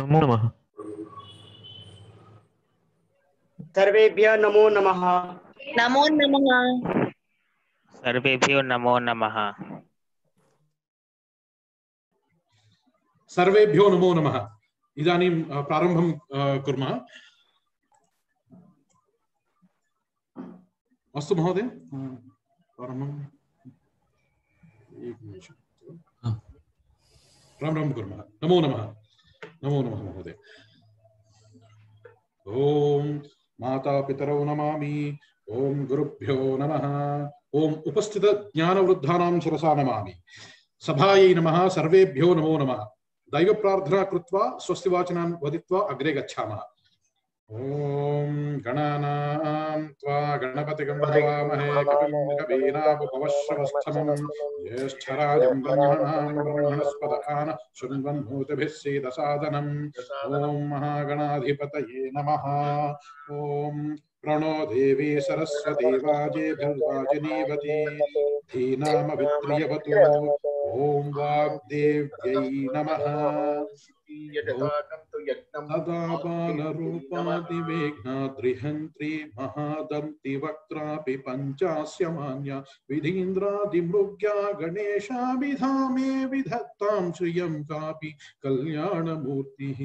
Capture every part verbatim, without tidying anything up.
नमो नमः। सर्वेभ्यः नमो नमः। नमो नमः। सर्वेभ्यो नमो नमः। सर्वेभ्यो नमो नमः। इदानीं प्रारम्भं कुर्मः। अस्तु महोदय, प्रारम्भं प्रारम्भं कुर्मः। नमो नमः। नमो नमः महोदय। ओम माता पितरौ नमामि। ओम गुरुभ्यो नमः। ओम उपस्थित ज्ञानवृद्धानां शिरसा नमामि। सभायै नमः। सर्वेभ्यो नमो नमः। दैव प्रार्थना कृत्वा स्वस्ति वाचनान् वदित्वा अग्रे गच्छामः। ओम गणानां त्वा गणपतिगं हवामहे कविं कवीनामुपवश्रवस्तमं ज्येष्ठराजं ब्रह्मणां ब्रह्मणस्पत आन शृण्वन्नोतिभिः सीदसादनम्। ओम महागणाधिपतये नमः। ओम प्रणो देवी सरस्वती वाजेभिर्वाजिनीवती धीनामवित्र्यवतु। ओम वाग्देव्यै नमः। तदा बालरूपादिवेघ्नाद्रिहन्त्री महादन्ति वक्त्रापि पञ्चास्य मान्या विधीन्द्रादिमृग्या गणेशाभिधामे विधत्तां श्रियं कापि कल्याणमूर्तिः।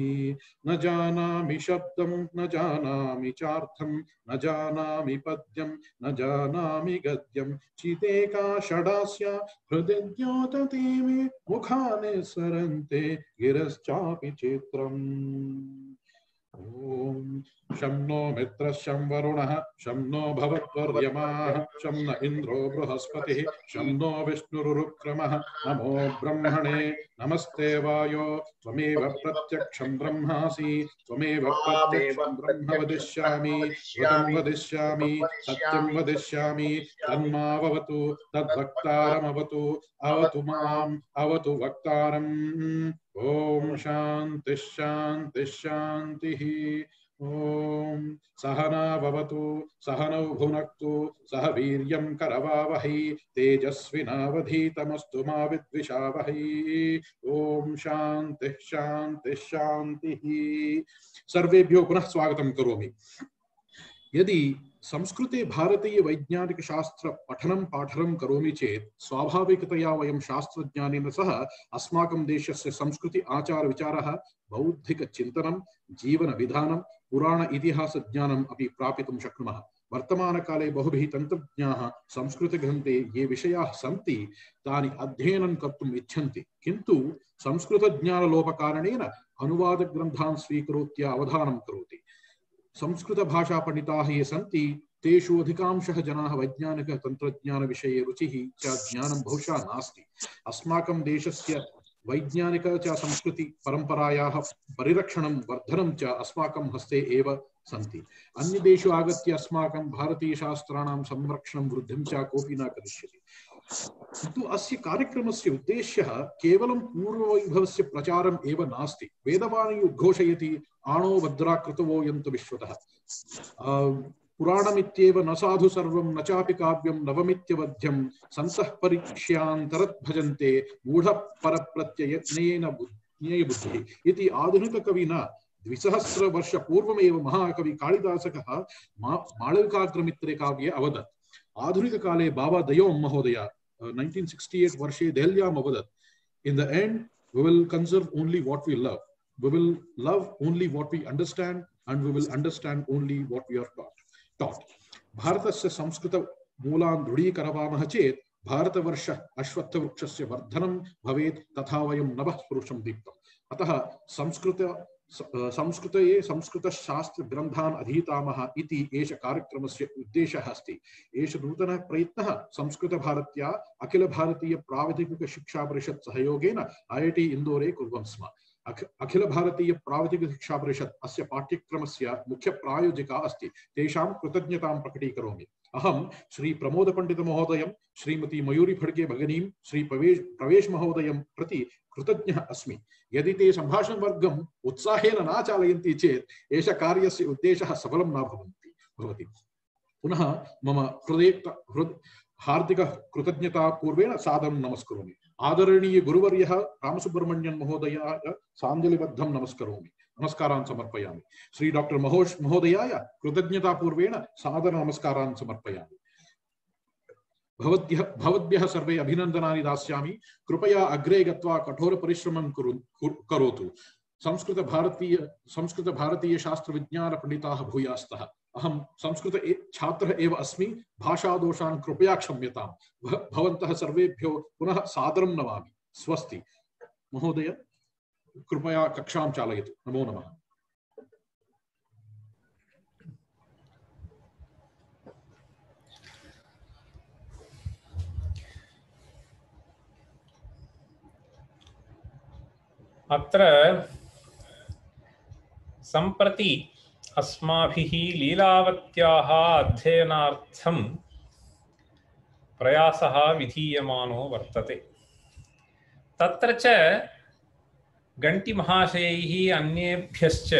न जानामि शब्दं न जानामि चार्थं न जानामि पद्यं न जानामि गद्यं चितेका षडास्या हृदि द्योतते मे मुखानि सरन्ते गिरश्चापि चित्रम्। ओम शं नो मित्रः शं वरुणः शं नो भवत्वर्यमाः शं न इन्द्रो बृहस्पतिः शं नो विष्णुरुक्रमः। नमो ब्रह्मणे नमस्ते वायो त्वमेव प्रत्यक्षं ब्रह्मासि त्वमेव प्रत्यक्षं ब्रह्म वदिष्यामि ऋतं वदिष्यामि सत्यं वदिष्यामि तन्मावतु तद्वक्तारमवतु अवतु माम् अवतु वक्तारम्। ओम शांति शांति शांतिः। ओम सहना भवतु सहनौ भुनक्तु सह वीर्यं करवावहै तेजस्विनावधीतमस्तु मा विद्विषावहै। ओम शांति शांति शांतिः। सर्वेभ्यो पुनः स्वागतं करोमि। यदि संस्कृते भारतीय वैज्ञानिक शास्त्र पठनं पाठनं करोमि चेत् स्वाभाविकतया वयं शास्त्रज्ञानेन सह अस्माकं देशस्य संस्कृति आचार विचारः बौद्धिक चिन्तनं जीवन विधानं पुराण इतिहास ज्ञानम् अपि प्रापितुं शक्नुमः। वर्तमानकाले बहुभिः तन्त्रज्ञाः संस्कृतग्रन्थे ये विषयाः सन्ति तानि अध्ययनं कर्तुम् इच्छन्ति, किन्तु संस्कृतज्ञानलोपकारणेन अनुवादग्रन्थान् स्वीकृत्य अवधानं करोति। संस्कृत भाषा पंडिताः ये सन्ति तेषु अधिकांशः जनाः वैज्ञानिक तंत्रज्ञान विषये रुचिः च ज्ञानं बहुशः नास्ति। अस्माकं देशस्य वैज्ञानिक च संस्कृति परंपरायाः परिरक्षणं वर्धनं च अस्माकं हस्ते एव सन्ति। अन्यदेशु आगत्य अस्माकं भारतीय शास्त्राणां संरक्षणं वृद्धिं च कोऽपि न करिष्यति। किन्तु अस्य कार्यक्रमस्य उद्देश्यः केवलं पूर्ववैभवस्य प्रचारम् एव नास्ति। वेदवाणी उद्घोषयति आणो भद्रा कृतवो यन्तु विश्वतः। पुराणमित्येव न साधु सर्वं न चापि काव्यं नवमित्यवध्यं सन्तः परीक्ष्यान्तरत् भजन्ते मूढपरप्रत्ययज्ञेन बुद्धिः इति आधुनिककविना द्विसहस्र वर्ष पूर्वमेव महाकवि कालिदासकः माळविकाग्रमित्रे काव्ये अवदत्। आधुनिक काले बाबा दयों महोदय nineteen sixty-eight वर्षे देहल्याम् अवदत्, in the end we will conserve only what we love, we will love only what we understand, and we will understand only what we are taught. taught. भारतस्य संस्कृत मूलान् दृढीकरवामः चेत् भारतवर्ष अश्वत्थवृक्षस्य वर्धनं भवेत् तथा वयं नभः पुरुषं दीप्तम्। अतः संस्कृत संस्कृते संस्कृतशास्त्र ग्रन्थान् अधीतामः इति एष कार्यक्रमस्य उद्देशः अस्ति। एष नूतनः प्रयत्नः संस्कृतभारत्या अखिल भारतीय प्राविधिक शिक्षा परिषत् सहयोगेन ऐ ऐ टी इन्दोरे कुर्वन् स्म। अखिल भारतीय प्राविधिक शिक्षा परिषत् अस्य पाठ्यक्रमस्य मुख्य प्रायोजिका अस्ति। तेषां कृतज्ञतां प्रकटीकरोमि। अहं श्री प्रमोद पंडित महोदयं, श्रीमती मयूरी फड्के भगिनीं, श्री प्रवेश प्रवेश महोदयं प्रति कृतज्ञः अस्मि। यदि ते संभाषणवर्गम् उत्साहेन न चालयन्ति चेत् एष कार्यस्य उद्देशः सफलं न भवन्ति भवति। पुनः मम हृदय हृद हार्दिक कृतज्ञता पूर्वेण सादरं नमस्करोमि। आदरणीय गुरुवर्यः रामसुब्रह्मण्यन् महोदयाय साञ्जलिबद्धं नमस्करोमि। नमस्कारान् समर्पयामि। श्री डॉक्टर महोश महोदयाय कृतज्ञतापूर्वेण सादर नमस्कारान् समर्पयामि। भवद्भ्यः भवद्भ्यः सर्वे अभिनन्दनानि दास्यामि। कृपया अग्रे गत्वा कठोर परिश्रमं करोतु। संस्कृत भारतीय संस्कृत भारतीय शास्त्र विज्ञान पंडिताः भूयास्तः। अहं संस्कृत छात्रः एव अस्मि। भाषादोषान् कृपया क्षम्यताम्। भवन्तः सर्वेभ्यो पुनः सादरं नमामि। स्वस्ति। महोदय कृपया कक्षां चालयतु। नमो नमः। अत्र सम्प्रति अस्माभिः लीलावत्याः अध्ययनार्थं प्रयासः विधीयमानो वर्तते। तत्र च गण्टिमहाशयैः अन्येभ्यश्च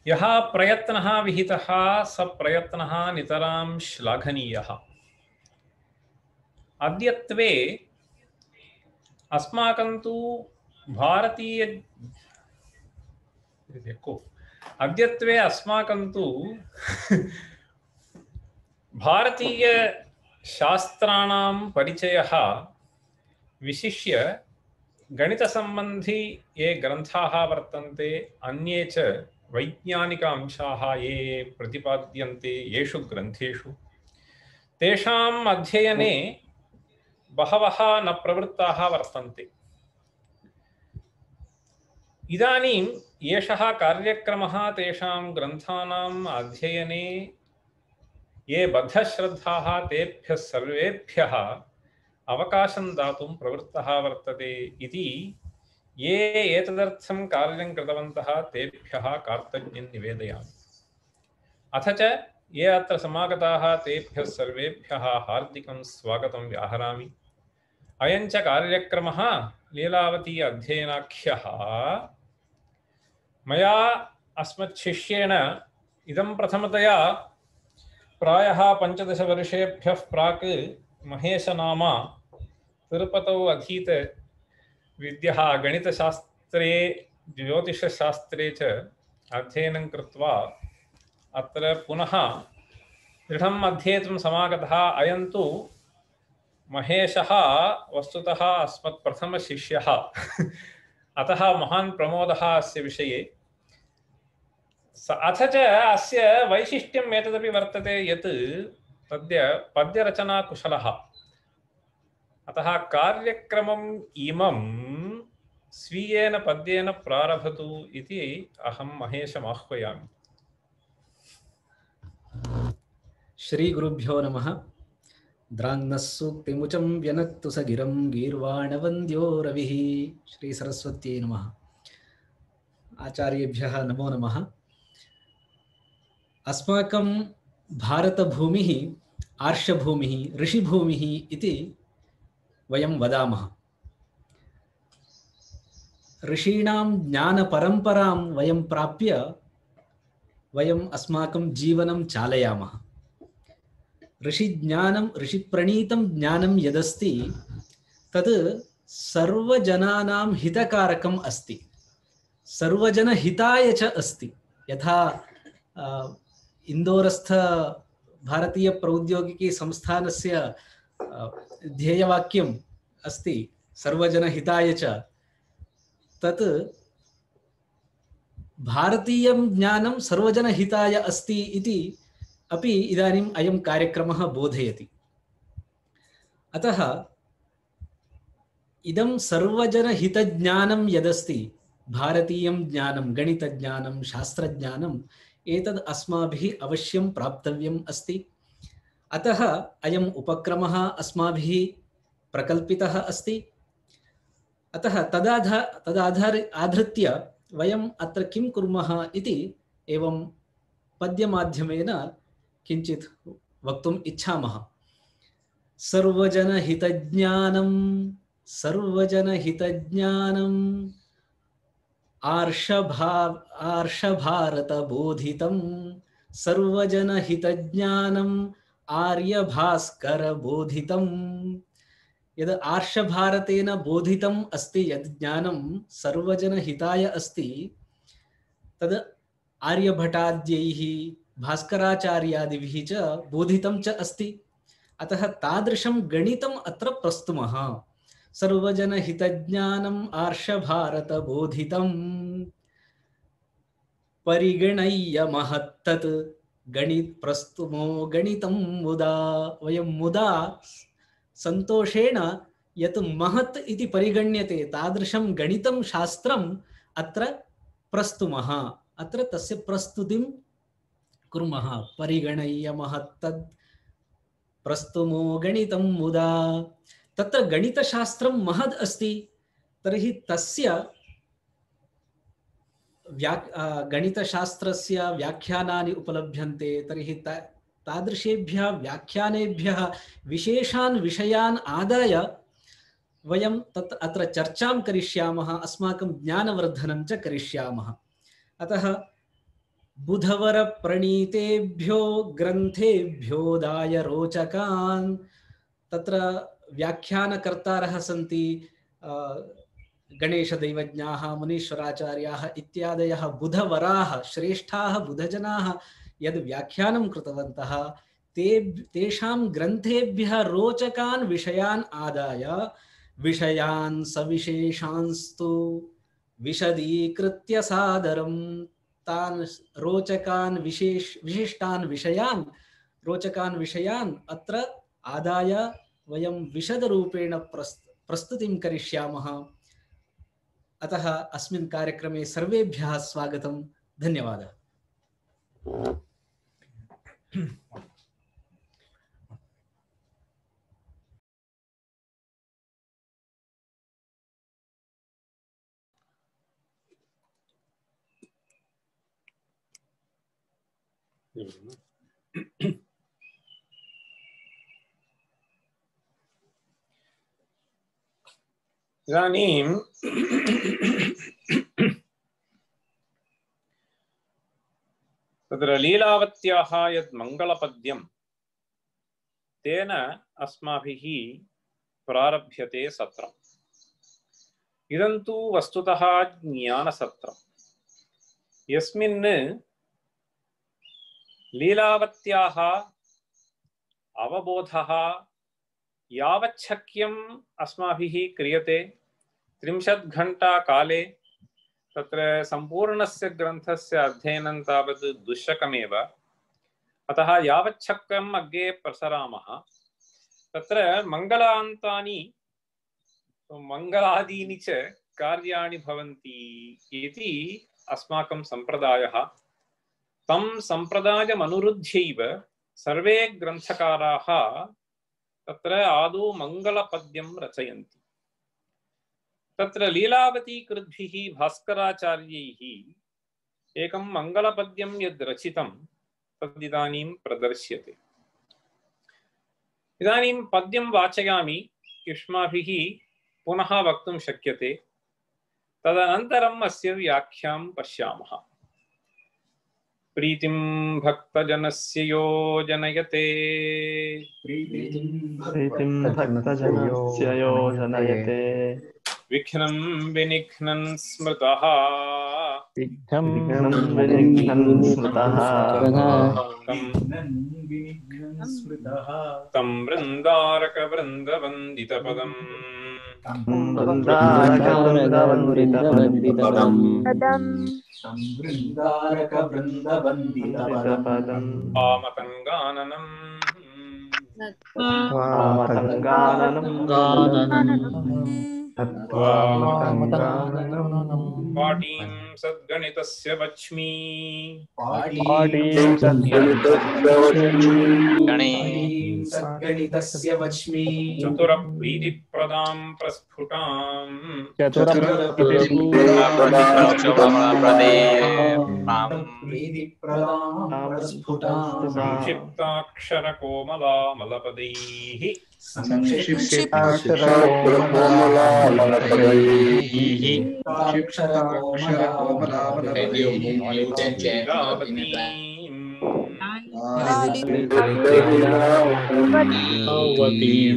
यः प्रयत्नः विहितः स प्रयत्नः नितरां श्लाघनीयः। अद्यत्वे अस्माकं तु भारतीय अद्यत्वे अस्माकं तु भारतीय शास्त्राणां परिचयः विशिष्य गणितसम्बन्धी ये ग्रन्थाः वर्तन्ते, अन्ये च वैज्ञानिक अंशाः ये प्रतिपाद्यन्ते येषु ग्रन्थेषु, तेषाम् अध्ययने बहवः न प्रवृत्ताः वर्तन्ते। इदानीं एषः कार्यक्रमः तेषां ग्रन्थानाम् अध्ययने ये बद्धश्रद्धाः तेभ्यः सर्वेभ्यः अवकाशं दातुं प्रवृत्तः वर्तते इति ये एतदर्थं कार्यं कृतवन्तः तेभ्यः कार्तज्ञं निवेदयामि। अथ च ये अत्र समागताः तेभ्यः सर्वेभ्यः हार्दिकं स्वागतं व्याहरामि। अयं च कार्यक्रमः लीलावती अध्ययनाख्यः मया अस्मत्शिष्येण इदं प्रथमतया प्रायः पञ्चदशवर्षेभ्यः प्राक् महेशनामा तिरुपतौ अधीत विद्यः गणितशास्त्रे ज्योतिषशास्त्रे च अध्ययनं कृत्वा अत्र पुनः दृढम् अध्येतुं समागतः। अयं तु महेशः वस्तुतः अस्मत् प्रथमशिष्यः अतः महान् प्रमोदः अस्य विषये। अथ च अस्य वैशिष्ट्यम् एतदपि वर्तते यत् तद्य पद्यरचनाकुशलः। अतः कार्यक्रमम् इमं स्वीयेन पद्येन प्रारभतु इति अहं महेशम् आह्वयामि। श्री गुरुभ्यो नमः। द्राङ्गसूक्तिमुचं व्यनक्तु स गिरं गीर्वाणवन्द्यो रविः। श्री सरस्वत्यै नमः। आचार्येभ्यः नमो नमः। अस्माकं भारतभूमिः आर्षभूमिः ऋषिभूमिः इति वयं वदामः। ऋषीणां ज्ञानपरम्परां वयं प्राप्य वयं अस्माकं जीवनं चालयामः। ऋषिज्ञानं ऋषिप्रणीतं ज्ञानं यदस्ति तद् सर्वजनानां हितकारकम् अस्ति, सर्वजनहिताय च अस्ति। यथा इन्दोरस्थ भारतीय प्रौद्योगिकी संस्थानस्य ध्येयवाक्यम् अस्ति सर्वजनहिताय च, तत् भारतीयं ज्ञानं सर्वजनहिताय अस्ति इति अपि इदानीम् अयं कार्यक्रमः बोधयति। अतः इदं सर्वजनहितज्ञानं यदस्ति भारतीयं ज्ञानं, गणितज्ञानं, शास्त्रज्ञानम्, एतद् अस्माभिः अवश्यं प्राप्तव्यम् अस्ति। अतः अयम् उपक्रमः अस्माभिः प्रकल्पितः अस्ति। अतः तदाधा तदाधार आधृत्य वयम् अत्र किं कुर्मः इति एवं पद्यमाध्यमेन किञ्चित् वक्तुम् इच्छामः। सर्वजनहितज्ञानं सर्वजनहितज्ञानम् आर्षभा आर्षभारतबोधितं सर्वजनहितज्ञानम् आर्यभास्करबोधितम् यद् आर्षभारतेन बोधितम् अस्ति यद् ज्ञानं सर्वजनहिताय अस्ति तद् आर्यभटाद्यैः भास्कराचार्यादिभिः च बोधितं च अस्ति। अतः तादृशं गणितम् अत्र प्रस्तुमः। सर्वजनहितज्ञानम् आर्षभारतबोधितं परिगणय्य महत्तत् गणित प्रस्तुमो गणितं मुदा। वयं मुदा संतोषेण यत् महत् इति परिगण्यते तादृशं गणितं शास्त्रम् अत्र प्रस्तुमः। अत्र तस्य प्रस्तुतिं कुर्मः। परिगणय्य महत्तत् प्रस्तुमो गणितं मुदा। तत्र गणितशास्त्रं महद् अस्ति। तर्हि तस्य व्या गणितशास्त्रस्य व्याख्यानानि उपलभ्यन्ते। तर्हि ता तादृशेभ्यः व्याख्यानेभ्यः विशेषान् विषयान् आदाय वयं तत् अत्र चर्चां करिष्यामः, अस्माकं ज्ञानवर्धनं च करिष्यामः। अतः बुधवरप्रणीतेभ्यो ग्रन्थेभ्योदाय रोचकान्, तत्र व्याख्यानकर्तारः सन्ति गणेशदैवज्ञाः, मुनीश्वराचार्याः इत्यादयः बुधवराः, श्रेष्ठाः बुधजनाः यद् व्याख्यानं कृतवन्तः ते तेषां ग्रन्थेभ्यः रोचकान् विषयान् आदाय विषयान् सविशेषांस्तु विशदीकृत्य सादरं तान् रोचकान् विशेष विशिष्टान् विषयान् रोचकान् विषयान् अत्र आदाय वयं विशदरूपेण प्रस्त प्रस्तुतिं करिष्यामः। अतः अस्मिन् कार्यक्रमे सर्वेभ्यः स्वागतं। धन्यवादः। इदानीं तत्र लीलावत्याः यद् मङ्गलपद्यं तेन अस्माभिः प्रारभ्यते सत्रम्। इदं तु वस्तुतः ज्ञानसत्रम्, यस्मिन् लीलावत्याः अवबोधः यावच्छक्यम् अस्माभिः क्रियते। त्रिंशत् घण्टा काले तत्र सम्पूर्णस्य ग्रन्थस्य अध्ययनं तावत् दुश्शकमेव। अतः यावच्छक्यम् अग्रे प्रसरामः। तत्र मङ्गलान्तानि मङ्गलादीनि च कार्याणि भवन्ति इति अस्माकं सम्प्रदायः। तं सम्प्रदायमनुरुध्यैव सर्वे ग्रन्थकाराः तत्र आदौ मङ्गलपद्यं रचयन्ति। तत्र लीलावतीकृद्भिः भास्कराचार्यैः एकं मङ्गलपद्यं यद् रचितं तदिदानीं प्रदर्श्यते। इदानीं पद्यं वाचयामि, युष्माभिः पुनः वक्तुं शक्यते। तदनन्तरम् अस्य व्याख्यां पश्यामः। प्रीतिं भक्तजनस्य यो जनयते प्रीतिं भक्तजनस्य यो जनयते विघ्नं विनिघ्नं स्मृतः विघ्नं विनिघ्नं स्मृतः तं वृन्दारकवृन्दवन्दितपदम् वामतङ्गाननम् पाटीं सद्गणितस्य वच्मि सद्गणितस्य वच्मि चतुरप्रीतिप्रदां प्रस्फुटां संक्षिप्ताक्षरकोमलामलपदैः लीलावतीं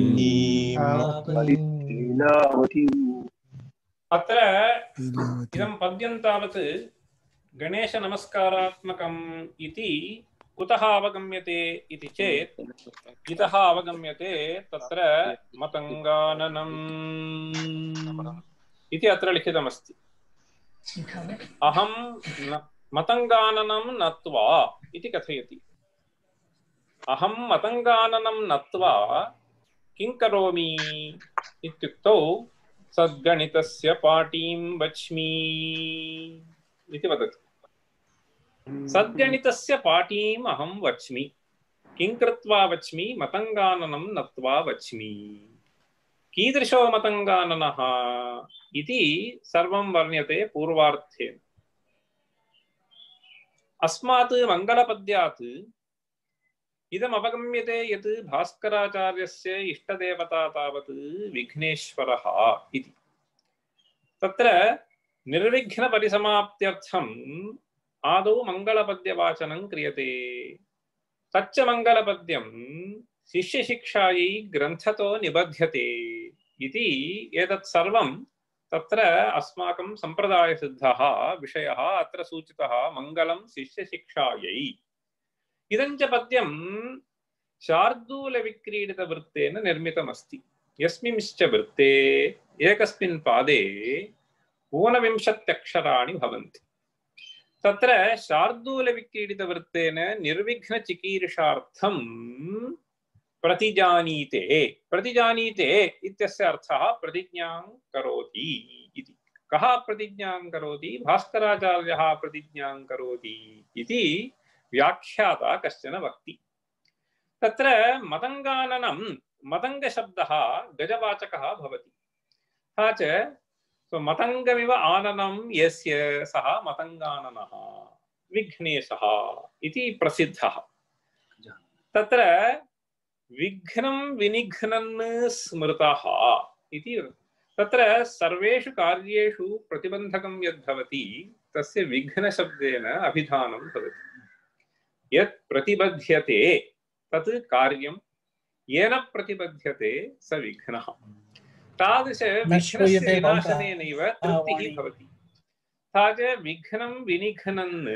अत्र इदं पद्यं तावत् गणेशनमस्कारात्मकम् इति कुतः अवगम्यते इति चेत् इतः अवगम्यते तत्र मतङ्गाननम् इति अत्र लिखितमस्ति। अहं मतङ्गाननं नत्वा इति कथयति। अहं मतङ्गाननं नत्वा किं करोमि इत्युक्तौ सद्गणितस्य पाटीं वच्मि इति वदति। सद्गणितस्य पाटीम् अहं वच्मि। किं कृत्वा वच्मि? मतङ्गाननं नत्वा वच्मि। कीदृशो मतङ्गाननः इति सर्वं वर्ण्यते पूर्वार्थेन। अस्मात् मङ्गलपद्यात् इदम् अवगम्यते यत् भास्कराचार्यस्य इष्टदेवता तावत् विघ्नेश्वरः इति। तत्र निर्विघ्नपरिसमाप्त्यर्थम् आदौ मङ्गलपद्यवाचनं क्रियते। तच्च मङ्गलपद्यं शिष्यशिक्षायै ग्रन्थतो निबध्यते इति एतत् सर्वं तत्र अस्माकं सम्प्रदायसिद्धः विषयः अत्र सूचितः। मङ्गलं शिष्यशिक्षायै। इदं च पद्यं शार्दूलविक्रीडितवृत्तेन निर्मितमस्ति। यस्मिंश्च वृत्ते एकस्मिन् पादे ऊनविंशत्यक्षराणि भवन्ति। तत्र शार्दूलविक्रीडितवृत्तेन निर्विघ्नचिकीर्षार्थं प्रतिजानीते। प्रतिजानीते इत्यस्य अर्थः प्रतिज्ञां करोति इति। कः प्रतिज्ञां करोति? भास्कराचार्यः प्रतिज्ञां करोति इति व्याख्याता कश्चन वक्ति। तत्र मतङ्गाननं मतङ्गशब्दः गजवाचकः भवति। तथा च मतङ्गमिव आननं यस्य सः मतङ्गाननः विघ्नेशः इति प्रसिद्धः। तत्र विघ्नं विनिघ्नन् स्मृतः इति। तत्र सर्वेषु कार्येषु प्रतिबन्धकं यद्भवति तस्य विघ्नशब्देन अभिधानं भवति। यत् प्रतिबध्यते तत् कार्यं, येन प्रतिबध्यते स विघ्नः। तादृश विघ्नस्य विनाशनेनैव तृप्तिः भवति। तथा च विघ्नं विनिघ्नन्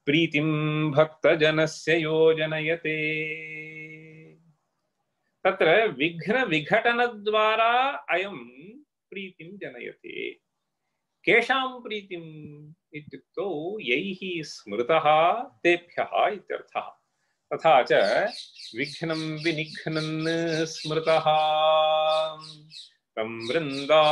प्रीतिं भक्तजनस्य योजनयते। तत्र विघ्नविघटनद्वारा अयं प्रीतिं जनयते। केषां प्रीतिम् इत्युक्तौ यैः स्मृतः तेभ्यः इत्यर्थः। तथा च विघ्नं विनिघ्नन् स्मृतः तं वृन्दा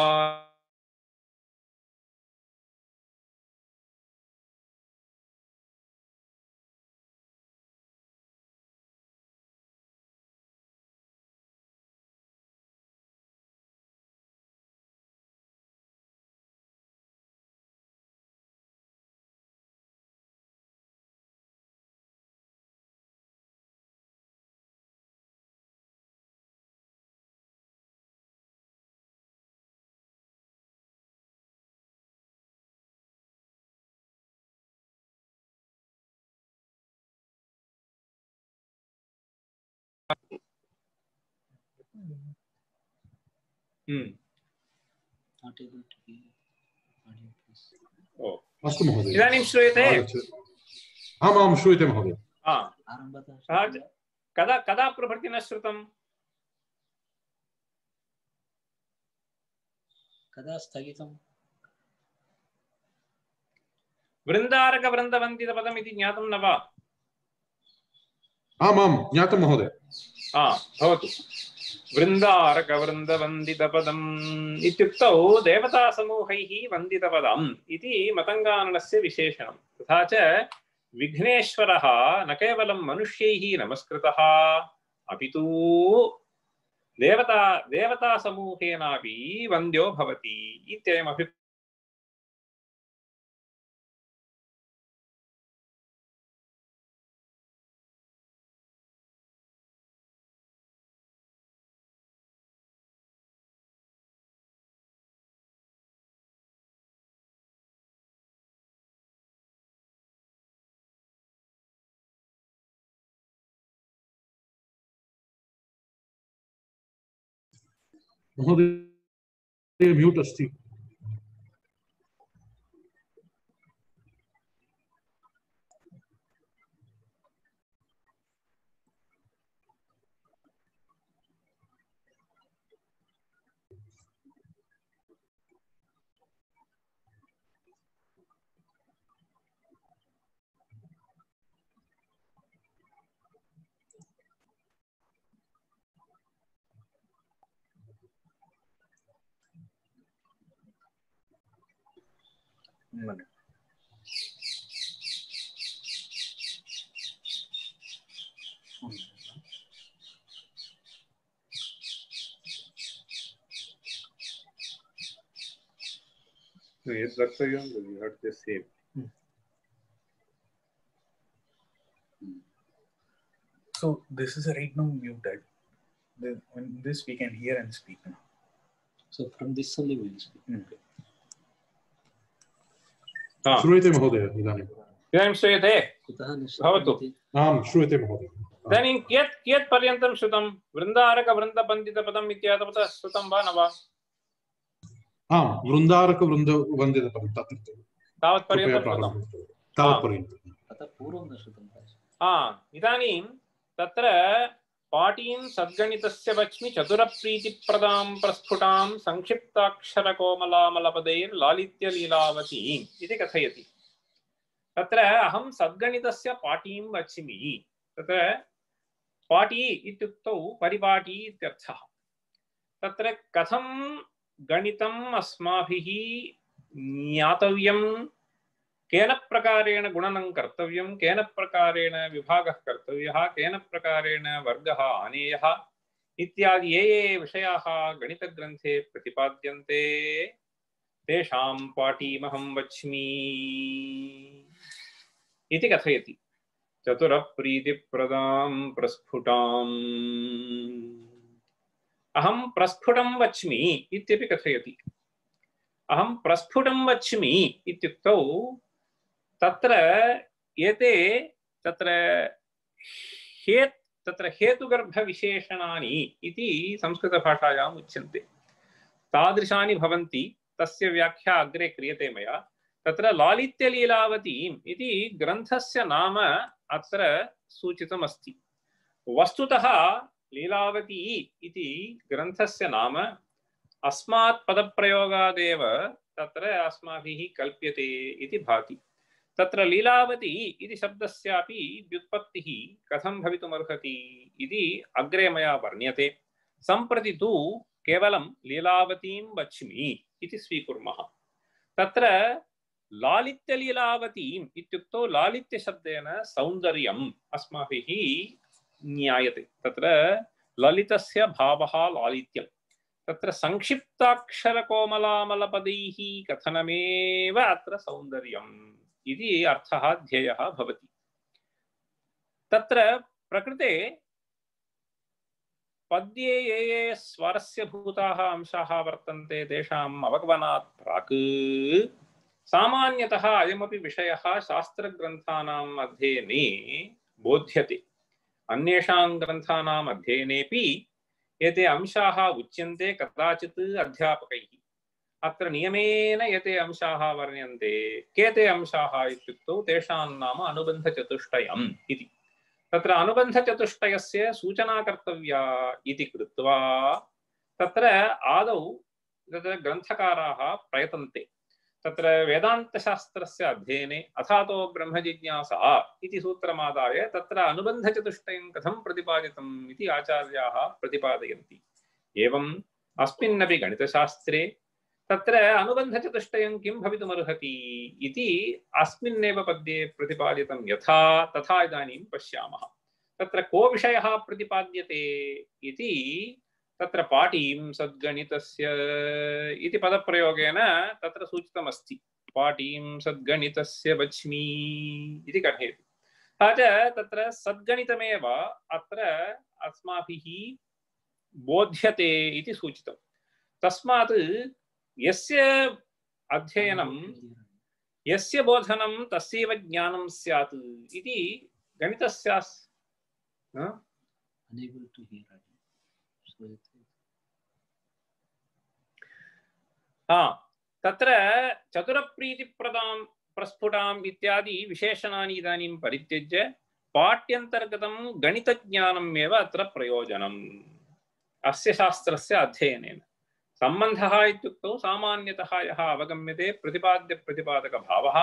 अस्तु महोदय। इदानीं श्रूयते? आम् आं श्रूयते महोदय। कदा कदा प्रभृति न श्रुतं? कदा स्थगितं? वृन्दारकवृन्दवन्दितपदम् इति ज्ञातं न वा? आम् आं ज्ञातं महोदय। भवतु। वृन्दारकवृन्दवन्दितपदम् इत्युक्तौ देवतासमूहैः वन्दितपदम् इति मतङ्गाननस्य विशेषणं। तथा च विघ्नेश्वरः न केवलं मनुष्यैः नमस्कृतः अपि तु देवता देवतासमूहेनापि वन्द्यो भवति इत्ययमपि महोदय म्यूट् अस्ति। No, yes, Daksayam, you have to say. So this is right now muted. The, when this we can hear and speak now. So from this only we will speak. Mm. Ah. श्रूयते महोदय इदानीं? इदानीं श्रूयते? कुतः न भवतु। आम् श्रूयते महोदय। इदानीं कियत् कियत् पर्यन्तं श्रुतं? वृन्दारकवृन्दपन्दितपदम् इत्यादवत् श्रुतं वा न वा? आम् वृन्दारकवृन्दवन्दितपदं तत्र तावत् पर्यन्तं श्रुतं। तावत् पर्यन्तं। ततः पूर्वं न श्रुतं। हा, इदानीं तत्र पाटीं सद्गणितस्य वच्मि चतुरप्रीतिप्रदां प्रस्फुटां संक्षिप्ताक्षरकोमलामलपदैर्लालित्यलीलावतीम् इति कथयति। तत्र अहं सद्गणितस्य पाटीं वच्मि। तत्र पाटी इत्युक्तौ परिपाटी इत्यर्थः। तत्र कथं गणितम् अस्माभिः ज्ञातव्यं, केन प्रकारेण गुणनं कर्तव्यं, केन प्रकारेण विभागः कर्तव्यः, केन प्रकारेण वर्गः आनेयः इत्यादि ये ये विषयाः गणितग्रन्थे प्रतिपाद्यन्ते तेषां पाटीमहं वच्मि इति कथयति। चतुरप्रीतिप्रदां प्रस्फुटाम् अहं प्रस्फुटं वच्मि इत्यपि कथयति। अहं प्रस्फुटं वच्मि इत्युक्तौ तत्र एते तत्र हेत् तत्र हेतुगर्भविशेषणानि इति संस्कृतभाषायाम् उच्यन्ते। तादृशानि भवन्ति। तस्य व्याख्या अग्रे क्रियते मया। तत्र लालित्यलीलावतीम् इति ग्रन्थस्य नाम अत्र सूचितमस्ति। वस्तुतः लीलावती इति ग्रन्थस्य नाम अस्मात् पदप्रयोगादेव तत्र अस्माभिः कल्प्यते इति भाति। तत्र लीलावती इति शब्दस्यापि व्युत्पत्तिः कथं भवितुमर्हति इति अग्रे मया वर्ण्यते। सम्प्रति तु केवलं लीलावतीं वच्मि इति स्वीकुर्मः। तत्र लालित्यलीलावतीम् इत्युक्तौ लालित्यशब्देन सौन्दर्यम् अस्माभिः ज्ञायते। तत्र ललितस्य भावः लालित्यम्। तत्र संक्षिप्ताक्षरकोमलामलपदैः कथनमेव अत्र सौन्दर्यम् इति अर्थः ध्येयः भवति। तत्र प्रकृते पद्ये ये ये स्वरस्य भूताः अंशाः वर्तन्ते तेषाम् अवगमनात् प्राक् सामान्यतः अयमपि विषयः शास्त्रग्रन्थानाम् अध्ययने बोध्यते। अन्येषां ग्रन्थानाम् अध्ययनेपि एते अंशाः उच्यन्ते कदाचित् अध्यापकैः। अत्र नियमेन एते अंशाः वर्ण्यन्ते। केते अंशाः इत्युक्तौ तेषां नाम अनुबन्धचतुष्टयम् इति। तत्र अनुबन्धचतुष्टयस्य सूचना कर्तव्या इति कृत्वा तत्र आदौ तत्र ग्रन्थकाराः प्रयतन्ते। तत्र वेदान्तशास्त्रस्य अध्ययने अथातो ब्रह्मजिज्ञासा इति सूत्रमादाय तत्र अनुबन्धचतुष्टयं कथं प्रतिपादितम् इति आचार्याः प्रतिपादयन्ति। एवम् अस्मिन्नपि गणितशास्त्रे तत्र अनुबन्धचतुष्टयं किं भवितुमर्हति इति अस्मिन्नेव पद्ये प्रतिपादितं यथा तथा इदानीं पश्यामः। तत्र को विषयः प्रतिपाद्यते इति तत्र पाटीं सद्गणितस्य इति पदप्रयोगेन तत्र सूचितमस्ति। पाटीं सद्गणितस्य वच्मि इति कथयति। तथा च तत्र सद्गणितमेव अत्र अस्माभिः बोध्यते इति सूचितं। तस्मात् यस्य अध्ययनं यस्य बोधनं तस्यैव ज्ञानं स्यात् इति गणितशास्त्र हा तत्र चतुरप्रीतिप्रदां प्रस्फुटाम् इत्यादि विशेषणानि इदानीं परित्यज्य पाठ्यन्तर्गतं गणितज्ञानम् एव अत्र प्रयोजनम् अस्य शास्त्रस्य अध्ययनेन। सम्बन्धः इत्युक्तौ सामान्यतः यः अवगम्यते प्रतिपाद्यप्रतिपादकभावः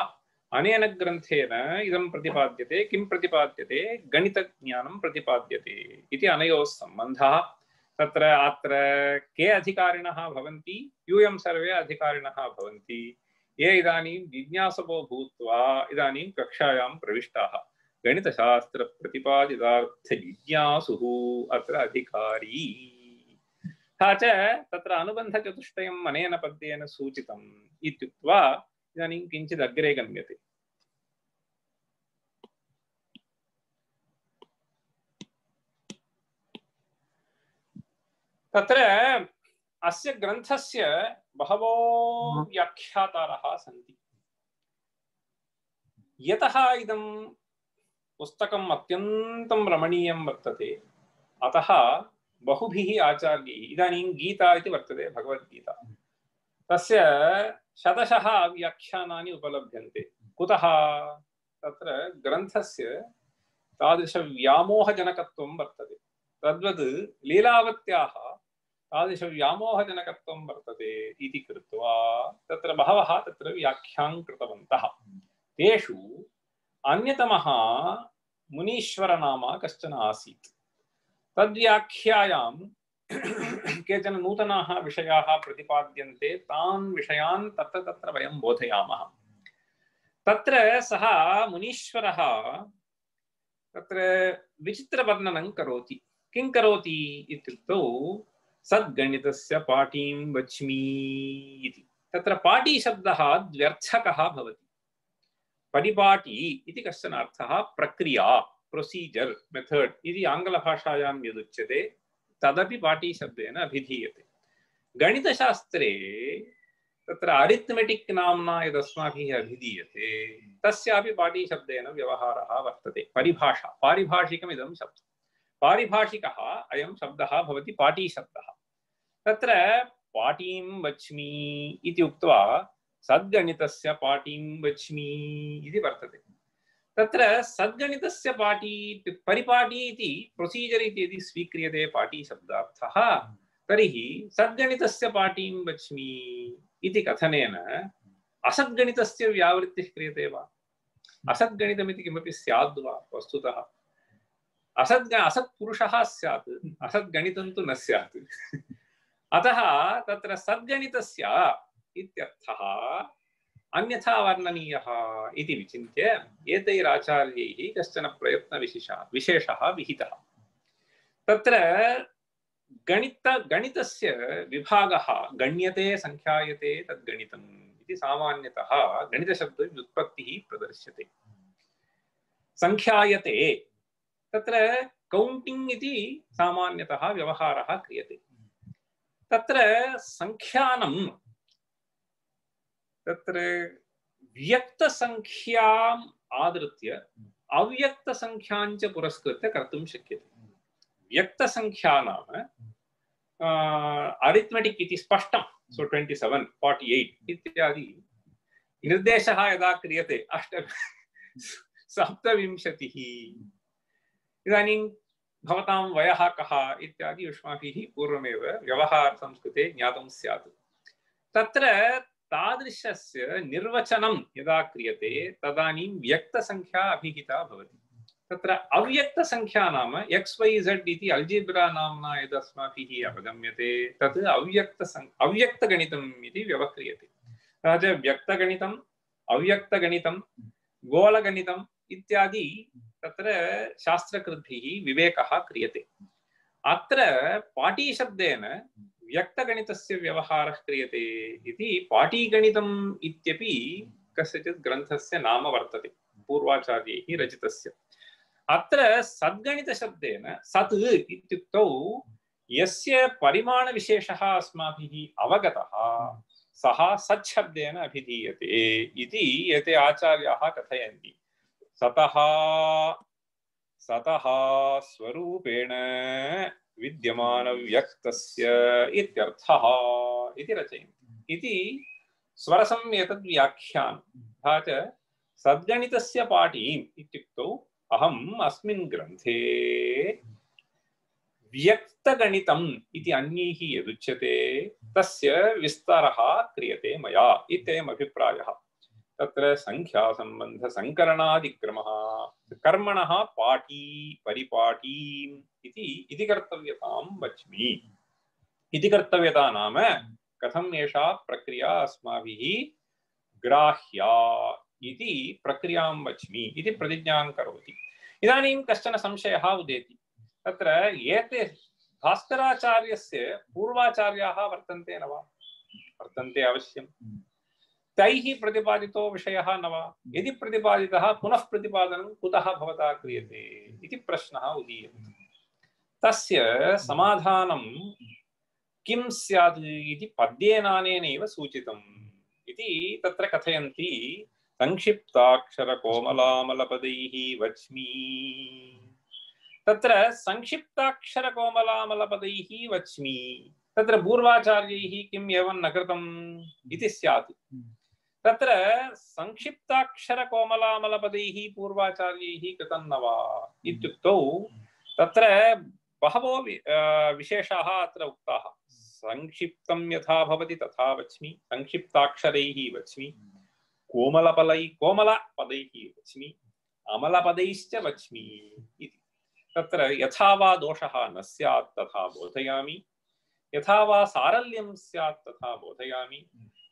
अनेन ग्रन्थेन इदं प्रतिपाद्यते। किं प्रतिपाद्यते? गणितज्ञानं प्रतिपाद्यते इति अनयोः सम्बन्धः। तत्र अत्र के अधिकारिणः भवन्ति? यूयं सर्वे अधिकारिणः भवन्ति ये इदानीं जिज्ञासवो भूत्वा इदानीं कक्षायां प्रविष्टाः। गणितशास्त्रप्रतिपादितार्थजिज्ञासुः अत्र अधिकारी। तथा च तत्र अनुबन्धचतुष्टयम् अनेन पद्येन सूचितम् इत्युक्त्वा इदानीं किञ्चित् अग्रे गम्यते। तत्र अस्य ग्रन्थस्य बहवो व्याख्यातारः सन्ति। यतः इदं पुस्तकम् अत्यन्तं रमणीयं वर्तते अतः बहुभिः आचार्यैः इदानीं गीता इति वर्तते भगवद्गीता तस्य शतशः व्याख्यानानि उपलभ्यन्ते। कुतः? तत्र ग्रन्थस्य तादृशव्यामोहजनकत्वं वर्तते। तद्वत् लीलावत्याः तादृशव्यामोहजनकत्वं वर्तते इति कृत्वा तत्र बहवः तत्र व्याख्यां कृतवन्तः। तेषु अन्यतमः मुनीश्वरनामा कश्चन आसीत्। तद्व्याख्यायां केचन नूतनाः विषयाः प्रतिपाद्यन्ते। तान् विषयान् तत्र तत्र वयं बोधयामः। तत्र सः मुनीश्वरः तत्र विचित्रवर्णनं करोति। किं करोति इत्युक्तौ सद्गणितस्य पाटीं वच्मि इति। तत्र पाटी शब्दः द्व्यर्थकः भवति। परिपाटी इति कश्चन अर्थः प्रक्रिया प्रोसीजर मेथड इति आङ्ग्लभाषायां यदुच्यते तदपि पाटी शब्देन अभिधीयते। गणितशास्त्रे तत्र अरिथमेटिक् नाम्ना यदस्माभिः अभिधीयते तस्यापि पाटी शब्देन व्यवहारः वर्तते। परिभाषा पारिभाषिकमिदं शब्दः। पारिभाषिकः अयं शब्दः भवति पाटी शब्दः। तत्र पाटीं वच्मि इति उक्त्वा सद्गणितस्य पाटीं वच्मि इति वर्तते। तत्र सद्गणितस्य पाटी परिपाटी इति प्रोसीजर इति यदि स्वीक्रियते पाटी शब्दार्थः तर्हि सद्गणितस्य पाटीं वच्मि इति कथनेन असद्गणितस्य व्यावृत्तिः क्रियते वा? असद्गणितमिति किमपि स्याद् वा? वस्तुतः असद् असत्पुरुषः स्यात्, असद्गणितं तु न स्यात्। अतः तत्र सद्गणितस्य इत्यर्थः अन्यथा वर्णनीयः इति विचिन्त्य एतैराचार्यैः कश्चन प्रयत्नविशेषः विशेषः विहितः। तत्र गणित गणितस्य विभागः गण्यते संख्यायते तद्गणितम् इति सामान्यतः गणितशब्दव्युत्पत्तिः प्रदर्श्यते। संख्यायते तत्र कौण्टिङ्ग् इति सामान्यतः व्यवहारः क्रियते। तत्र संख्यानं तत्र व्यक्तसंख्याम् आदृत्य अव्यक्तसंख्याञ्च पुरस्कृत्य कर्तुं शक्यते। व्यक्तसंख्या नाम अरिथमेटिक् इति स्पष्टं। सो ट्वेण्टि सेवेन् फोर्टि एय्ट् इत्यादि निर्देशः यदा क्रियते अष्ट सप्तविंशतिः इदानीं भवतां वयः कः इत्यादि युष्माभिः पूर्वमेव व्यवहारसंस्कृते ज्ञातं स्यात्। तत्र तादृशस्य निर्वचनं यदा क्रियते तदानीं व्यक्तसंख्या अभिहिता भवति। तत्र अव्यक्तसंख्या नाम एक्स् वै झेड् इति अल्जिब्रा नाम्ना यदस्माभिः अवगम्यते तत् अव्यक्तसं अव्यक्तगणितम् इति व्यवह्रियते। तथा च व्यक्तगणितम् अव्यक्तगणितं गोलगणितम् इत्यादि तत्र शास्त्रकृद्भिः विवेकः क्रियते। अत्र पाटीशब्देन व्यक्तगणितस्य व्यवहारः क्रियते इति पाटीगणितम् इत्यपि कस्यचित् ग्रन्थस्य नाम वर्तते पूर्वाचार्यैः रचितस्य। अत्र सद्गणितशब्देन सत् इत्युक्तौ यस्य परिमाणविशेषः अस्माभिः अवगतः सः सच्छब्देन अभिधीयते इति एते आचार्याः कथयन्ति। सतः सतः स्वरूपेण विद्यमानव्यक्तस्य इत्यर्थः इति रचयन्ति। इति स्वरसम् एतद् व्याख्यानं तथा च सद्गणितस्य पाठीम् इत्युक्तौ अहम् अस्मिन् ग्रन्थे व्यक्तगणितम् इति अन्यैः यदुच्यते तस्य विस्तारः क्रियते मया इत्ययम् अभिप्रायः। तत्र संख्यासम्बन्धसङ्करणादिक्रमः कर्मणः पाठी परिपाठीम् इति इति कर्तव्यतां वच्मि। इति कर्तव्यता नाम कथम् एषा प्रक्रिया अस्माभिः ग्राह्या इति प्रक्रियां वच्मि इति प्रतिज्ञां करोति। इदानीं कश्चन संशयः उदेति। तत्र एते भास्कराचार्यस्य पूर्वाचार्याः वर्तन्ते न वा? वर्तन्ते अवश्यं। तैः प्रतिपादितो विषयः न वा? यदि प्रतिपादितः पुनः प्रतिपादनं कुतः भवता क्रियते इति प्रश्नः उदीयते। तस्य समाधानं किं स्यात् इति पद्येनानेनैव सूचितम् इति तत्र कथयन्ति। संक्षिप्ताक्षरकोमलामलपदैः वच्मि। तत्र संक्षिप्ताक्षरकोमलामलपदैः वच्मि तत्र पूर्वाचार्यैः किम् एवं न कृतम् इति स्यात्। तत्र संक्षिप्ताक्षरकोमलामलपदैः पूर्वाचार्यैः कृतं न वा इत्युक्तौ तत्र बहवो विशेषाः अत्र उक्ताः। संक्षिप्तं यथा भवति तथा वच्मि, संक्षिप्ताक्षरैः वच्मि, कोमलपलै कोमलपदैः वच्मि, अमलपदैश्च वच्मि इति। तत्र यथा वा दोषः न स्यात् तथा बोधयामि, यथा वा सारल्यं स्यात् तथा बोधयामि,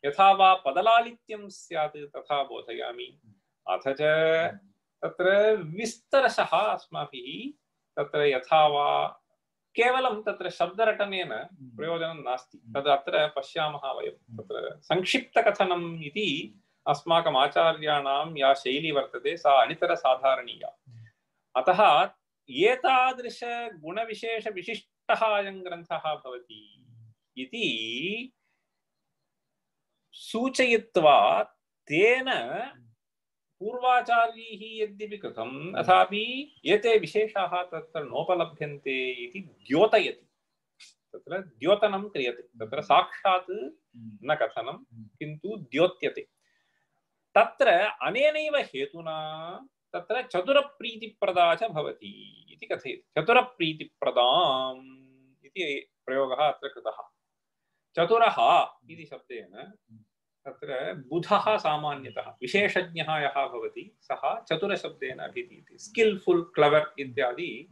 यथा वा पदलालित्यं स्यात् तथा बोधयामि। अथ च तत्र विस्तरशः अस्माभिः तत्र यथा वा केवलं तत्र शब्दरटनेन प्रयोजनं नास्ति। तद् अत्र पश्यामः वयं। तत्र संक्षिप्तकथनम् इति अस्माकम् आचार्याणां या शैली वर्तते सा अनितरसाधारणीया। अतः एतादृश गुणविशेषविशिष्टः अयं ग्रन्थः भवति इति सूचयित्वा तेन पूर्वाचार्यैः यद्यपि कृतम् अथापि एते विशेषाः तत्र नोपलभ्यन्ते इति द्योतयति। तत्र द्योतनं क्रियते। तत्र साक्षात् न कथनं किन्तु द्योत्यते। तत्र अनेनैव हेतुना तत्र चतुरप्रीतिप्रदा च भवति इति कथयति। चतुरप्रीतिप्रदाम् इति प्रयोगः अत्र कृतः। चतुरः इति शब्देन तत्र बुधः सामान्यतः विशेषज्ञः यः भवति सः चतुरशब्देन अभिधीयते। स्किल्फुल् क्लेवर् इत्यादि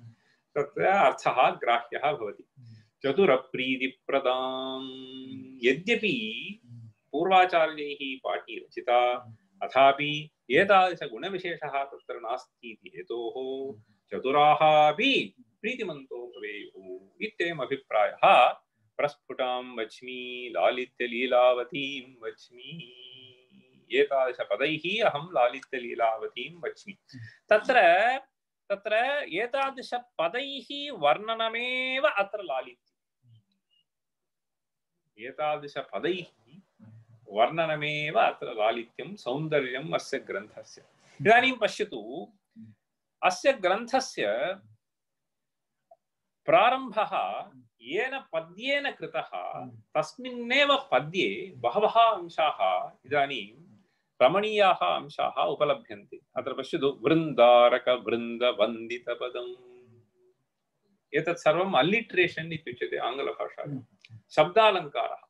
तत्र अर्थः ग्राह्यः भवति। चतुरप्रीतिप्रदाम् यद्यपि पूर्वाचार्यैः पाठी रचिता अथापि एतादृशगुणविशेषः तत्र नास्ति इति हेतोः चतुराः अपि प्रीतिमन्तो भवेयुः इत्ययम् अभिप्रायः। प्रस्फुटां वच्मि लालित्यलीलावतीं वच्मि। एतादृशपदैः अहं लालित्यलीलावतीं वच्मि। तत्र तत्र एतादृशपदैः वर्णनमेव अत्र लालित्यम्। एतादृशपदैः वर्णनमेव अत्र लालित्यं सौन्दर्यम् अस्य ग्रन्थस्य। इदानीं पश्यतु अस्य ग्रन्थस्य प्रारम्भः येन पद्येन कृतः तस्मिन्नेव पद्ये बहवः अंशाः इदानीं रमणीयाः अंशाः उपलभ्यन्ते। अत्र पश्यतु वृन्दारक वृन्दवन्दितपदम्। एतत् सर्वम् अल्लिट्रेशन् इत्युच्यते आङ्ग्लभाषायां। शब्दालङ्कारः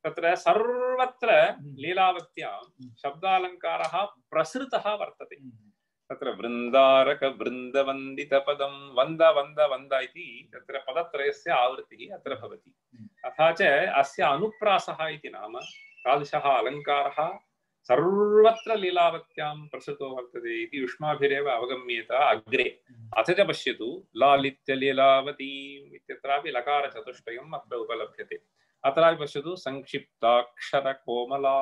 तत्र सर्वत्र लीलावत्यां शब्दालङ्कारः प्रसृतः वर्तते। तत्र वृन्दारक वृन्दवन्दितपदं वन्द वन्द वन्द इति तत्र पदत्रयस्य आवृत्तिः अत्र भवति। तथा च अस्य अनुप्रासः इति नाम तादृशः अलङ्कारः सर्वत्र लीलावत्यां प्रसृतो वर्तते इति युष्माभिरेव अवगम्येत अग्रे। अथ च पश्यतु लालित्यलीलावतीम् इत्यत्रापि लकारचतुष्टयम् अत्र उपलभ्यते। अत्रापि पश्यतु संक्षिप्ताक्षरकोमला।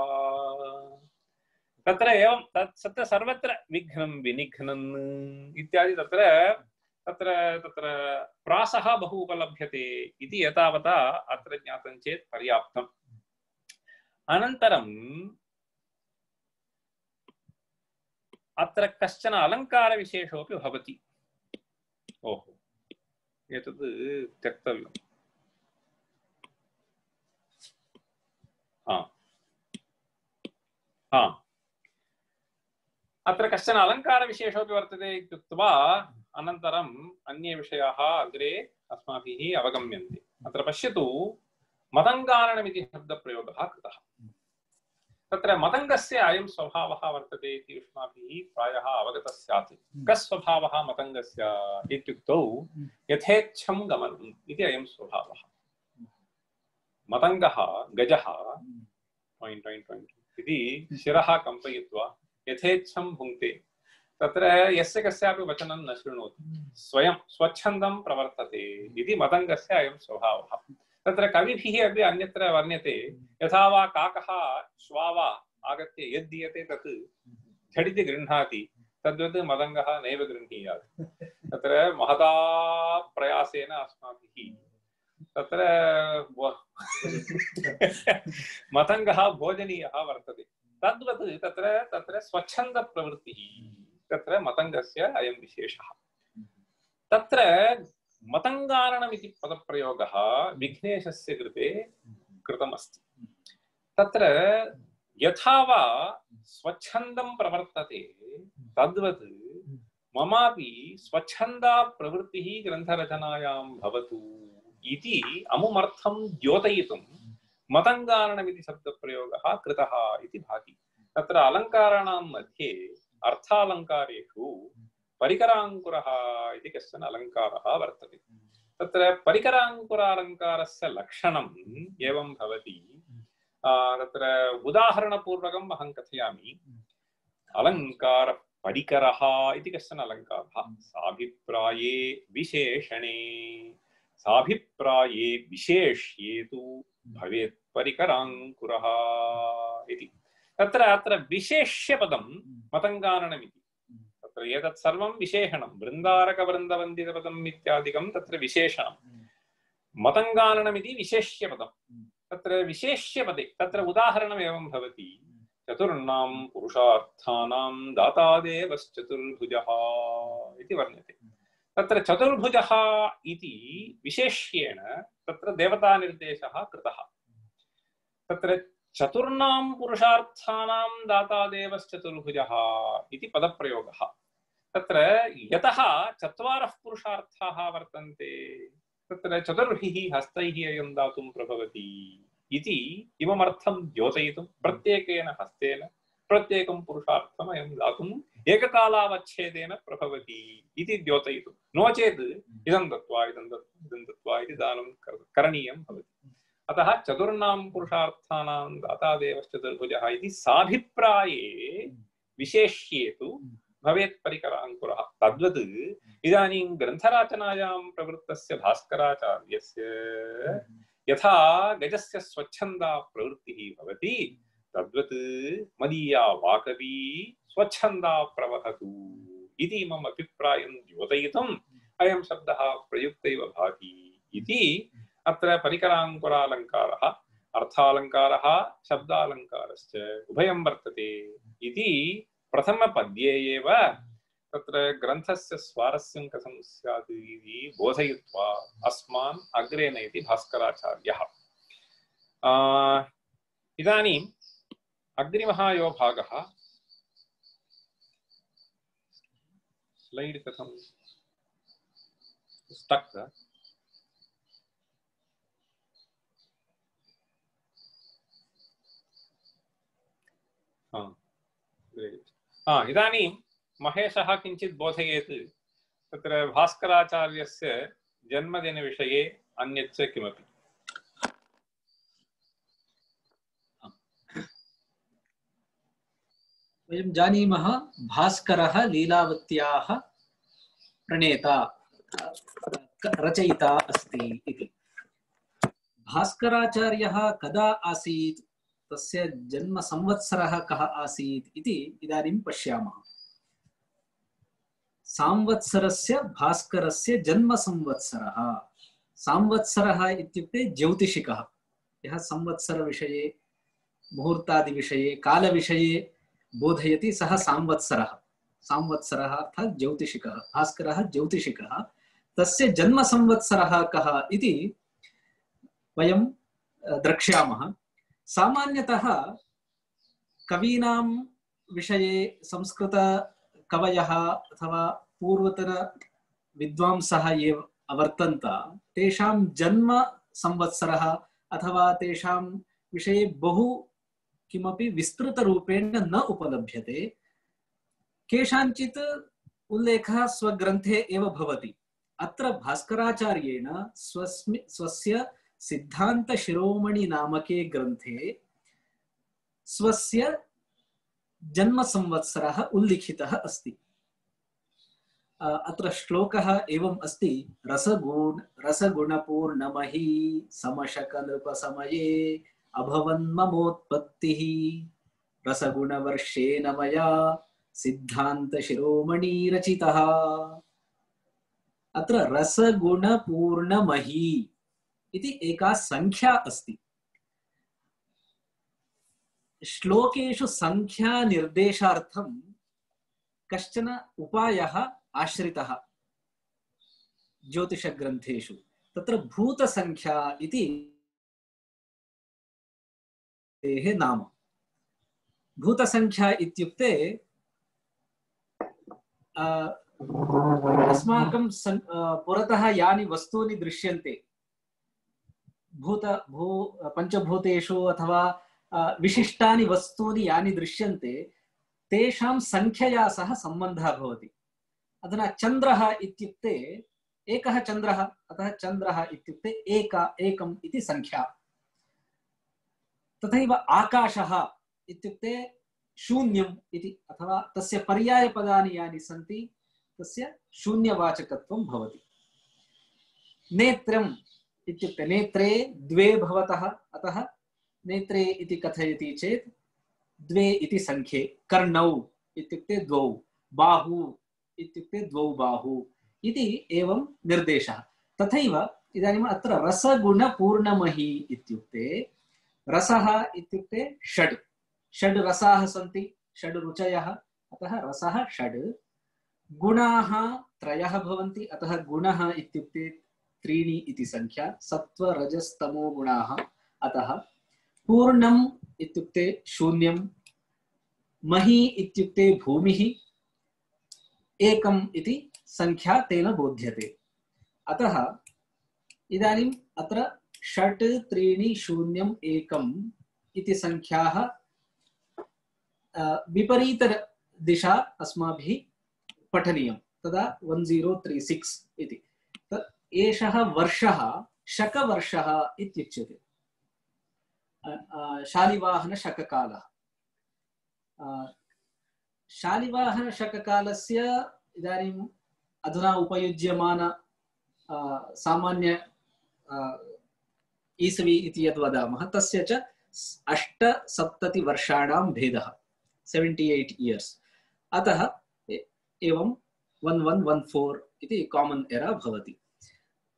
तत्र एवं तत्र सर्वत्र विघ्नं विनिघ्नन् इत्यादि तत्र तत्र तत्र प्रासः बहु उपलभ्यते इति एतावता अत्र ज्ञातं चेत् पर्याप्तम्। अनन्तरम् अत्र कश्चन अलङ्कारविशेषोऽपि भवति। ओहो एतद् त्यक्तव्यम्। हा हा अत्र कश्चन अलङ्कारविशेषोऽपि वर्तते इत्युक्त्वा अनन्तरम् अन्ये विषयाः अग्रे अस्माभिः अवगम्यन्ते। अत्र पश्यतु मतङ्गारणमिति शब्दप्रयोगः कृतः। तत्र मतङ्गस्य अयं स्वभावः वर्तते इति युष्माभिः प्रायः अवगतः स्यात्। कः स्वभावः मतङ्गस्य इत्युक्तौ यथेच्छं गमनम् इति अयं स्वभावः। मतङ्गः गजः टॉइन् टॉइन् टॉइन् इति शिरः कम्पयित्वा यथेच्छं भुङ्क्ते। तत्र यस्य कस्यापि वचनं न शृणोति, स्वयं स्वच्छन्दं प्रवर्तते इति मतङ्गस्य अयं स्वभावः। तत्र कविभिः अपि अन्यत्र वर्ण्यते यथा वा काकः श्वा वा आगत्य यद्दीयते तत् झटिति गृह्णाति तद्वत् मतङ्गः नैव गृह्णीयात्। तत्र महता प्रयासेन अस्माभिः तत्र मतङ्गः भोजनीयः वर्तते। तद्वत् तत्र तत्र स्वच्छन्दप्रवृत्तिः तत्र मतङ्गस्य अयं विशेषः। तत्र मतङ्गारणमिति पदप्रयोगः विघ्नेशस्य कृते कृतमस्ति। तत्र यथा वा स्वच्छन्दं प्रवर्तते तद्वत् ममापि स्वच्छन्दा प्रवृत्तिः ग्रन्थरचनायां भवतु इति अमुमर्थं द्योतयितुं मतङ्गारणमिति शब्दप्रयोगः कृतः इति भाति। तत्र अलङ्काराणां मध्ये अर्थालङ्कारेषु परिकराङ्कुरः इति कश्चन अलङ्कारः वर्तते। तत्र परिकराङ्कुरालङ्कारस्य लक्षणम् एवं भवति। तत्र उदाहरणपूर्वकम् अहं कथयामि। अलङ्कारः परिकरः इति कश्चन अलङ्कारः साभिप्राये विशेषणे साभिप्राये विशेष्ये तु भवेत् परिकराङ्कुरः इति। तत्र अत्र विशेष्यपदं मतङ्गारणमिति। तत्र एतत् सर्वं विशेषणं वृन्दारकवृन्दवन्दितपदम् इत्यादिकं तत्र विशेषणं। मतङ्गारणमिति विशेष्यपदं। तत्र विशेष्यपदे तत्र उदाहरणम् एवं भवति। चतुर्णां पुरुषार्थानां दातादेवश्चतुर्भुजः इति वर्ण्यते। तत्र चतुर्भुजः इति विशेष्येण तत्र देवतानिर्देशः कृतः। तत्र चतुर्णां पुरुषार्थानां दातादेवश्चतुर्भुजः इति पदप्रयोगः। तत्र यतः चत्वारः पुरुषार्थाः वर्तन्ते तत्र चतुर्भिः हस्तैः अयं दातुं प्रभवति इति इममर्थं द्योतयितुं प्रत्येकेन हस्तेन प्रत्येकं पुरुषार्थम् अयं दातुम् एककालावच्छेदेन प्रभवति इति द्योतयितुं। नो चेत् इदं दत्त्वा इदं दत्त्वा इदं दत्त्वा इति दानं करणीयं भवति। अतः चतुर्णां पुरुषार्थानां दातादेवश्चतुर्भुजः इति साभिप्राये विशेष्ये तु भवेत् परिकराङ्कुरः। तद्वत् इदानीं ग्रन्थरचनायां प्रवृत्तस्य भास्कराचार्यस्य यथा गजस्य स्वच्छन्दा प्रवृत्तिः भवति तद्वत् मदीया वाकवी स्वच्छन्दा प्रवहतु इति मम अभिप्रायं द्योतयितुम् अयं शब्दः प्रयुक्त इव भाति इति अत्र परिकराङ्कुरालङ्कारः अर्थालङ्कारः शब्दालङ्कारश्च उभयं वर्तते इति प्रथमपद्ये एव तत्र ग्रन्थस्य स्वारस्यं कथं स्यात् इति बोधयित्वा अस्मान् अग्रे नयति भास्कराचार्यः। इदानीम् अग्रिमः यो भागः स्लैड् कथं स्टक् हाँ इदानीं महेशः किञ्चित् बोधयेत् तत्र भास्कराचार्यस्य जन्मदिनविषये अन्यच्च किमपि। वयं जानीमः भास्करः लीलावत्याः प्रणेता रचयिता अस्ति इति। भास्कराचार्यः कदा आसीत् तस्य जन्म संवत्सरः कः आसीत् इति इदानीं पश्यामः। संवत्सरस्य भास्करस्य जन्म संवत्सरः। संवत्सरः इत्युक्ते ज्योतिषिकः यः संवत्सर विषये मुहूर्तादि विषये काल विषये बोधयति सः संवत्सरः। संवत्सरः अर्थात् ज्योतिषिकः। भास्करः ज्योतिषिकः। तस्य जन्म संवत्सरः कः इति वयं द्रक्ष्यामः। सामान्यतः कवीनां विषये संस्कृतकवयः अथवा पूर्वतन विद्वांसः ये अवर्तन्त तेषां जन्म संवत्सरः अथवा तेषां विषये बहु किमपि विस्तृतरूपेण न उपलभ्यते। केषाञ्चित् उल्लेखः स्वग्रन्थे एव भवति। अत्र भास्कराचार्येण स्वस्मि स्वस्य सिद्धान्तशिरोमणि नामके ग्रन्थे स्वस्य जन्म संवत्सरः उल्लिखितः अस्ति। अत्र श्लोकः एवम् अस्ति, रसगुण रसगुणपूर्णमही समशकनृपसमये अभवन्ममोत्पत्तिः रसगुणवर्षेण मया सिद्धान्तशिरोमणि रचितः। अत्र रसगुणपूर्णमही इति एका संख्या अस्ति। श्लोकेषु संख्या निर्देशार्थं कश्चन उपायः आश्रितः ज्योतिषग्रन्थेषु। तत्र भूतसंख्या इति नाम। भूतसंख्या इत्युक्ते अस्माकं पुरतः यानि वस्तूनि दृश्यन्ते भूत भू पंचभूतेषु अथवा विशिष्टानि वस्तूनि यानि दृश्यन्ते तेषां संख्यया सह सम्बन्धः भवति। अधुना चन्द्रः इत्युक्ते एकः चन्द्रः, अतः चन्द्रः इत्युक्ते एका एकम् इति संख्या। तथैव आकाशः इत्युक्ते शून्यम् इति, अथवा तस्य पर्यायपदानि यानि सन्ति तस्य शून्यवाचकत्वं भवति। नेत्रम् इत्युक्ते नेत्रे द्वे भवतः, अतः नेत्रे इति कथयति चेत् द्वे इति संख्ये। कर्णौ इत्युक्ते द्वौ, बाहु इत्युक्ते द्वौ बाहु इति एवं निर्देशः। तथैव इदानीम् अत्र रसगुणपूर्णमही इत्युक्ते रसः इत्युक्ते षड् षड् रसाः सन्ति, षड् रुचयः, अतः रसः षड्। गुणाः त्रयः भवन्ति, अतः गुणः इत्युक्ते त्रीणि इति संख्या। सत्त्व रजस्तमो गुणाः, अतः पूर्णम् इत्युक्ते शून्यं, मही इत्युक्ते भूमिः, एकम् इति संख्या तेन बोध्यते। अतः इदानीम् अत्र षट् त्रीणि शून्यम् एकम् इति संख्याः विपरीत दिशा अस्माभिः पठनीयं, तदा वन जीरो थ्री सिक्स इति। एषः वर्षः शकवर्षः इत्युच्यते। शालिवाहनशककालः। शालिवाहनशककालस्य इदानीम् अधुना उपयुज्यमान सामान्य ईसवी इति यद् वदामः तस्य च अष्टसप्तति वर्षाणां भेदः, सेवेंटी एट इयर्स। अतः एवं वन वन वन फोर इति कॉमन एरा भवति।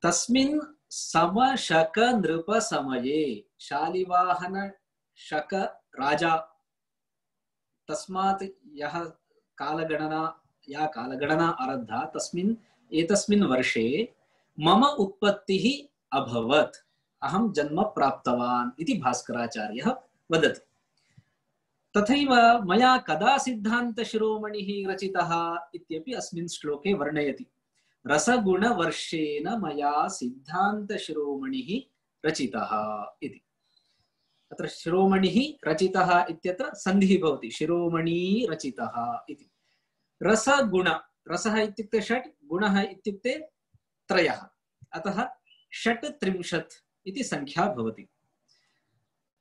तस्मिन् समशक नृप समये शालिवाहन शक राजा, तस्मात् यः कालगणना या कालगणना आरब्धा तस्मिन् एतस्मिन् वर्षे मम उत्पत्तिः अभवत्, अहं जन्म प्राप्तवान् इति भास्कराचार्यः वदति। तथैव मया कदा सिद्धान्तशिरोमणिः रचितः इत्यपि अस्मिन् श्लोके वर्णयति। रसगुणवर्षेण मया सिद्धान्तशिरोमणिः रचितः इति। अत्र शिरोमणिः रचितः इत्यत्र सन्धिः भवति, शिरोमणी रचितः इति। रसगुण, रसः इत्युक्ते षट्, गुणः इत्युक्ते त्रयः, अतः षट् त्रिंशत् इति संख्या भवति।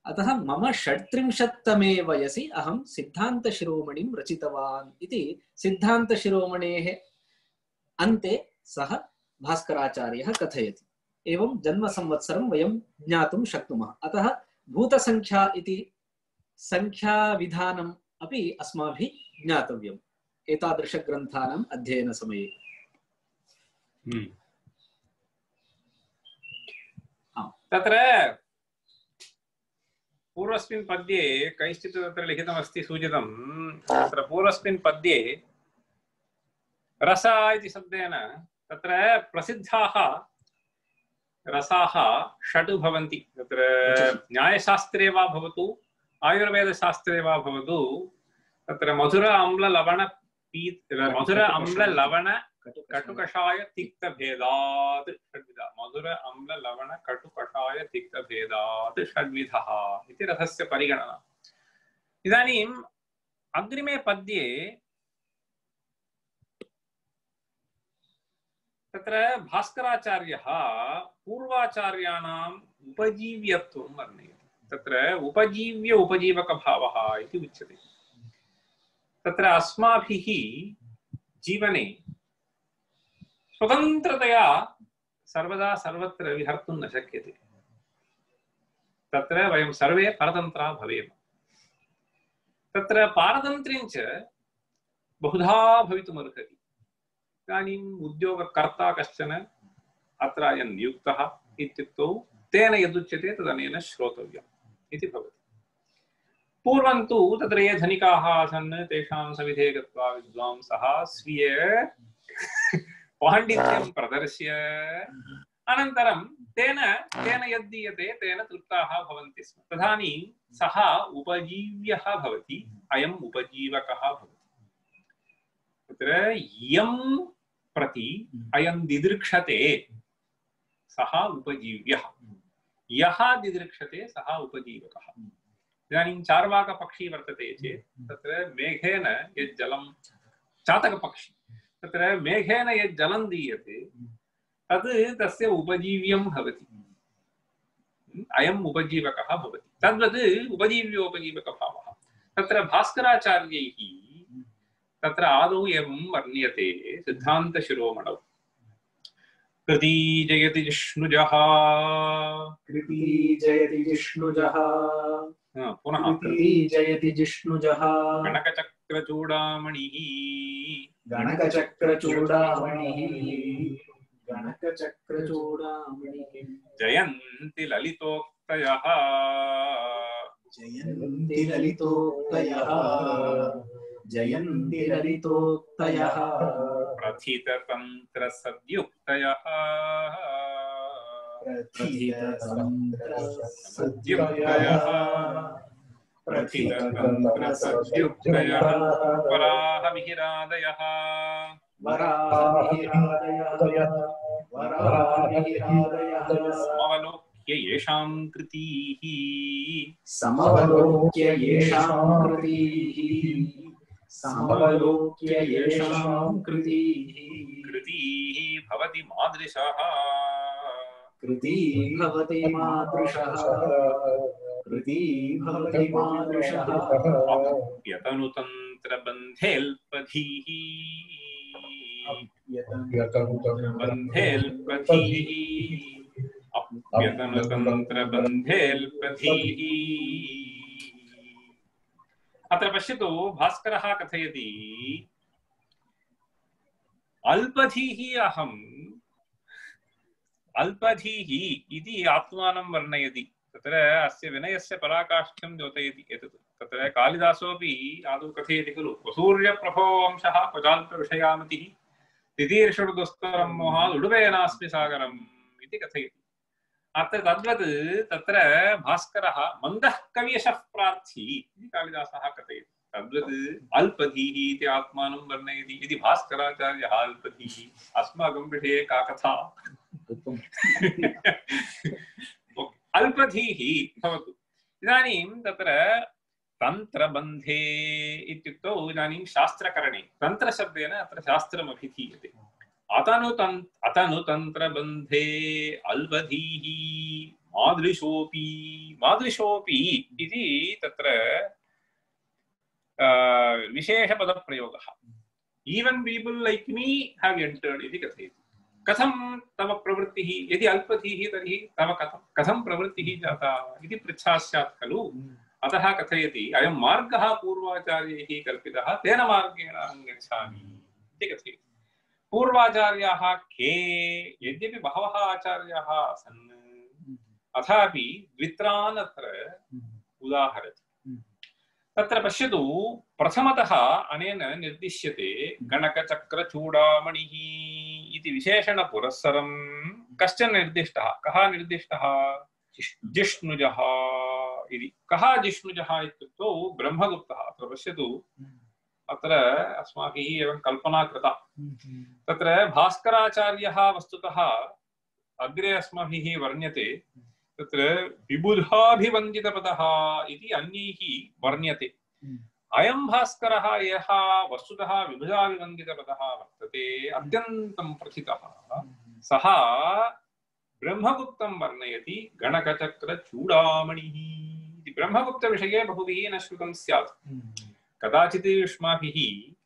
अतः मम षट्त्रिंशत्तमे वयसि अहं सिद्धान्तशिरोमणिं रचितवान् इति सिद्धान्तशिरोमणेः अन्ते सः भास्कराचार्यः कथयति। एवं जन्मसंवत्सरं वयं ज्ञातुं शक्नुमः। अतः भूतसंख्या इति संख्याविधानम् अपि अस्माभिः ज्ञातव्यम् एतादृशग्रन्थानाम् अध्ययनसमये। तत्र पूर्वस्मिन् पद्ये कैश्चित् तत्र लिखितमस्ति, सूचितं। तत्र पूर्वस्मिन् पद्ये रस इति शब्देन तत्र प्रसिद्धाः रसाः षड् भवन्ति। तत्र न्यायशास्त्रे वा भवतु आयुर्वेदशास्त्रे वा भवतु तत्र मधुर अम्ल लवण पीत मधुर अम्ल लवण कटुकषाय तिक्तभेदात् षड्विधः मधुर अम्ल लवण कटुकषाय तिक्तभेदात् षड्विधः इति रसस्य परिगणना। इदानीम् अग्रिमे पद्ये तत्र भास्कराचार्यः पूर्वाचार्याणाम् उपजीव्यत्वं वर्णयति। तत्र उपजीव्य उपजीवकभावः इति उच्यते। तत्र अस्माभिः जीवने स्वतन्त्रतया सर्वदा सर्वत्र विहर्तुं न शक्यते। तत्र वयं सर्वे परतन्त्रा भवेम। तत्र पारतन्त्र्यं च बहुधा भवितुमर्हति। इदानीम् उद्योगकर्ता कश्चन अत्र अयं नियुक्तः इत्युक्तौ तेन यदुच्यते तदनेन श्रोतव्यम् इति भवति। पूर्वं तु तत्र ये धनिकाः आसन् तेषां सविधे गत्वा विद्वांसः स्वीय पाण्डित्यं प्रदर्श्य अनन्तरं तेन तेन यद्दीयते तेन तृप्ताः भवन्ति स्म। तदानीं सः उपजीव्यः भवति, अयम् उपजीवकः भवति। तत्र यं प्रति अयं दिदृक्षते सः उपजीव्यः, यः दिदृक्षते सः उपजीवकः। इदानीं चार्वाकपक्षी वर्तते चेत् तत्र मेघेन यत् जलं चातकपक्षी तत्र मेघेन यत् जलं दीयते तद् तस्य उपजीव्यं भवति, अयम् उपजीवकः भवति। तद्वत् उपजीव्योपजीवकभावः तत्र भास्कराचार्यैः तत्र आदौ एवं वर्ण्यते सिद्धान्तशिरोमणौ। कृती जयति जिष्णुजः, कृती जयति जिष्णुजः, पुनः कृती जयति जिष्णुजः, गणकचक्रचूडामणिः, गणकचक्रचूडामणिः, गणकचक्रचूडामणिः, जयन्ति ललितोक्तयः, जयन्ति ललितोक्तयः, जयन्ति ललितोक्तयः, प्रथिततन्त्रसद्युक्तयः, प्रथिततन्त्रसद्युक्तयः, प्रथिततन्त्रसद्युक्तयः, वराहमिहिरादयः, वराहमिहिरादयः, वराहमिहिरादयः, समवलोक्य येषां कृतीः, समवलोक्य येषां कृतीः, समवलोक्य येषां कृतीः, कृतीः भवति मादृशः, कृती भवति मादृशः, कृती भवति मादृशः, अप्यतनुतन्त्रबन्धेऽल्पधीः, अप्यतनुतन्त्रबन्धेऽल्पधीः, अप्यतनुतन्त्रबन्धेऽल्पधीः। अत्र पश्यतु, भास्करः कथयति अल्पधीः अहम् अल्पधीः इति आत्मानं वर्णयति। तत्र अस्य विनयस्य पराकाष्ठ्यं द्योतयति एतत्। तत्र कालिदासोऽपि आदौ कथयति खलु, क्वसूर्यप्रभो वंशः क्वचाल्पविषयामतिः तितीर्षुर्दुस्तरं मोहात् उडुबेनास्मि सागरम् इति कथयति। अत्र तद्वत् तत्र भास्करः मन्दः कवियशः प्रार्थी इति कालिदासः कथयति। तद्वत् अल्पधीः इति आत्मानं वर्णयति। यदि भास्कराचार्यः अल्पधीः, अस्माकं विषये का कथा? अल्पधीः भवतु। इदानीं तत्र तन्त्रबन्धे इत्युक्तौ इदानीं शास्त्रकरणे तन्त्रशब्देन अत्र शास्त्रमभिधीयते। अतनुतन् अतनुतन्त्रबन्धे अल्पधीः मादृशोऽपि मादृशोऽपि इति तत्र विशेषपदप्रयोगः। Even people like me have entered इति कथयति। कथं तव प्रवृत्तिः, यदि अल्पधीः तर्हि तव कथं कथं प्रवृत्तिः जाता इति पृच्छा स्यात् खलु। अतः कथयति अयं मार्गः पूर्वाचार्यैः कल्पितः, तेन मार्गेण अहं गच्छामि इति कथयति। पूर्वाचार्याः के? यद्यपि बहवः आचार्याः आसन्, अथापि द्वित्रान् अत्र उदाहरति। तत्र पश्यतु, प्रथमतः अनेन निर्दिश्यते गणकचक्रचूडामणिः इति विशेषणपुरस्सरं कश्चन निर्दिष्टः। कः निर्दिष्टः? जिष्णुजः इति कः जिष्णुजः इत्युक्तौ ब्रह्मगुप्तः अत्र पश्यतु अत्र अस्माभिः एवं कल्पना कृता तत्र भास्कराचार्यः वस्तुतः अग्रे अस्माभिः वर्ण्यते तत्र विबुधाभिवन्दितपदः इति अन्यैः वर्ण्यते अयं भास्करः यः वस्तुतः विबुधाभिवन्दितपदः वर्तते अत्यन्तं प्रथितः सः ब्रह्मगुप्तं वर्णयति गणकचक्रचूडामणिः इति ब्रह्मगुप्तविषये बहुभिः न श्रुतं स्यात् कदाचित् युष्माभिः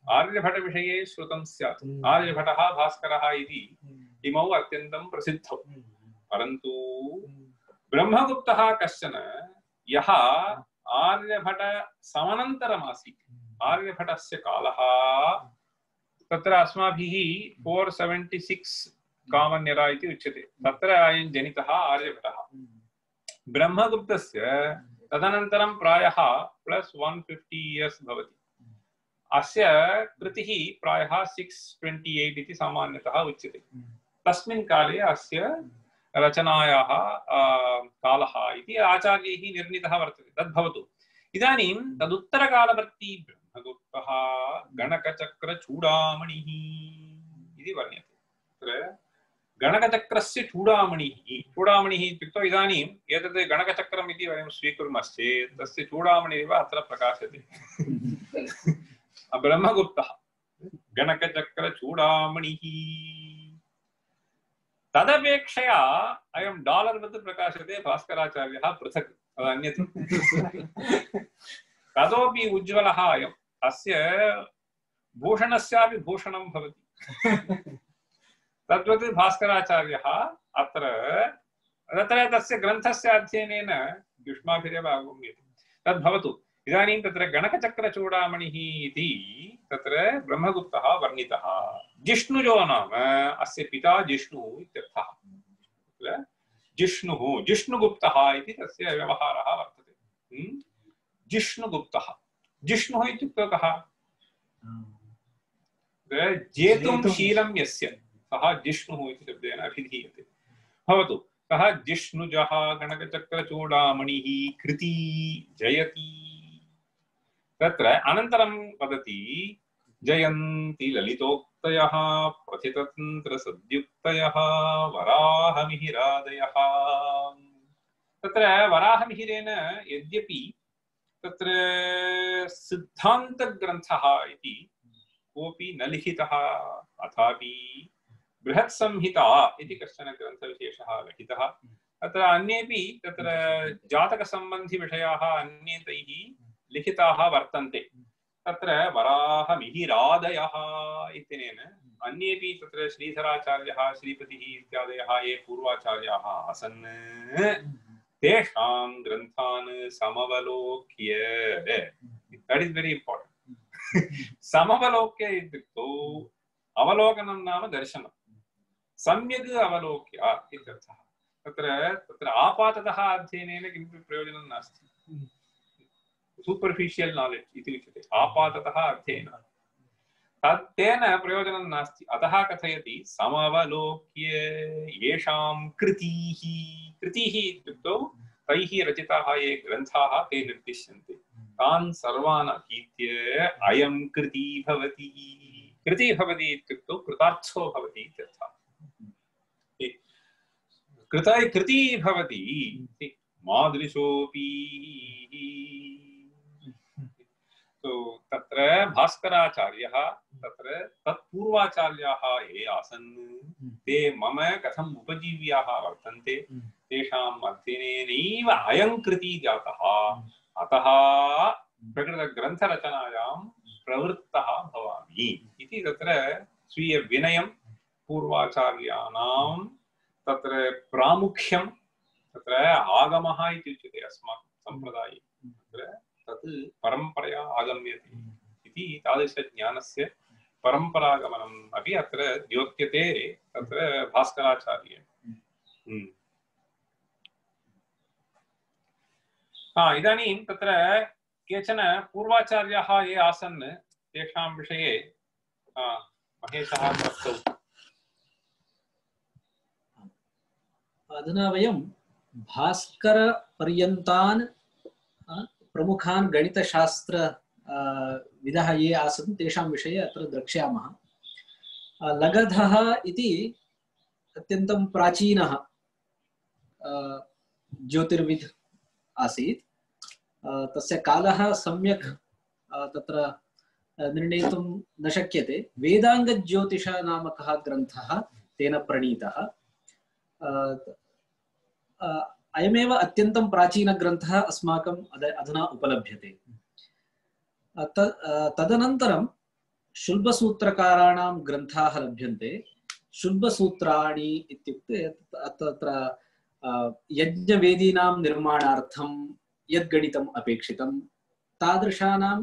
आर्यभटविषये श्रुतं स्यात् आर्यभटः भास्करः इति इमौ अत्यन्तं प्रसिद्धौ परन्तु ब्रह्मगुप्तः कश्चन यः आर्यभट समनन्तरमासीत् आर्यभटस्य कालः तत्र अस्माभिः for seventy six common era इति उच्यते तत्र अयं जनितः आर्यभटः ब्रह्मगुप्तस्य तदनन्तरं प्रायः प्लस वन फिफ्टी इयर्स भवति अस्य कृतिः प्रायः सिक्स ट्वेंटी एट इति सामान्यतः उच्यते तस्मिन् काले अस्य रचनायाः कालः इति आचार्यैः निर्णीतः वर्तते तद्भवतु इदानीं तदुत्तरकालवर्ती ब्रह्मगुप्तः गणकचक्रचूडामणिः इति वर्ण्यते तत्र गणकचक्रस्य चूडामणिः चूडामणिः इत्युक्तौ इदानीम् एतद् गणकचक्रम् इति वयं स्वीकुर्मश्चेत् तस्य चूडामणिरेव अत्र प्रकाशते ब्रह्मगुप्तः गणकचक्रचूडामणिः तदपेक्षया अयं डालर् वत् प्रकाशते भास्कराचार्यः पृथक् तदन्यत् ततोपि उज्ज्वलः अयम् अस्य भूषणस्यापि भूषणं भवति तद्वत् भास्कराचार्यः अत्र तत्र तस्य ग्रन्थस्य अध्ययनेन युष्माभिरेव अवगम्यते तद्भवतु इदानीं तत्र गणकचक्रचूडामणिः इति तत्र ब्रह्मगुप्तः वर्णितः जिष्णुजो नाम अस्य पिता जिष्णुः इत्यर्थः जिष्णुः जिष्णुगुप्तः इति तस्य व्यवहारः वर्तते जिष्णुगुप्तः जिष्णुः इत्युक्तौ कः जेतुं शीलं यस्य सः जिष्णुः इति शब्देन अभिधीयते भवतु सः जिष्णुजः गणकचक्रचूडामणिः कृती जयति तत्र अनन्तरं वदति जयन्ति ललितोक्तयः प्रथिततन्त्रसद्युक्तयः वराहमिहिरादयः तत्र वराहमिहिरेण यद्यपि तत्र सिद्धान्तग्रन्थः इति कोऽपि न लिखितः अथापि बृहत्संहिता इति कश्चन ग्रन्थविशेषः लिखितः तत्र अन्येपि तत्र जातकसम्बन्धिविषयाः अन्ये तैः लिखिताः वर्तन्ते तत्र वराहमिहिरादयः इत्यनेन अन्येपि तत्र श्रीधराचार्यः श्रीपतिः इत्यादयः ये पूर्वाचार्याः आसन् तेषां ग्रन्थान् समवलोक्य दट् इस् वेरी इम्पार्टेण्ट् समवलोक्य इत्युक्तौ अवलोकनं नाम दर्शनं सम्यक् अवलोक्य इत्यर्थः तत्र तत्र आपाततः अध्ययनेन किमपि प्रयोजनं नास्ति सूपर्फिशियल् नालेज् इति उच्यते आपाततः अध्ययनं तत् तेन प्रयोजनं नास्ति अतः कथयति समवलोक्य येषां कृतीः कृतीः इत्युक्तौ तैः रचिताः ये ग्रन्थाः ते निर्दिश्यन्ते तान् सर्वान् अधीत्य अयं कृती भवति कृति भवति इत्युक्तौ कृतार्थो भवति इत्यर्थः कृता कृति भवति मादृशोऽपि तो तत्र भास्कराचार्यः तत्र तत्पूर्वाचार्याः ये आसन् ते मम कथम् उपजीव्याः वर्तन्ते तेषाम् अध्ययनेनैव अयं कृति जातः अतः प्रकृतग्रन्थरचनायां प्रवृत्तः भवामि इति तत्र स्वीयविनयं पूर्वाचार्याणां तत्र प्रामुख्यं तत्र आगमः इति उच्यते अस्माकं सम्प्रदाये तत्र तत् परम्परया आगम्यते इति तादृशज्ञानस्य परम्परागमनम् अपि अत्र द्योत्यते तत्र भास्कराचार्येण हा इदानीं तत्र केचन पूर्वाचार्याः ये आसन् तेषां विषये महेशः प्रस्तौ अधुना वयं भास्कर पर्यन्तान् प्रमुखान् गणितशास्त्र विदः ये आसन् तेषां विषये अत्र द्रक्ष्यामः। लगधः इति अत्यन्तं प्राचीनः ज्योतिर्विद् आसीत्। तस्य कालः सम्यक् तत्र निर्णेतुं न शक्यते। वेदाङ्गज्योतिष नामकः ग्रन्थः तेन प्रणीतः। अयमेव अत्यन्तं प्राचीनग्रन्थः अस्माकम् अधुना उपलभ्यते। तदनन्तरं शुल्बसूत्रकाराणां ग्रन्थाः लभ्यन्ते। शुल्बसूत्राणि इत्युक्ते तत्र यज्ञवेदीनां निर्माणार्थं यद्गणितम् अपेक्षितं तादृशानां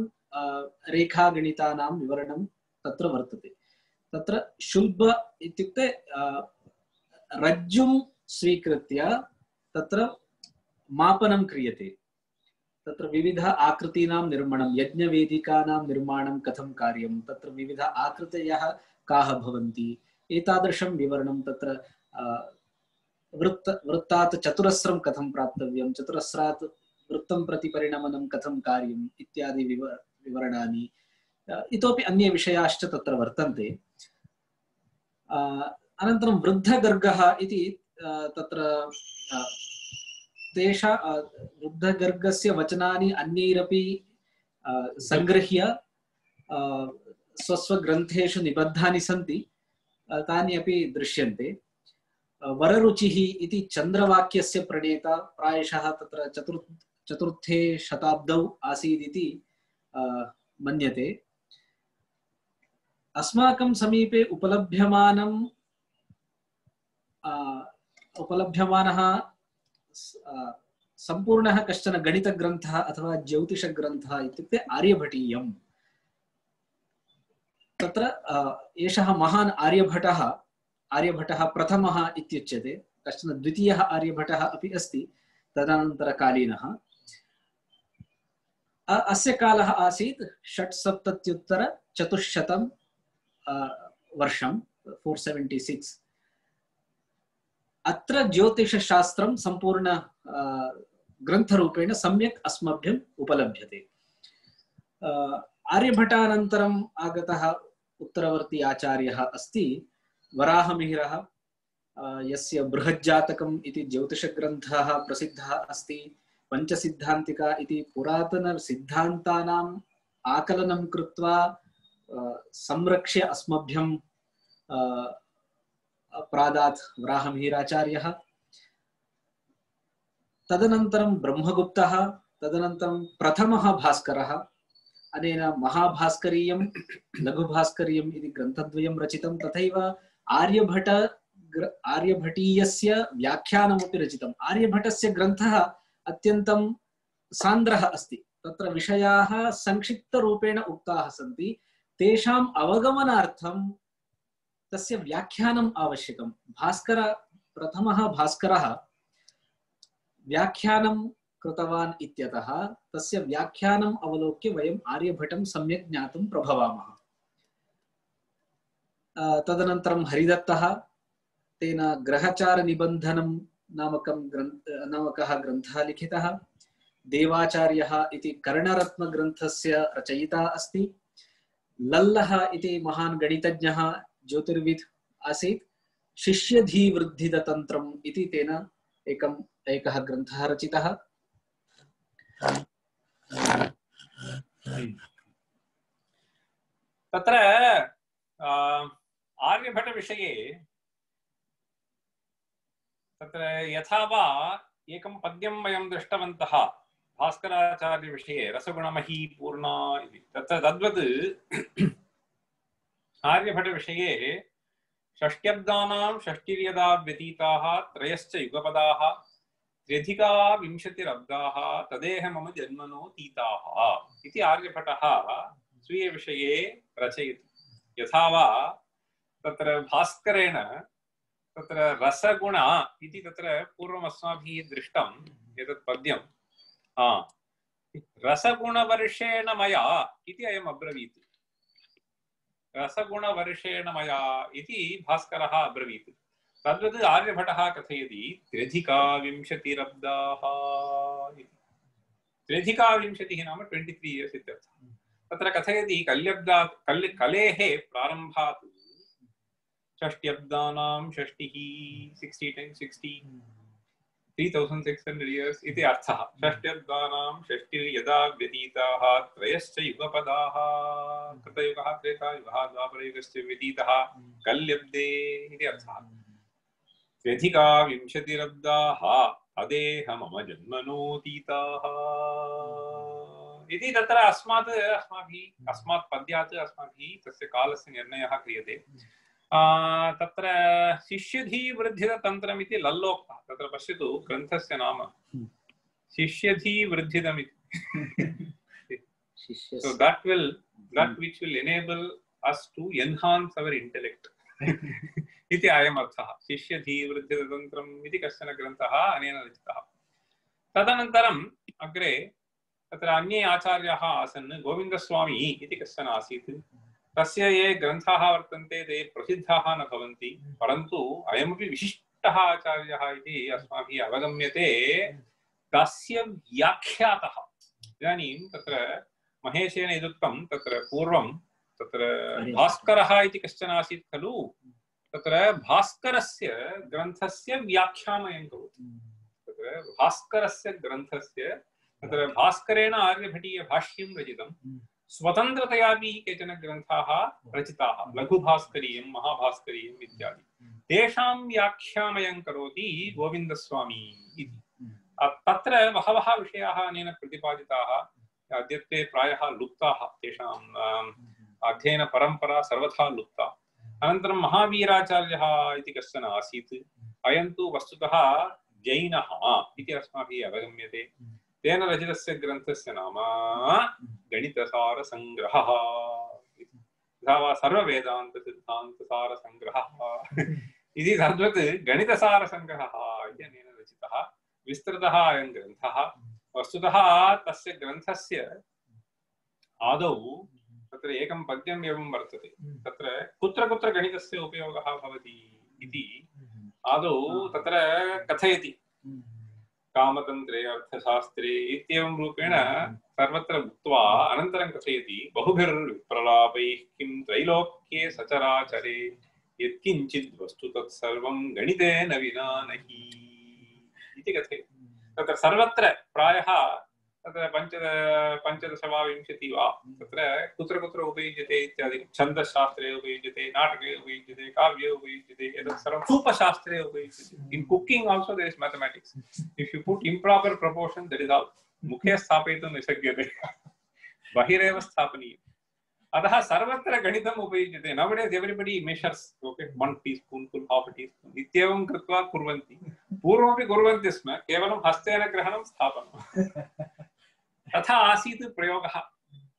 रेखागणितानां विवरणं तत्र वर्तते। तत्र शुल्ब इत्युक्ते रज्जुं स्वीकृत्य तत्र मापनं क्रियते। तत्र विविध आकृतीनां निर्माणं, यज्ञवेदिकानां निर्माणं कथं कार्यं, तत्र विविध आकृतयः काः भवन्ति, एतादृशं विवरणं तत्र वृत्त वृत्तात् चतुरस्रं कथं प्राप्तव्यं, चतुरस्रात् वृत्तं प्रति परिणमनं कथं कार्यम् इत्यादि विवर विवरणानि इतोपि अन्ये विषयाश्च तत्र वर्तन्ते। अनन्तरं वृद्धगर्गः इति तत्र तेषा वृद्धगर्गस्य वचनानि अन्यैरपि संगृह्य स्वस्वग्रन्थेषु निबद्धानि सन्ति, तानि अपि दृश्यन्ते। वररुचिः इति चन्द्रवाक्यस्य प्रणेता प्रायशः तत्र चतुर् चतुर्थे शताब्दौ आसीत् इति मन्यते। अस्माकं समीपे उपलभ्यमानं उपलभ्यमानः सम्पूर्णः कश्चन गणितग्रन्थः अथवा ज्योतिषग्रन्थः इत्युक्ते आर्यभटीयम्। तत्र एषः महान् आर्यभटः आर्यभटः प्रथमः इत्युच्यते। कश्चन द्वितीयः आर्यभटः अपि अस्ति तदनन्तरकालीनः। अस्य कालः आसीत् षट्सप्तत्युत्तर चतुश्शतं वर्षं फोर् सेवेण्टि सिक्स्। अत्र ज्योतिषशास्त्रं सम्पूर्ण ग्रन्थरूपेण सम्यक् अस्मभ्यम् उपलभ्यते। आर्यभटानन्तरम् आगतः उत्तरवर्ती आचार्यः अस्ति वराहमिहिरः, यस्य बृहज्जातकम् इति ज्योतिषग्रन्थः प्रसिद्धः अस्ति। पञ्चसिद्धान्तिका इति पुरातनसिद्धान्तानाम् आकलनं कृत्वा संरक्ष्य अस्मभ्यं प्रादात् वराहमिहिराचार्यः। तदनन्तरं ब्रह्मगुप्तः, तदनन्तरं प्रथमः भास्करः। अनेन महाभास्करीयं लघुभास्करीयम् इति ग्रन्थद्वयं रचितं। तथैव आर्यभट आर्यभटीयस्य व्याख्यानमपि रचितम्। आर्यभटस्य ग्रन्थः अत्यन्तं सान्द्रः अस्ति। तत्र विषयाः संक्षिप्तरूपेण उक्ताः सन्ति। तेषाम् अवगमनार्थं तस्य व्याख्यानम् आवश्यकं। भास्कर प्रथमः भास्करः व्याख्यानं कृतवान् इत्यतः तस्य व्याख्यानम् अवलोक्य वयम् आर्यभटं सम्यक् ज्ञातुं प्रभवामः। तदनन्तरं हरिदत्तः, तेन ग्रहचारनिबन्धनं नामकं ग्रन्थ नामकः ग्रन्थः लिखितः। देवाचार्यः इति कर्णरत्नग्रन्थस्य रचयिता अस्ति। लल्लः इति महान् गणितज्ञः ज्योतिर्विद् आसीत्। शिष्यधीवृद्धिदतन्त्रम् इति तेन एकम् एकः ग्रन्थः रचितः। तत्र आर्यभटविषये तत्र यथा वा एकं पद्यं वयं दृष्टवन्तः भास्कराचार्यविषये रसगुणमही पूर्णा इति। तत्र तद्वत् आर्यभटविषये षष्ट्यब्दानां षष्टिर्यदा व्यतीताः त्रयश्च युगपदाः त्र्यधिका विंशतिरब्दाः तदेह मम जन्मनो तीताः इति आर्यभटः स्वीयविषये रचयति। यथा वा तत्र भास्करेण तत्र रसगुण इति तत्र पूर्वम् अस्माभिः दृष्टम् एतत् पद्यं रसगुणवर्षेण मया इति अयम् अब्रवीत्। रसगुणवर्षेण मया इति भास्करः अब्रवीत्। तद्वत् आर्यभटः कथयति त्र्यधिका विंशतिरब्दाः इति। त्र्यधिकाविंशतिः नाम ट्वेण्टि त्री इयर्स् इत्यर्थः। तत्र कथयति कल्यब्दा कल् कलेः प्रारम्भात् षष्ट्यब्दानां षष्टिः sixty times sixty three thousand six hundred years इति अर्थः। षष्ट्यब्दानां षष्टिर् यदा व्यतीताः त्रयश्च युगपदाः कृतयुगः त्रेतायुगः द्वापरयुगश्च व्यतीतः कल्यब्दे इति अर्थः। त्र्यधिका विंशतिरब्दाः तदेह मम जन्मनोतीताः इति तत्र अस्मात् अस्माभिः अस्मात् पद्यात् अस्माभिः तस्य कालस्य निर्णयः क्रियते। तत्र शिष्यधीवृद्धितन्त्रम् इति लल्लोक्तः। तत्र पश्यतु ग्रन्थस्य नाम शिष्यधीवृद्धितम् इति। So that will that which will enable us to enhance our intellect इति अयम् अर्थः। शिष्यधीवृद्धितन्त्रम् इति कश्चन ग्रन्थः अनेन रचितः। तदनन्तरम् अग्रे तत्र अन्ये आचार्याः आसन्। गोविन्दस्वामी इति कश्चन आसीत्। तस्य ये ग्रन्थाः वर्तन्ते ते प्रसिद्धाः न भवन्ति, परन्तु अयमपि विशिष्टः आचार्यः इति अस्माभिः अवगम्यते। तस्य व्याख्यातः इदानीं तत्र महेशेन यदुक्तं तत्र पूर्वं तत्र भास्करः इति कश्चन आसीत् खलु। तत्र भास्करस्य ग्रन्थस्य व्याख्यामयं करोति। तत्र भास्करस्य ग्रन्थस्य तत्र भास्करेण आर्यभटीयभाष्यं रचितं। स्वतन्त्रतयापि केचन ग्रन्थाः रचिताः, लघुभास्करीयं महाभास्करीयम् इत्यादि। तेषां व्याख्यामयं करोति गोविन्दस्वामी इति। तत्र बहवः विषयाः अनेन प्रतिपादिताः। अद्यत्वे प्रायः लुप्ताः, तेषाम् अध्ययनपरम्परा सर्वथा लुप्ता। अनन्तरं महावीराचार्यः इति कश्चन आसीत्। अयं तु वस्तुतः जैनः इति अस्माभिः अवगम्यते। तेन रचितस्य ग्रन्थस्य नाम गणितसारसङ्ग्रहः तथा वा सर्ववेदान्तसिद्धान्तसारसङ्ग्रहः इति तद्वत् गणितसारसङ्ग्रहः इति अनेन रचितः विस्तृतः अयं ग्रन्थः। वस्तुतः तस्य ग्रन्थस्य आदौ तत्र एकं पद्यम् एवं वर्तते। तत्र कुत्र कुत्र गणितस्य उपयोगः भवति इति आदौ तत्र कथयति। कामतन्त्रे अर्थशास्त्रे इत्येवं रूपेण सर्वत्र उक्त्वा अनन्तरं कथयति बहुभिर्विप्रलापैः किं त्रैलोक्ये सचराचरे यत्किञ्चित् वस्तु तत्सर्वं गणितेन विना नहि इति कथयति। तत्र सर्वत्र प्रायः तत्र पञ्च पञ्चदश वा विंशति वा तत्र कुत्र कुत्र उपयुज्यते इत्यादि। छन्दशास्त्रे उपयुज्यते, नाटके उपयुज्यते, काव्ये उपयुज्यते, एतत् सर्वं सूपशास्त्रे उपयुज्यते। In cooking also there is mathematics. If you put improper proportion that is all. मुखे स्थापयितुं न शक्यते, बहिरेव स्थापनीयम्। अतः सर्वत्र गणितम् उपयुज्यते। नवडेस् एव्रिबडी मेशर्स्, ओके, वन् टीस्पून्फुल् हाफ् टीस्पून् इत्येवं कृत्वा कुर्वन्ति। पूर्वमपि कुर्वन्ति स्म, केवलं हस्तेन ग्रहणं स्थापनं। तथा आसीत् प्रयोगः।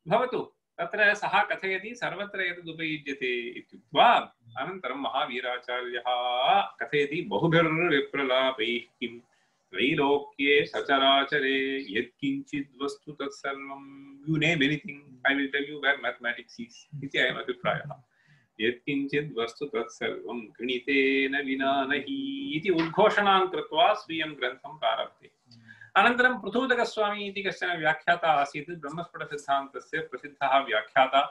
भवतु तत्र सः कथयति सर्वत्र एतद् उपयुज्यते इत्युक्त्वा अनन्तरं महावीराचार्यः कथयति बहुभिर्विप्रलापैः किं त्रैलोक्ये सचराचरे यत्किञ्चित् वस्तु तत्सर्वं you name anything I will tell you where mathematics is इति अयम् अभिप्रायः। यत्किञ्चित् वस्तु तत्सर्वं गणितेन विना नहि इति उद्घोषणां कृत्वा स्वीयं ग्रन्थं प्रारभते। अनन्तरं पृथूदकस्वामी इति कश्चन व्याख्याता आसीत्। ब्रह्मस्फुटसिद्धान्तस्य प्रसिद्धः व्याख्याता।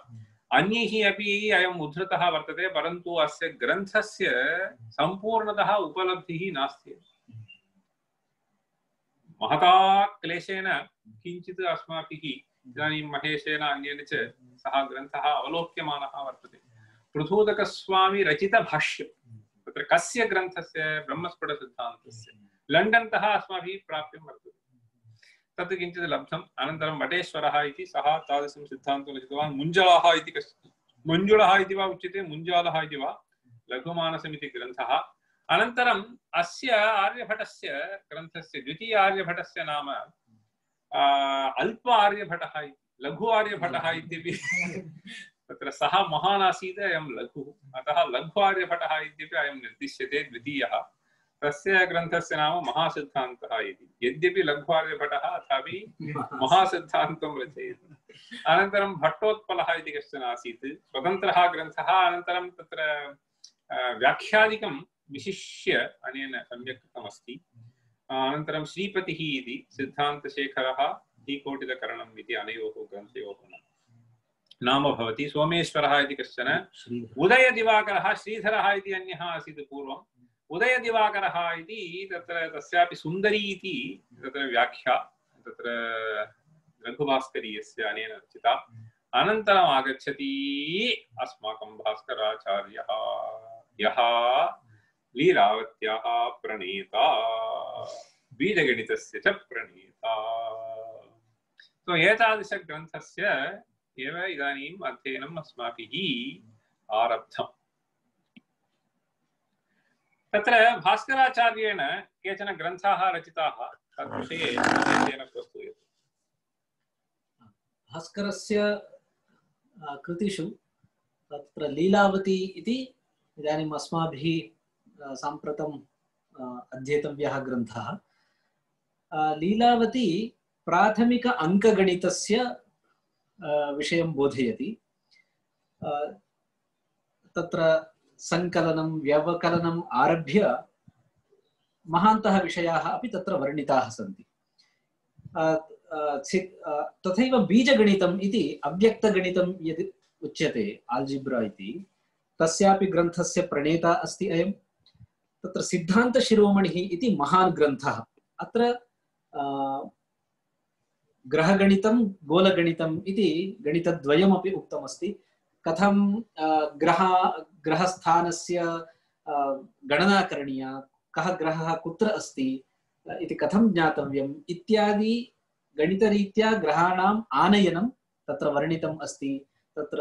अन्यैः अपि अयम् उद्धृतः वर्तते, परन्तु अस्य ग्रन्थस्य सम्पूर्णतः उपलब्धिः नास्ति। महता क्लेशेन किञ्चित् अस्माभिः इदानीं महेशेन अन्येन च सः ग्रन्थः अवलोक्यमानः वर्तते। पृथूदकस्वामी रचितभाष्यं तत्र कस्य ग्रन्थस्य? ब्रह्मस्फुटसिद्धान्तस्य। लण्डन् तः अस्माभिः प्राप्यं वर्तते। तत् किञ्चित् लब्धम्। अनन्तरं वटेश्वरः इति सः तादृशं सिद्धान्तं रचितवान्। मुञ्जलः इति कश् मुञ्जुलः इति वा उच्यते, मुञ्जालः इति वा, लघुमानसमिति ग्रन्थः। अनन्तरम् अस्य आर्यभटस्य ग्रन्थस्य द्वितीय आर्यभटस्य नाम अल्प आर्यभटः इति, लघु आर्यभटः इत्यपि तत्र सः महान् आसीत्, अयं लघुः, अतः लघु आर्यभटः इत्यपि अयं निर्दिश्यते द्वितीयः। तस्य ग्रन्थस्य नाम महासिद्धान्तः इति। यद्यपि लघु आर्यभटः अथापि महासिद्धान्तं रचयति। अनन्तरं भट्टोत्पलः इति कश्चन आसीत्, स्वतन्त्रः ग्रन्थः। अनन्तरं तत्र व्याख्यादिकं विशिष्य अनेन सम्यक् कृतमस्ति। अनन्तरं श्रीपतिः इति सिद्धान्तशेखरः धीकोटितकरणम् इति अनयोः ग्रन्थयोः नाम भवति। सोमेश्वरः इति कश्चन, उदयदिवाकरः, श्रीधरः इति अन्यः आसीत् पूर्वम्। उदयदिवाकरः इति तत्र तस्यापि सुन्दरी इति तत्र व्याख्या तत्र रघुभास्करीयस्य अनेन रचिता। अनन्तरम् आगच्छति अस्माकं भास्कराचार्यः, यः लीलावत्याः प्रणेता, बीजगणितस्य च प्रणेता। तो एतादृशग्रन्थस्य एव इदानीम् अध्ययनम् अस्माभिः आरब्धम्। तत्र भास्कराचार्येण केचन ग्रन्थाः रचिताः, तद्विषये तेन प्रस्तूयते। भास्करस्य कृतिषु तत्र लीलावती इति इदानीम् अस्माभिः साम्प्रतम् अध्येतव्यः ग्रन्थः। लीलावती प्राथमिक अङ्कगणितस्य विषयं बोधयति। तत्र संकलनं व्यवकलनम् आरभ्य महान्तः विषयाः अपि तत्र वर्णिताः सन्ति। तथैव बीजगणितम् इति अव्यक्तगणितं यद् उच्यते आल्जिब्रा इति, तस्यापि ग्रन्थस्य प्रणेता अस्ति अयं। तत्र सिद्धान्तशिरोमणिः इति महान् ग्रन्थः। अत्र ग्रहगणितं गोलगणितम् इति गणितद्वयमपि उक्तमस्ति। कथं ग्रह ग्रहस्थानस्य गणना करणीया, कः ग्रहः कुत्र अस्ति इति कथं ज्ञातव्यम् इत्यादि गणितरीत्या ग्रहाणाम् आनयनं तत्र वर्णितम् अस्ति। तत्र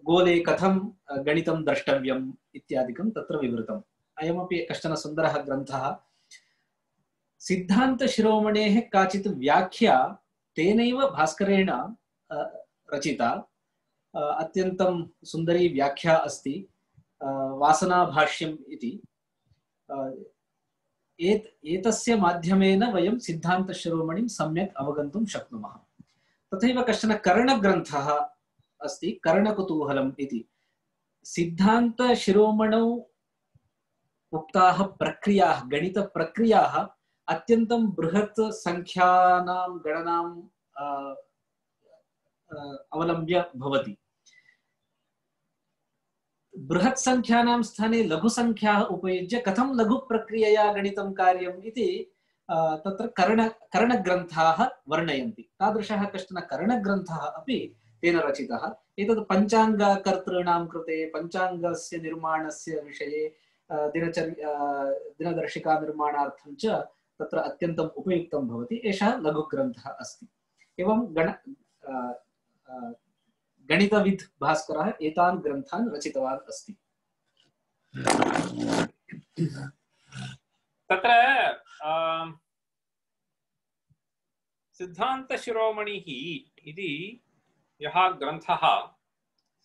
गोले कथं गणितं द्रष्टव्यम् इत्यादिकं तत्र विवृतम्। अयमपि कश्चन सुन्दरः ग्रन्थः। सिद्धान्तशिरोमणेः काचित् व्याख्या तेनैव भास्करेण रचिता। अत्यन्तं सुन्दरी व्याख्या अस्ति, वासनाभाष्यम् इति। एत एतस्य माध्यमेन वयं सिद्धान्तशिरोमणिं सम्यक् अवगन्तुं शक्नुमः। तथैव कश्चन करणग्रन्थः अस्ति, करणकुतूहलम् इति। सिद्धान्तशिरोमणौ उक्ताः प्रक्रियाः, गणितप्रक्रियाः अत्यन्तं बृहत् संख्यानां गणनां अवलम्ब्य भवति। बृहत् संख्यानां स्थाने लघु संख्याः उपयुज्य कथं लघु प्रक्रियया गणितं कार्यम् इति तत्र कर्ण करणग्रन्थाः वर्णयन्ति। तादृशः कश्चन करणग्रन्थः अपि तेन रचितः। एतत् पञ्चाङ्गकर्तॄणां कृते पञ्चाङ्गस्य निर्माणस्य विषये दिनचर्या दिनदर्शिका निर्माणार्थं च तत्र अत्यन्तम् उपयुक्तं भवति। एषः लघुग्रन्थः अस्ति। एवं गण गणितविद् भास्करः एतान् ग्रन्थान् रचितवान् अस्ति। तत्र सिद्धान्तशिरोमणिः इति यः ग्रन्थः,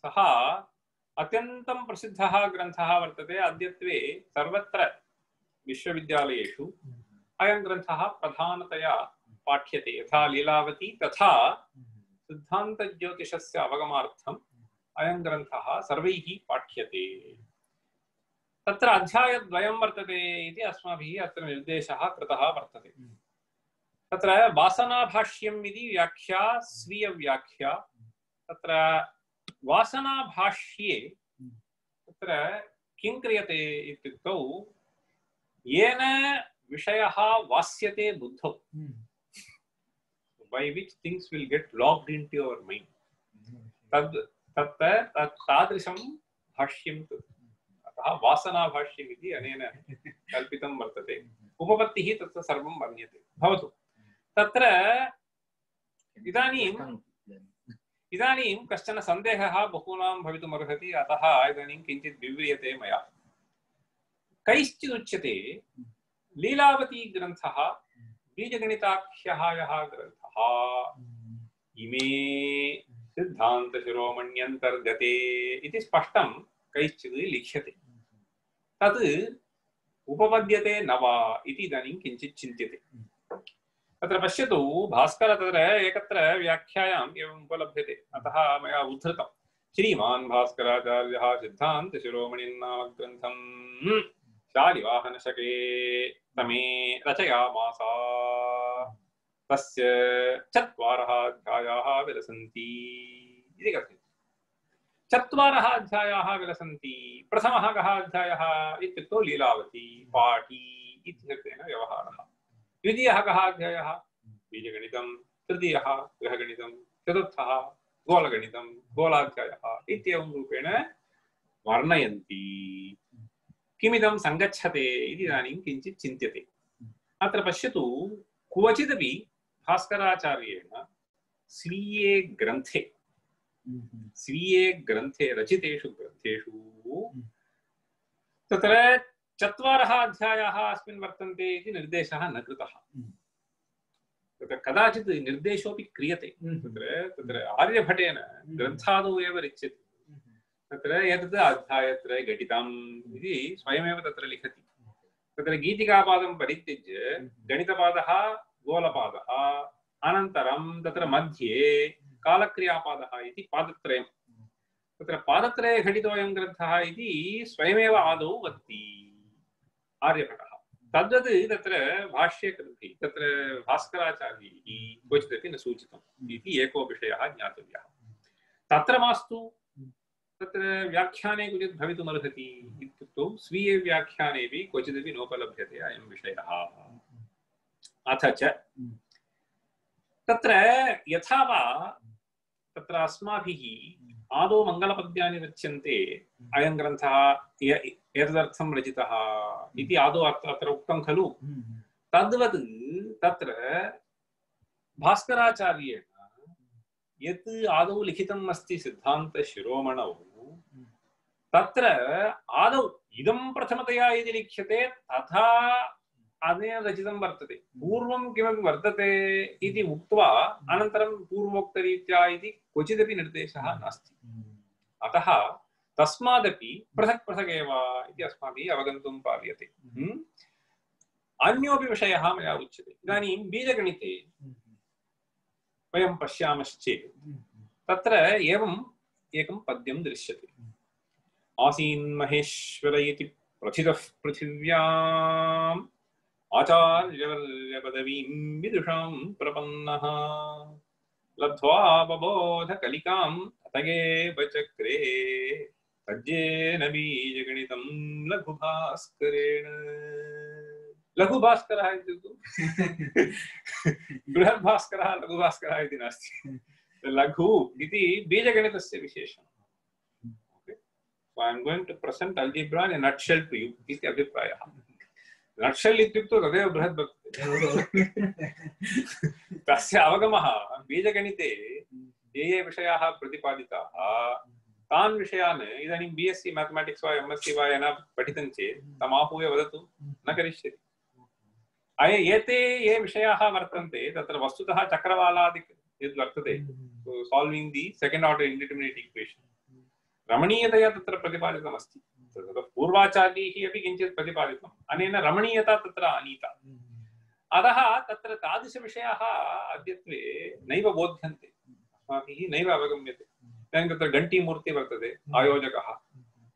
सः अत्यन्तं प्रसिद्धः ग्रन्थः वर्तते। अद्यत्वे सर्वत्र विश्वविद्यालयेषु अयं ग्रन्थः प्रधानतया पाठ्यते। यथा लीलावती तथा सिद्धान्तज्योतिषस्य अवगमार्थम् अयं ग्रन्थः सर्वैः पाठ्यते। तत्र अध्यायद्वयं वर्तते इति अस्माभिः अत्र निर्देशः कृतः वर्तते। तत्र वासनाभाष्यम् इति व्याख्या, स्वीयव्याख्या। तत्र वासनाभाष्ये तत्र किं क्रियते इत्युक्तौ, येन विषयः वास्यते बुद्धौ, by which things will get logged into your mind, तद् तत्र तादृशं भाष्यं तत्। अतः वासनाभाष्यम् इति अनेन कल्पितं वर्तते। उपपत्तिः तत्र सर्वं वर्ण्यते। भवतु तत्र इदानीं इदानीं कश्चन सन्देहः बहूनां भवितुमर्हति। अतः इदानीं किञ्चित् विव्रियते मया। कैश्चिदुच्यते लीलावती ग्रन्थः बीजगणिताख्यः यः ग्रन्थः, इमे सिद्धान्तशिरोमण्यन्तर्गते इति स्पष्टं कैश्चित् लिख्यते। तत् उपपद्यते न वा इति इदानीं किञ्चित् चिन्त्यते। तत्र पश्यतु, भास्कर तत्र एकत्र व्याख्यायाम् एवम् उपलभ्यते। अतः मया उद्धृतं। श्रीमान् भास्कराचार्यः सिद्धान्तशिरोमणिन्नाम ग्रन्थं शालिवाहनशके तमे रचयामास। तस्य चत्वारः अध्यायाः विलसन्ति इति कथ्यते। चत्वारः अध्यायाः विलसन्ति। प्रथमः कः अध्यायः इत्युक्तौ लीलावती पाठी इत्यनेन व्यवहारः। द्वितीयः कः अध्यायः बीजगणितं, तृतीयः गृहगणितं, चतुर्थः गोलगणितं गोलाध्यायः इत्येवं रूपेण वर्णयन्ति। किमिदं सङ्गच्छते इति इदानीं किञ्चित् चिन्त्यते। अत्र पश्यतु, क्वचिदपि भास्कराचार्येण स्वीये ग्रन्थे स्वीये ग्रन्थे रचितेषु ग्रन्थेषु तत्र चत्वारः अध्यायाः अस्मिन् वर्तन्ते इति निर्देशः न कृतः। तत्र कदाचित् निर्देशोऽपि क्रियते। तत्र तत्र आर्यभटेन ग्रन्थादौ एव रच्यते। तत्र एतत् अध्यायत्रय घटितम् इति स्वयमेव तत्र लिखति। तत्र गीतिकापादं परित्यज्य गणितपादः गोलपादः, अनन्तरं तत्र मध्ये कालक्रियापादः इति पादत्रयं। तत्र पादत्रये घटितोऽयं ग्रन्थः इति स्वयमेव आदौ वदति आर्यभटः। तद्वत् तत्र भाष्यकृतिः तत्र भास्कराचार्यैः क्वचिदपि न सूचितम् इति एको विषयः ज्ञातव्यः। तत्र मास्तु तत्र व्याख्याने क्वचित् भवितुमर्हति इत्युक्तौ स्वीये व्याख्यानेपि क्वचिदपि नोपलभ्यते अयं विषयः। अथ च तत्र यथा वा तत्र अस्माभिः आदौ मङ्गलपद्यानि रच्यन्ते, अयं ग्रन्थः एतदर्थं रचितः इति आदौ अत्र उक्तं खलु। तद्वत् तत्र भास्कराचार्येण यत् आदौ लिखितम् अस्ति सिद्धान्तशिरोमणौ, तत्र आदौ इदं प्रथमतया यदि लिख्यते तथा अनेन रचितं वर्तते। पूर्वं किमपि वर्तते इति उक्त्वा अनन्तरं पूर्वोक्तरीत्या इति क्वचिदपि निर्देशः नास्ति। अतः तस्मादपि पृथक् पृथक् एव इति अस्माभिः अवगन्तुं पार्यते। अन्योपि विषयः मया उच्यते। इदानीं बीजगणिते वयं पश्यामश्चेत् तत्र एवम् एकं पद्यं दृश्यते। आसीन्महेश्वर इति प्रथितः पृथिव्याम् आचार्यवर्यपदवीं विदुषां प्रपन्नः लब्ध्वा बबोधकलिकां ततगेव चक्रे तज्जेन बीजगणितं लघुभास्करेण। लघुभास्करः इत्युक्तौ बृहद्भास्करः लघुभास्करः इति नास्ति। लघु इति बीजगणितस्य विशेषणम्। So I am going to present algebra in a nutshell to you इति अभिप्रायः। नट्शेल् इत्युक्तौ तदेव बृहद् वर्तते। तस्य अवगमः बीजगणिते ये ये विषयाः प्रतिपादिताः तान् विषयान् इदानीं बी एस् सी मैथमेटिक्स् वा एम् एस् सी वा येन पठितं चेत् तमाहूय वदतु न करिष्यति। अय एते ये विषयाः वर्तन्ते तत्र वस्तुतः चक्रवालादिक यद् वर्तते, solving the second order indeterminate equation, रमणीयतया तत्र प्रतिपादितमस्ति। पूर्वाचार्यैः अपि किञ्चित् प्रतिपादितम्, अनेन रमणीयता तत्र आनीता। अतः तत्र तादृशविषयाः अद्यत्वे नैव बोध्यन्ते, अस्माभिः नैव अवगम्यते। इदानीं तत्र घण्टीमूर्ति वर्तते, आयोजकः,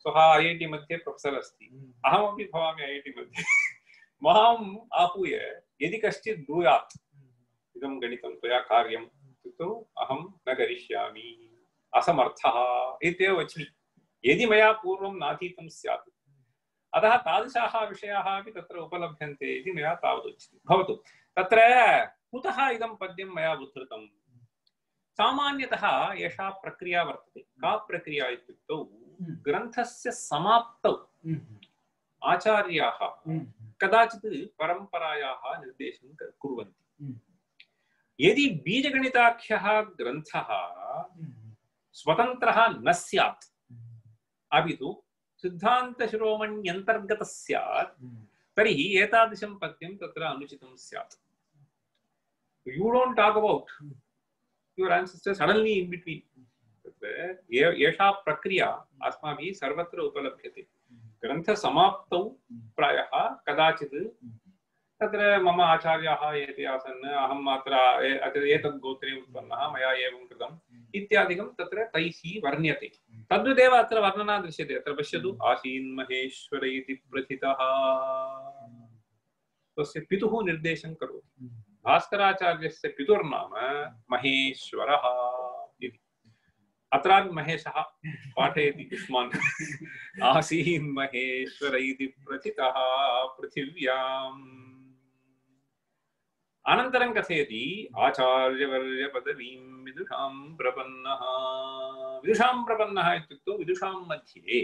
सः ऐ ऐ टि मध्ये प्रोफेसर् अस्ति, अहमपि भवामि ऐ ऐ टि मध्ये। माम् आहूय यदि कश्चित् ब्रूयात् इदं गणितं त्वया कार्यम् इत्युक्तौ अहं न करिष्यामि, असमर्थः इत्येव वच्मि, यदि मया पूर्वं नाधीतं स्यात्। अतः तादृशाः विषयाः अपि तत्र उपलभ्यन्ते इति मया तावदुच्यते। भवतु, तत्र कुतः इदं पद्यं मया उद्धृतं? सामान्यतः एषा प्रक्रिया वर्तते। का प्रक्रिया इत्युक्तौ ग्रन्थस्य समाप्तौ आचार्याः कदाचित् परम्परायाः निर्देशं कुर्वन्ति। यदि बीजगणिताख्यः ग्रन्थः स्वतन्त्रः न स्यात्, अपि तु सिद्धान्तशिरोमण्यन्तर्गतः स्यात्, तर्हि एतादृशं पद्यं तत्र अनुचितं स्यात्। You don't talk about your ancestors suddenly in between. तत्र एषा प्रक्रिया अस्माभिः सर्वत्र उपलभ्यते। ग्रन्थसमाप्तौ प्रायः कदाचित् तत्र मम आचार्याः एते आसन्, अहम् अत्र एतद् गोत्रे उत्पन्नः, मया एवं कृतम् इत्यादिकं तत्र तैः वर्ण्यते। तद्वदेव अत्र वर्णना दृश्यते। अत्र पश्यतु, आसीन्महेश्वर इति प्रथितः, तस्य पितुः निर्देशं करोति। भास्कराचार्यस्य पितुर्नाम महेश्वरः इति। अत्रापि महेशः पाठयति युष्मान्। आसीन् महेश्वर इति प्रथितः पृथिव्याम्। अनन्तरं कथयति आचार्यवर्य पदवीं विदुषां प्रपन्नः। विदुषां प्रपन्नः इत्युक्तौ विदुषां मध्ये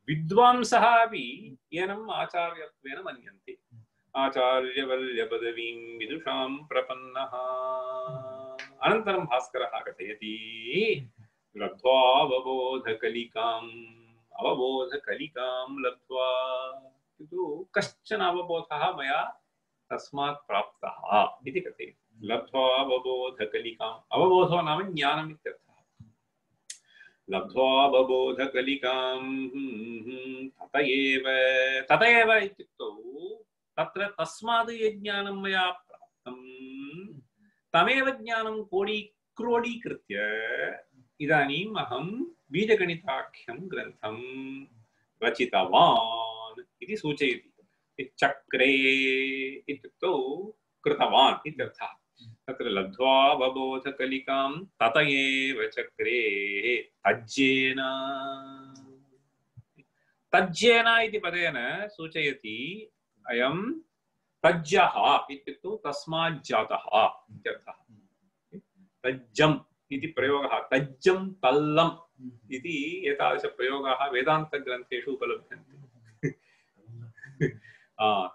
विद्वांसः अपि एनम् आचार्यत्वेन मन्यन्ते। आचार्यवर्य पदवीं विदुषां प्रपन्नः। अनन्तरं भास्करः कथयति लब्ध्वा अवबोधकलिकाम् अवबोधकलिकां लब्ध्वा किन्तु कश्चन अवबोधः मया तस्मात् प्राप्तः इति कथयति। लब्ध्वा अवबोधकलिकाम् अवबोधो नाम ज्ञानम् इत्यर्थः। लब्ध्वा अवबोधकलिकां तत एव तत एव इत्युक्तौ तत्र तस्मात् यत् ज्ञानं मया प्राप्तं तमेव ज्ञानं कोडी क्रोडीकृत्य इदानीम् अहं बीजगणिताख्यं ग्रन्थं रचितवान् इति सूचयति। चक्रे इत्युक्तौ कृतवान् इत्यर्थः। तत्र लब्ध्वा अवबोधकलिकां तत एव चक्रे तज्जेन तज्जेन इति पदेन सूचयति अयं तज्जः इत्युक्तौ तस्मात् जातः इत्यर्थः। तज्जम् इति प्रयोगः तज्जं तल्लम् इति एतादृशप्रयोगाः वेदान्तग्रन्थेषु उपलभ्यन्ते।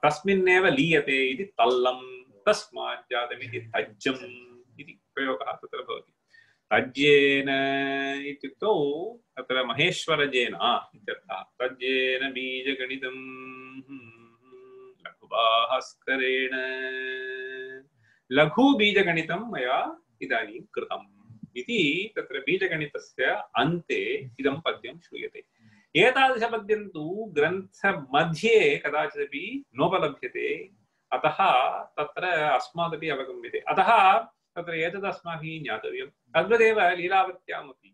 तस्मिन्नेव लीयते इति तल्लं तस्मात् जातमिति तज्जम् इति प्रयोगः तत्र भवति। तज्जेन इत्युक्तौ तत्र महेश्वरजेन इत्यर्थः। तज्जेन बीजगणितं लघुभास्करेण लघुबीजगणितं मया इदानीं कृतम् इति तत्र बीजगणितस्य अन्ते इदं पद्यं श्रूयते। एतादृशपद्यं तु ग्रन्थमध्ये कदाचिदपि नोपलभ्यते। अतः तत्र अस्मादपि अवगम्यते। अतः तत्र एतद् अस्माभिः ज्ञातव्यं। तद्वदेव लीलावत्यामपि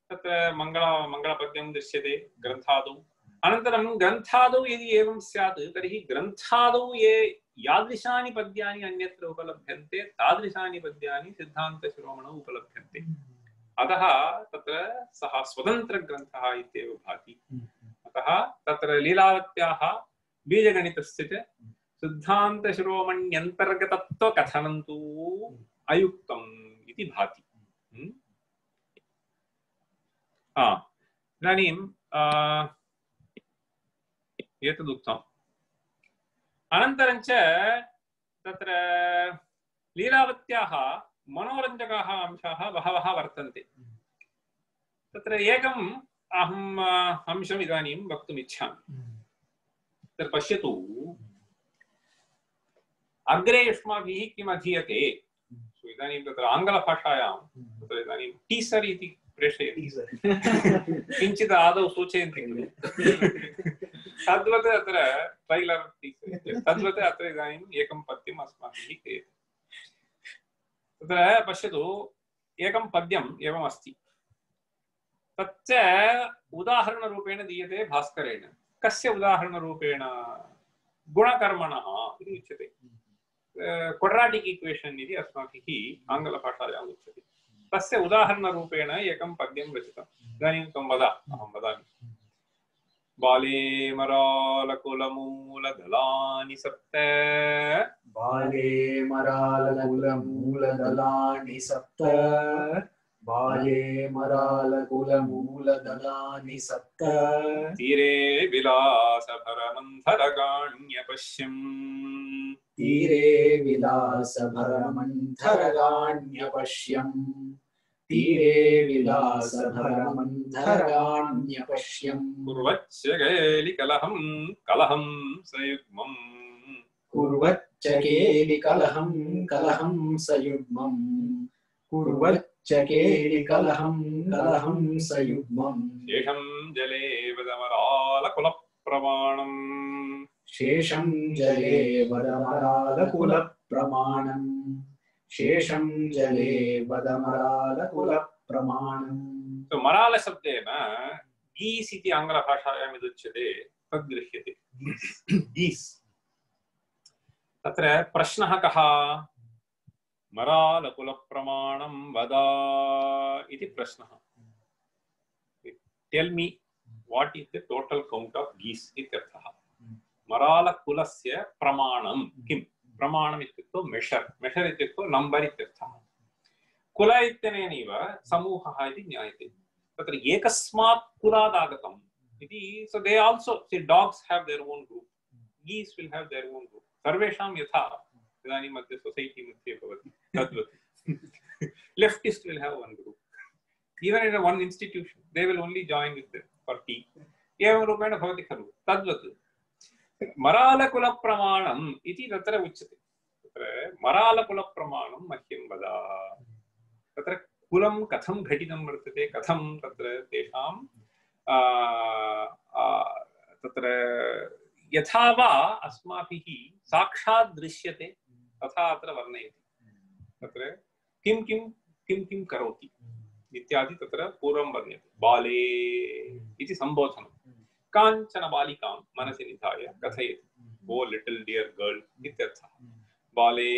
तत्र मङ्गल मङ्गलपद्यं दृश्यते ग्रन्थादौ। अनन्तरं ग्रन्थादौ यदि एवं स्यात् तर्हि ग्रन्थादौ ये यादृशानि पद्यानि अन्यत्र उपलभ्यन्ते तादृशानि पद्यानि सिद्धान्तशिरोमणौ उपलभ्यन्ते। अतः तत्र सः स्वतन्त्रग्रन्थः इत्येव भाति। अतः तत्र लीलावत्याः बीजगणितस्य च सिद्धान्तशिरोमण्यन्तर्गतत्वकथनं तु अयुक्तम् इति भाति। इदानीं एतदुक्तम्। अनन्तरं च तत्र लीलावत्याः मनोरञ्जकाः अंशाः बहवः वर्तन्ते। तत्र एकम् अहम् अंशम् इदानीं वक्तुम् इच्छामि। तत्र पश्यतु अग्रे युष्माभिः किम् अधीयते। इदानीं तत्र आङ्ग्लभाषायां तत्र इदानीं टीसर् इति प्रेषयति। किञ्चित् आदौ सूचयन्ति खलु। तद्वत् अत्र ट्रैलर् टीसर् तद्वत् अत्र इदानीम् एकं पद्यम् अस्माभिः क्रियते। तत्र पश्यतु एकं पद्यम् एवम् अस्ति। तच्च उदाहरणरूपेण दीयते भास्करेण। कस्य उदाहरणरूपेण? गुणकर्मणः इति उच्यते। क्वाड्राटिक् इक्वेशन् इति अस्माभिः आङ्ग्लभाषायाम् उच्यते। तस्य उदाहरणरूपेण एकं पद्यं रचितम्। इदानीं त्वं वद, अहं वदामि। बाले मरालकुलमूलदलानि सप्त बाले मरालकुलमूलदलानि सप्त बाले मरालकुलमूलदलानि सप्त तीरे विलासभरमन्थरगाण्यपश्यम् तीरे विलासभरमन्थरगाण्यपश्यम् तीरे विलासभरमन्थरगाण्यपश्यम् कुर्वच्च केलिकलहं कलहं सयुग्मम् कुर्वच्च केलिकलहं कलहं सयुग्मम् कुर्वच्च केलिकलहं कलहं सयुग्मम् शेषं जले वदमरालकुलप्रमाणम् शेषं जले वदमरालकुलप्रमाणम् शेषं जले वदमरालकुलप्रमाणम्। तो मरालशब्देन गीस् इति आङ्ग्लभाषायां यदुच्यते तद् गृह्यते। गीस् तत्र प्रश्नः कः? मरालकुलप्रमाणं वद इति प्रश्नः। Tell me what is the total count of geese इत्यर्थः। मरालकुलस्य प्रमाणं किं? प्रमाणम् इत्युक्तौ मेषर्, मेषर् इत्युक्तौ नम्बर् इत्यर्थः। कुल इत्यनेनैव समूहः इति ज्ञायते। तत्र एकस्मात् कुलात् आगतम् इति, so they also, see, dogs have their own group, geese will have their own group, सर्वेषां यथा इदानीं मध्ये सोसैटी मध्ये भवति तद्वत् leftist will have one group, even in a one institution they will only join with them for tea, एवं रूपेण भवति खलु। तद्वत् मरालकुलप्रमाणम् इति तत्र उच्यते। तत्र मरालकुलप्रमाणं मह्यं वद। तत्र कुलं कथं घटितं वर्तते, कथं तत्र तेषां तत्र यथा वा अस्माभिः साक्षात् दृश्यते तथा अत्र वर्णयति। तत्र किं किं किं किं करोति इत्यादि तत्र पूर्वं वर्ण्यते। बाले इति सम्बोधनं काञ्चन बालिकां मनसि निधाय कथयति, ओ लिटिल डियर गर्ल इत्यर्थः। बाले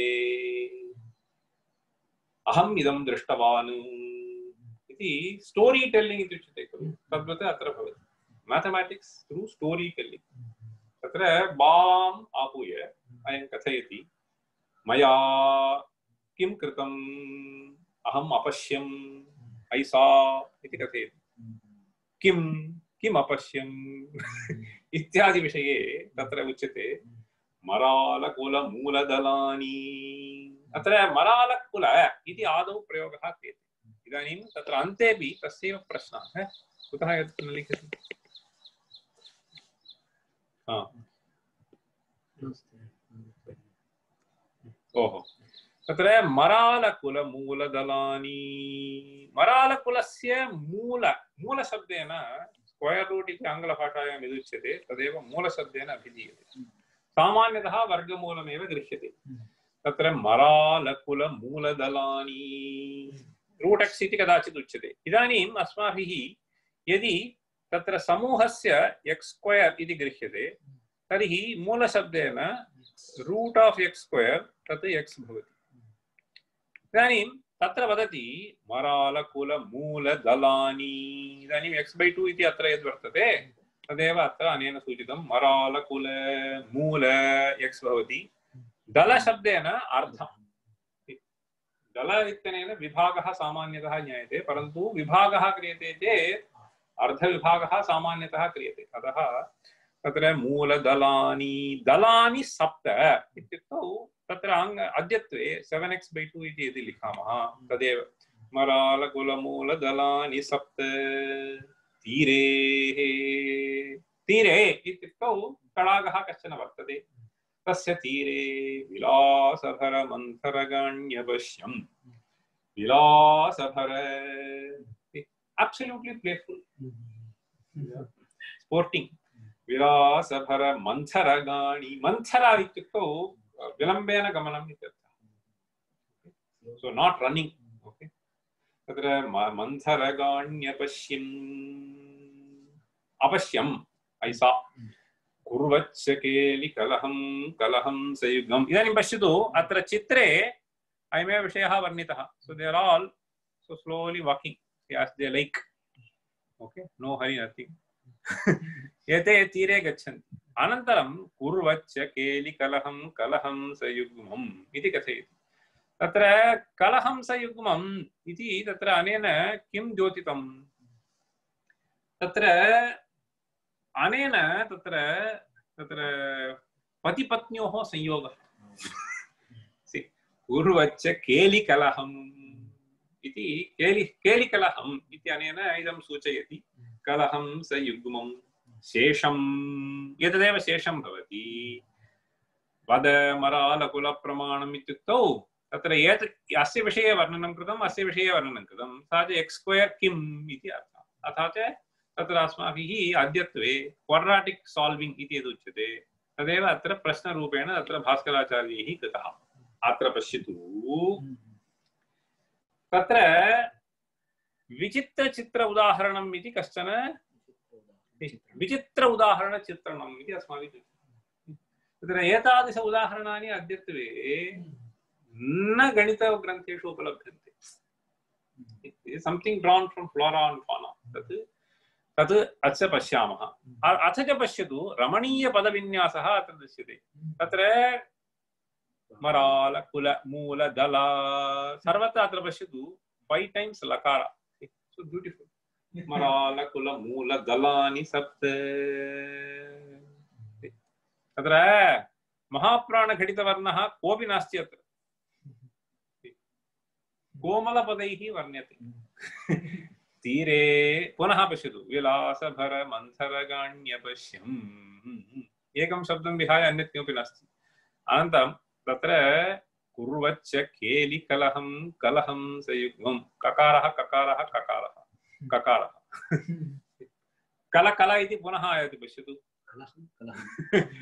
अहम् इदं दृष्टवान् इति स्टोरी टेल्लिंग इति उच्यते खलु, तद्वत् अत्र भवति। Mathematics through story telling. तत्र बाम् आहूय अयं कथयति, मया किं कृतम्, अहम् अपश्यम्, ऐ सा इति कथयति। किं किम् अपश्यम् इत्यादि विषये तत्र उच्यते मरालकुलमूलदलानि। अत्र मरालकुल इति आदौ प्रयोगः क्रियते। इदानीं तत्र अन्तेपि तस्यैव प्रश्नः, कुतः एतत् न लिखति? ओहो, तत्र मरालकुलमूलदलानि, मरालकुलस्य मूल मूलशब्देन स्क्वयर् रूट् इति आङ्ग्लभाषायां यदुच्यते तदेव मूलशब्देन अभिधीयते। सामान्यतः वर्गमूलमेव गृह्यते। तत्र मरालकुलमूलदलानि रूट् एक्स् इति कदाचित् उच्यते। इदानीम् अस्माभिः यदि तत्र समूहस्य एक्स् स्क्वयर् इति गृह्यते तर्हि मूलशब्देन रूट् आफ् एक्स् स्क्वयर् तत् एक्स् भवति। इदानीं तत्र वदति मरालकुलमूलदलानि। इदानीं एक्स् बै टु इति अत्र यद् वर्तते तदेव अत्र अनेन सूचितं। मरालकुल मूल एक्स् भवति। दलशब्देन अर्धम्। दल इत्यनेन विभागः सामान्यतः ज्ञायते, परन्तु विभागः क्रियते चेत् अर्धविभागः सामान्यतः क्रियते। अतः तत्र मूलदलानि, दलानि सप्त इत्युक्तौ तत्र अद्यत्वे सेवेन् एक्स् बै टु इति यदि लिखामः तदेव मरालकुलमूलदलानि सप्त। तीरे, तीरे इत्युक्तौ तडागः कश्चन वर्तते। तस्य तीरे विलासभर मन्थरगाण्यपश्यम्। विलासभर, absolutely playful, sporting. विलासभर मन्थरगाणि, मन्थरा इत्युक्तौ विलम्बेन गमनम् इत्यर्थः। So not running. Okay. तत्र मन्थरगाण्यपश्यम्, अपश्यम् ऐ सा। कुर्वच्च केलिकलहं कलहं सयुग्मम्। इदानीं पश्यतु, अत्र चित्रे अयमेव विषयः वर्णितः। So they are all so slowly walking as they like. Okay, no hurry, nothing. एते तीरे गच्छन्ति। अनन्तरं कुर्वच्च केलिकलहं कलहं सयुग्मम् इति कथयति। तत्र कलहं सयुग्मम् इति तत्र अनेन किं द्योतितं? तत्र अनेन तत्र तत्र पतिपत्न्योः संयोगः। कुर्वच्च केलिकलहम् इति, केलि केलिकलहम् इति अनेन इदं सूचयति। कलहं सयुग्मं शेषं, एतदेव शेषं भवति। वद मरालकुलप्रमाणम् इत्युक्तौ तत्र एत अस्य विषये वर्णनं कृतम्, अस्य विषये वर्णनं कृतं। सा च एक्स् स्क्वयर् किम् इति अर्थः। अतः च तत्र अस्माभिः अद्यत्वे क्वाड्राटिक् साल्विङ्ग् इति यदुच्यते तदेव अत्र प्रश्नरूपेण तत्र भास्कराचार्यैः कृतः। अत्र पश्यतु, तत्र विचित्रचित्र उदाहरणम् इति कश्चन, विचित्र उदाहरणचित्रणम् इति अस्माभिः। तत्र एतादृश उदाहरणानि अद्यत्वे न गणितग्रन्थेषु उपलभ्यन्ते। Something drawn from flora and fauna तत् तत् अस्य पश्यामः। अथ च पश्यतु रमणीय पदविन्यासः अत्र दृश्यते। तत्र मराल कुल मूल दल सर्वत्र अत्र पश्यतु फाइव टाइम्स लकार। So beautiful. मराल कुल मूल दलानि सप्त। तत्र महाप्राण घटित वर्णः कोऽपि नास्ति अत्र। कोमलपदैः वर्ण्यते। तीरे पुनः पश्यतु विलासभर मन्थरगाण्य पश्यम्। एकं शब्दं विहाय अन्यत् किमपि नास्ति। अनन्तरं तत्र कुर्वच्च केलि कलहं कलहं सयुग्मं। ककारः ककारः ककारः ककारः कल कल इति पुनः आयाति। पश्यतु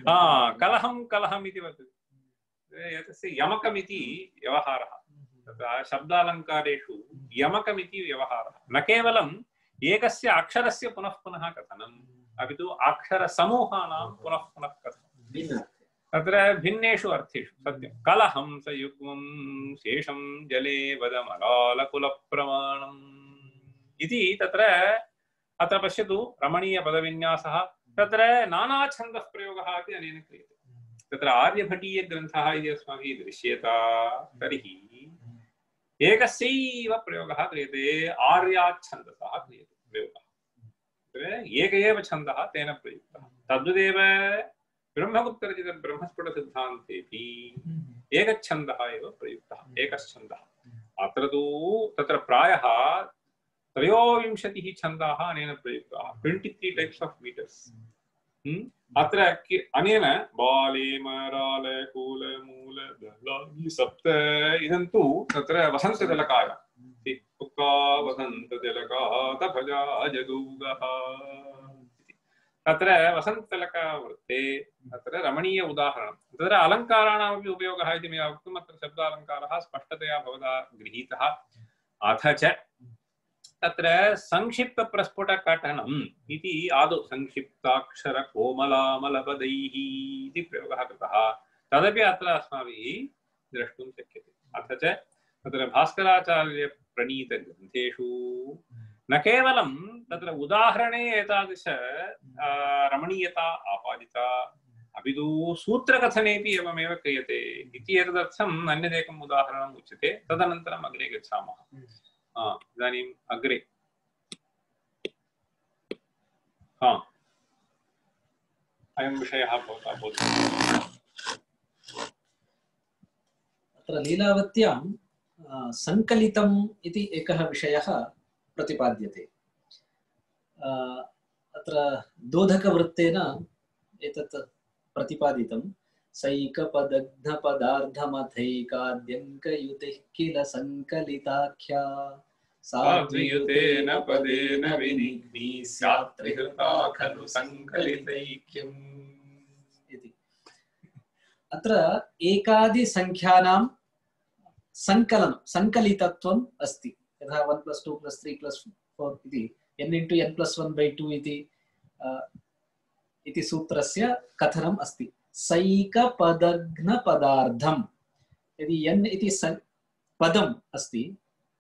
हा कलहं कलहम् इति वर्तते। एतस्य यमकमिति व्यवहारः। तत्र शब्दालङ्कारेषु यमकमिति व्यवहारः। न केवलम् एकस्य अक्षरस्य पुनः पुनः कथनम् अपि तु अक्षरसमूहानां पुनः पुनः कथनम्। तत्र भिन्नेषु अर्थेषु सत्यं। कलहं सयुग्मं शेषं जले वदमरालकुलप्रमाणम् इति तत्र अत्र पश्यतु रमणीयपदविन्यासः। तत्र नानाछन्दः प्रयोगः अपि अनेन क्रियते। तत्र आर्यभटीयग्रन्थः इति अस्माभिः दृश्येत तर्हि एकस्यैव प्रयोगः क्रियते। आर्याच्छन्दसः क्रियते प्रयोगः। एक एव छन्दः तेन प्रयुक्तः। तद्वदेव ब्रह्मगुप्तरचित ब्रह्मस्फुटसिद्धान्तेऽपि एकच्छन्दः एव प्रयुक्तः। एकच्छन्दः। अत्र तु तत्र प्रायः त्रयोविंशतिः छन्दाः अनेन प्रयुक्ताः। Twenty three types of metres. अत्र अनेन बाले मराल कूल मूल दलानि सप्त इदं तु तत्र वसन्तजलकाय उक्का वसन्तजलकातभजा जगूगः। तत्र वसन्तजलकवृत्ते तत्र रमणीय उदाहरणं। तत्र अलङ्काराणामपि उपयोगः इति मया उक्तम्। अत्र शब्दालङ्कारः स्पष्टतया भवता गृहीतः। अथ च तत्र संक्षिप्त प्रस्फुट कटनम् इति आदौ संक्षिप्ताक्षर कोमलामलपदैः इति प्रयोगः कृतः। तदपि अत्र अस्माभिः द्रष्टुं शक्यते। अथ च तत्र भास्कराचार्य प्रणीत ग्रन्थेषु न केवलं तत्र उदाहरणे एतादृश रमणीयता आपादिता अपि तु सूत्रकथनेपि एवमेव क्रियते इति एतदर्थम् अन्यदेकम् उदाहरणम् उच्यते। तदनन्तरम् अग्रे गच्छामः। इदानीम् अग्रे हा अयं विषयः भवता बोध्यते। अत्र लीलावत्यां सङ्कलितम् इति एकः विषयः प्रतिपाद्यते। अत्र दोधकवृत्तेन एतत् प्रतिपादितं। सैकपदघ्नपदार्धमथैकाद्यङ्कयुतिः किल सङ्कलिताख्या साद्वियुतेन पदेन विनिग्नी स्यात् त्रिहृता खलु सङ्कलितैक्यम् इति। अत्र एकादिसङ्ख्यानां सङ्कलनं सङ्कलितत्वम् अस्ति। यथा one plus two plus three plus four इति n into n plus one by two इति इति सूत्रस्य कथनम् अस्ति। सैकपदघ्नपदार्धं यदि n इति पदम् अस्ति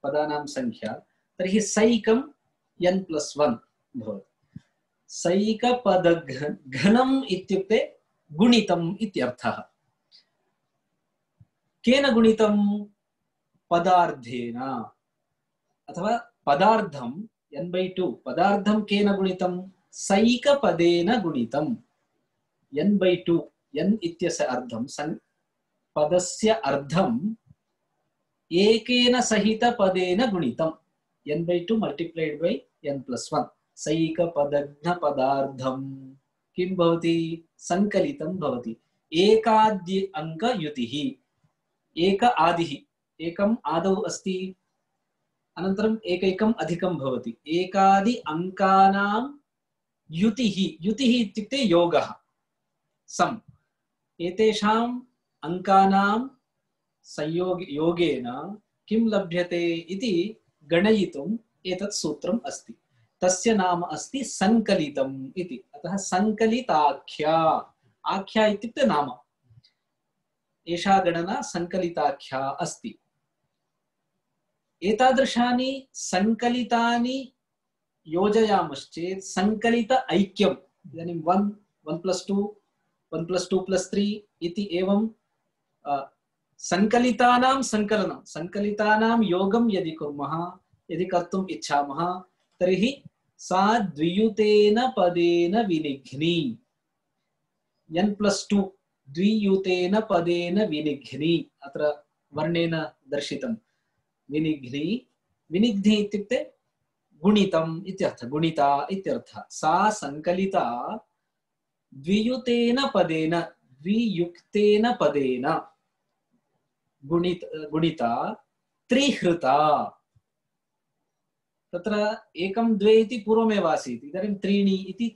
पदानां संख्या तर्हि सैकं n प्लस वन भवति। सैकपदघ्नम् इत्युक्ते गुणितम् इत्यर्थः। केन गुणितं? पदार्धेन अथवा पदार्धं n by टू पदार्धं केन गुणितं? सैकपदेन गुणितं। n by टू n इत्यस्य अर्धं पदस्य अर्धं एकेन सहित पदेन गुणितं। n by two multiplied by n plus one. सैकपदघ्न पदार्धं किं भवति? संकलितं भवति। एकाद्य अंक युतिः। एक आदिः एकम् आदौ अस्ति अनन्तरम् एकैकम् अधिकं भवति। एकादि अंकानां युतिः। युतिः इत्युक्ते योगः सम। एतेषाम् अंकानां संयोग योगेन किं लभ्यते इति गणयितुम् एतत् सूत्रम् अस्ति। तस्य नाम अस्ति संकलितम् इति। अतः संकलिताख्या। आख्या इत्युक्ते नाम एषा गणना सङ्कलिताख्या अस्ति। एतादृशानि सङ्कलितानि योजयामश्चेत् सङ्कलित ऐक्यम्, इदानीं one one plus two one plus two plus three इति एवं सङ्कलितानां सङ्कलनं सङ्कलितानां योगं यदि कुर्मः, यदि कर्तुम् इच्छामः तर्हि सा द्वियुतेन पदेन विनिघ्नी। एन् प्लस् टु द्वियुतेन पदेन विनिघ्नी, अत्र वर्णेन दर्शितं विनिघ्नी। विनिघ्नी इत्युक्ते गुणितम् इत्यर्थः, गुणिता इत्यर्थः। सा सङ्कलिता द्वियुतेन पदेन, द्वियुक्तेन पदेन गुणित गुणिता त्रिहृता। तत्र एकं द्वे इति पूर्वमेव आसीत्, इदानीं त्रीणि इति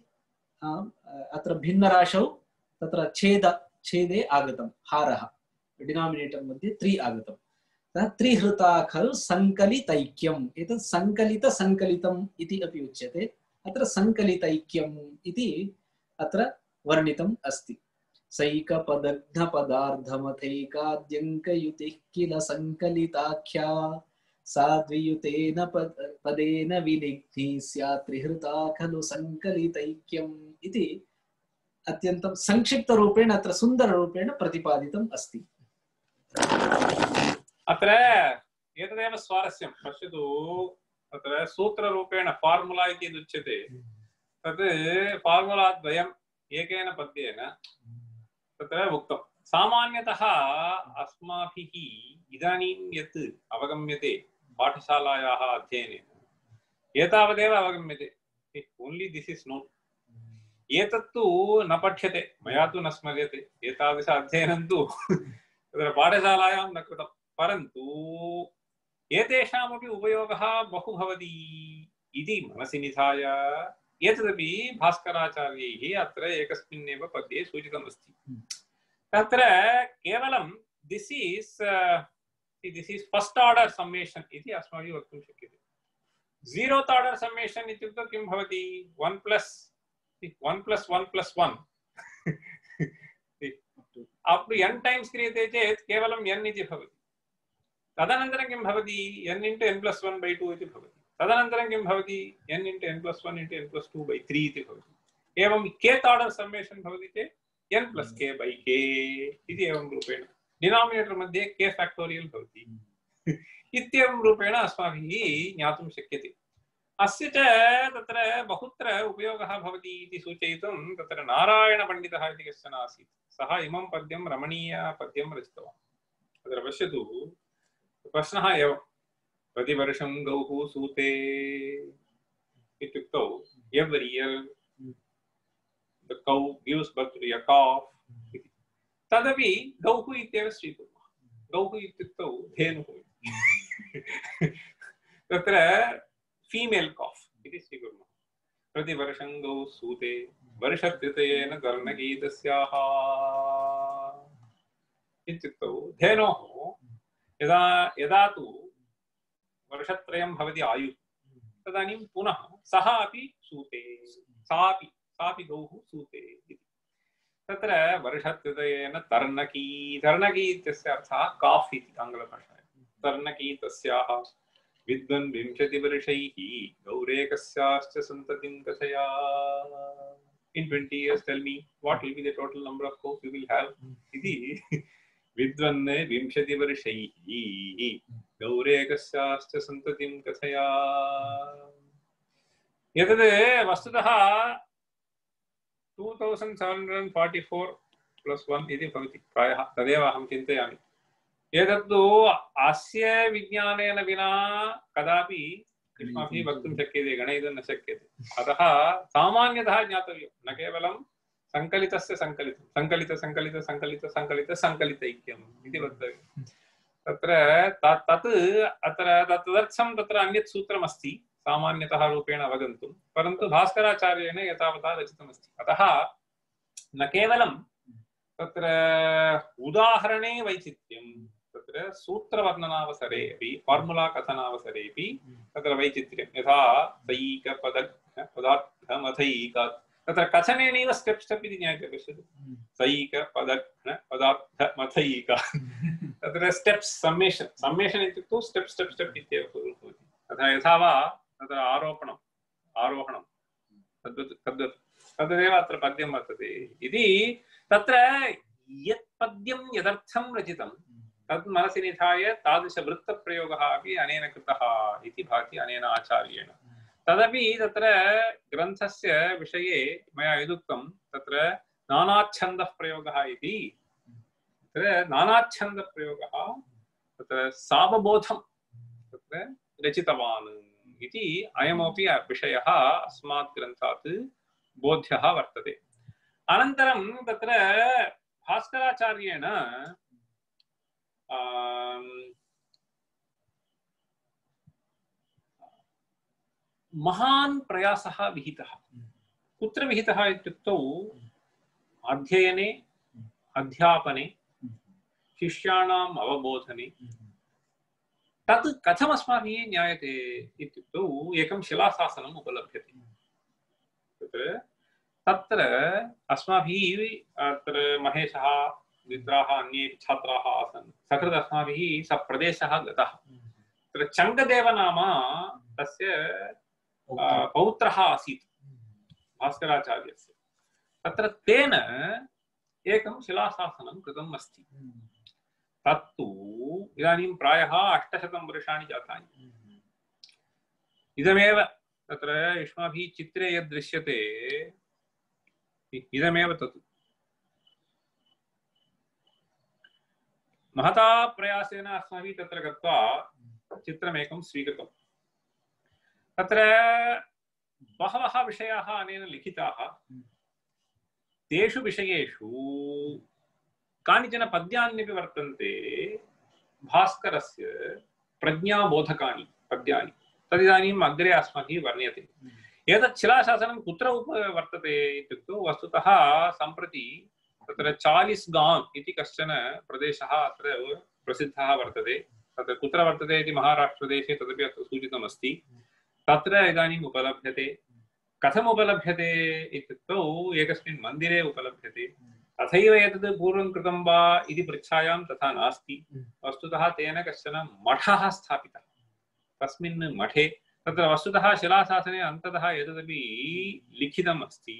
अत्र भिन्नराशौ तत्र छेद छेदे आगतं, हारः डिनोमिनेटर् मध्ये त्रि आगतं। त्रिहृता खलु सङ्कलितैक्यम्। एतत् सङ्कलित सङ्कलितम् इति अपि उच्यते। अत्र सङ्कलितैक्यम् इति अत्र वर्णितम् अस्ति। सैकपदघ्नपदार्धमथैकाद्यङ्कयुतिः किल सङ्कलिताख्या, सा द्वियुतेन पदेन विनिघ्नी स्यात् त्रिहृता खलु सङ्कलितैक्यम् इति अत्यन्तं संक्षिप्तरूपेण अत्र सुन्दररूपेण प्रतिपादितम् अस्ति। अत्र एतदेव स्वारस्यं पश्यतु। अत्र सूत्ररूपेण फार्मुला इति उच्यते, तत् फार्मुला द्वयम् एकेन पद्येन तत्र उक्तं। सामान्यतः अस्माभिः इदानीं यत् अवगम्यते पाठशालायाः अध्ययनेन एतावदेव अवगम्यते। Only this is known. एतत्तु न पठ्यते, मया तु न स्मर्यते। एतादृश अध्ययनं तु तत्र पाठशालायां न कृतं, परन्तु एतेषामपि उपयोगः बहु भवति इति मनसि निधाय एतदपि भास्कराचार्यैः अत्र एकस्मिन्नेव पद्ये सूचितमस्ति। तत्र केवलं this is this is first order summation इति अस्माभिः वक्तुं शक्यते। जीरोत् आर्डर् सम्मेशन् इत्युक्ते किं भवति? One plus one plus one plus one up to N times क्रियते चेत् केवलं एन् इति भवति। तदनन्तरं किं भवति? N into N plus one by two इति भवति। तदनन्तरं किं भवति? N into N plus one into N plus two by three इति भवति। एवं केत् आर्डर् सम्मेशन् भवति चेत् N plus K by K इति एवं रूपेण डिनोमिनेटर् मध्ये के फैक्टोरियल् भवति इत्येवं रूपेण अस्माभिः ज्ञातुं शक्यते। अस्य च तत्र बहुत्र उपयोगः भवति इति सूचयितुं तत्र नारायणपण्डितः इति कश्चन आसीत्। सः इमं पद्यं रमणीयपद्यं रचितवान्। तत्र पश्यतु, प्रश्नः एवं, प्रतिवर्षं गौः सूते इत्युक्तौ every year the cow gives birth to a calf इति। तदपि गौः इत्येव स्वीकुर्मः। गौः इत्युक्तौ धेनुः तत्र फीमेल् काफ् इति स्वीकुर्मः। प्रतिवर्षं गौः सूते वर्षत्रितयेन कर्णगीतस्याः इत्युक्तौ धेनोः यदा यदा तु वर्षत्रयं भवति आयुः, तदानीं पुनः सः अपि सूते, सापि सापि गौः सूते इति। तत्र वर्षत्रितयेन तर्णकी, तर्णकी इत्यस्य अर्थः काफ् इति आङ्ग्लभाषायां। तर्णकी तस्याः विद्वन् विंशतिवर्षैः गौरेकस्याश्च सन्ततिं कथया। In twenty years, tell me what will be the total number of cows you will have इति। विद्वन् विंशतिवर्षैः गौरेकस्याश्च सन्ततिं कथया। एतद् वस्तुतः two thousand seven hundred forty four plus one इति भवति प्रायः, तदेव अहं चिन्तयामि। एतत्तु अस्य विज्ञानेन विना कदापि अस्माभिः वक्तुं शक्यते, गणयितुं न शक्यते। अतः सामान्यतः ज्ञातव्यं, न केवलं सङ्कलितस्य सङ्कलितं, सङ्कलित सङ्कलित सङ्कलित सङ्कलित सङ्कलितैक्यम् इति वक्तव्यं। तत्र तत् अत्र तदर्थं तत्र अन्यत् सूत्रमस्ति सामान्यतः रूपेण अवगन्तुं, परन्तु भास्कराचार्येण एतावता रचितमस्ति। अतः न केवलं तत्र उदाहरणे वैचित्र्यं, तत्र सूत्रवर्णनावसरे अपि फार्मुला कथनावसरेपि तत्र वैचित्र्यं। यथा सैकपदघ्नपदार्थमथैकात् तत्र कथनेनैव स्टेप् स्टेप् इति ज्ञायते पश्यतु सैक पदघ्न पदार्थ मथैक तत्र स्टेप्स् सम्मेशन् सम्मेशन् इत्युक्तौ स्टेप् स्टेप् स्टेप् इत्येव भवति तथा यथा वा तत्र आरोपणम् आरोहणं तद्वत् तद्वत् तदेव अत्र पद्यं वर्तते इति तत्र यत् पद्यं यदर्थं रचितं तद् मनसि निधाय तादृशवृत्तप्रयोगः अपि अनेन कृतः इति भाति अनेन आचार्येण तदपि तत्र ग्रन्थस्य विषये मया यदुक्तं तत्र नानाच्छन्दः प्रयोगः इति तत्र नानाच्छन्दप्रयोगः तत्र सावबोधं तत्र रचितवान् इति अयमपि विषयः अस्मात् ग्रन्थात् बोध्यः वर्तते अनन्तरं तत्र भास्कराचार्येण महान् प्रयासः विहितः कुत्र विहितः इत्युक्तौ अध्ययने अध्यापने शिष्याणाम् अवबोधने तत् कथम् अस्माभिः ज्ञायते इत्युक्तौ एकं शिलाशासनम् उपलभ्यते तत्र तत्र अस्माभिः अत्र महेशः मित्राः अन्ये छात्राः आसन् सकृत् अस्माभिः स प्रदेशः गतः तत्र चङ्गदेव नाम तस्य पौत्रः आसीत् भास्कराचार्यस्य तत्र तेन एकं शिलाशासनं कृतम् अस्ति तत्तु इदानीं प्रायः अष्टशतं वर्षाणि जातानि इदमेव तत्र युष्माभिः चित्रे यद् दृश्यते इदमेव तत् महता प्रयासेन अस्माभिः तत्र गत्वा चित्रमेकं स्वीकृतं तत्र बहवः विषयाः अनेन लिखिताः तेषु विषयेषु कानिचन पद्यान्यपि वर्तन्ते भास्करस्य प्रज्ञाबोधकानि पद्यानि तदिदानीम् अग्रे अस्माभिः वर्ण्यते एतत् शिलाशासनं कुत्र उप वर्तते इत्युक्तौ वस्तुतः सम्प्रति तत्र चालिस्गान् इति कश्चन प्रदेशः अत्र प्रसिद्धः वर्तते तत्र कुत्र वर्तते इति महाराष्ट्रदेशे तदपि अत्र सूचितमस्ति तत्र इदानीम् उपलभ्यते कथम् उपलभ्यते इत्युक्तौ एकस्मिन् मन्दिरे उपलभ्यते तथैव एतद् पूर्वं कृतं वा इति पृच्छायां तथा नास्ति वस्तुतः तेन कश्चन मठः स्थापितः तस्मिन् मठे तत्र वस्तुतः शिलाशासने अन्ततः एतदपि लिखितम् अस्ति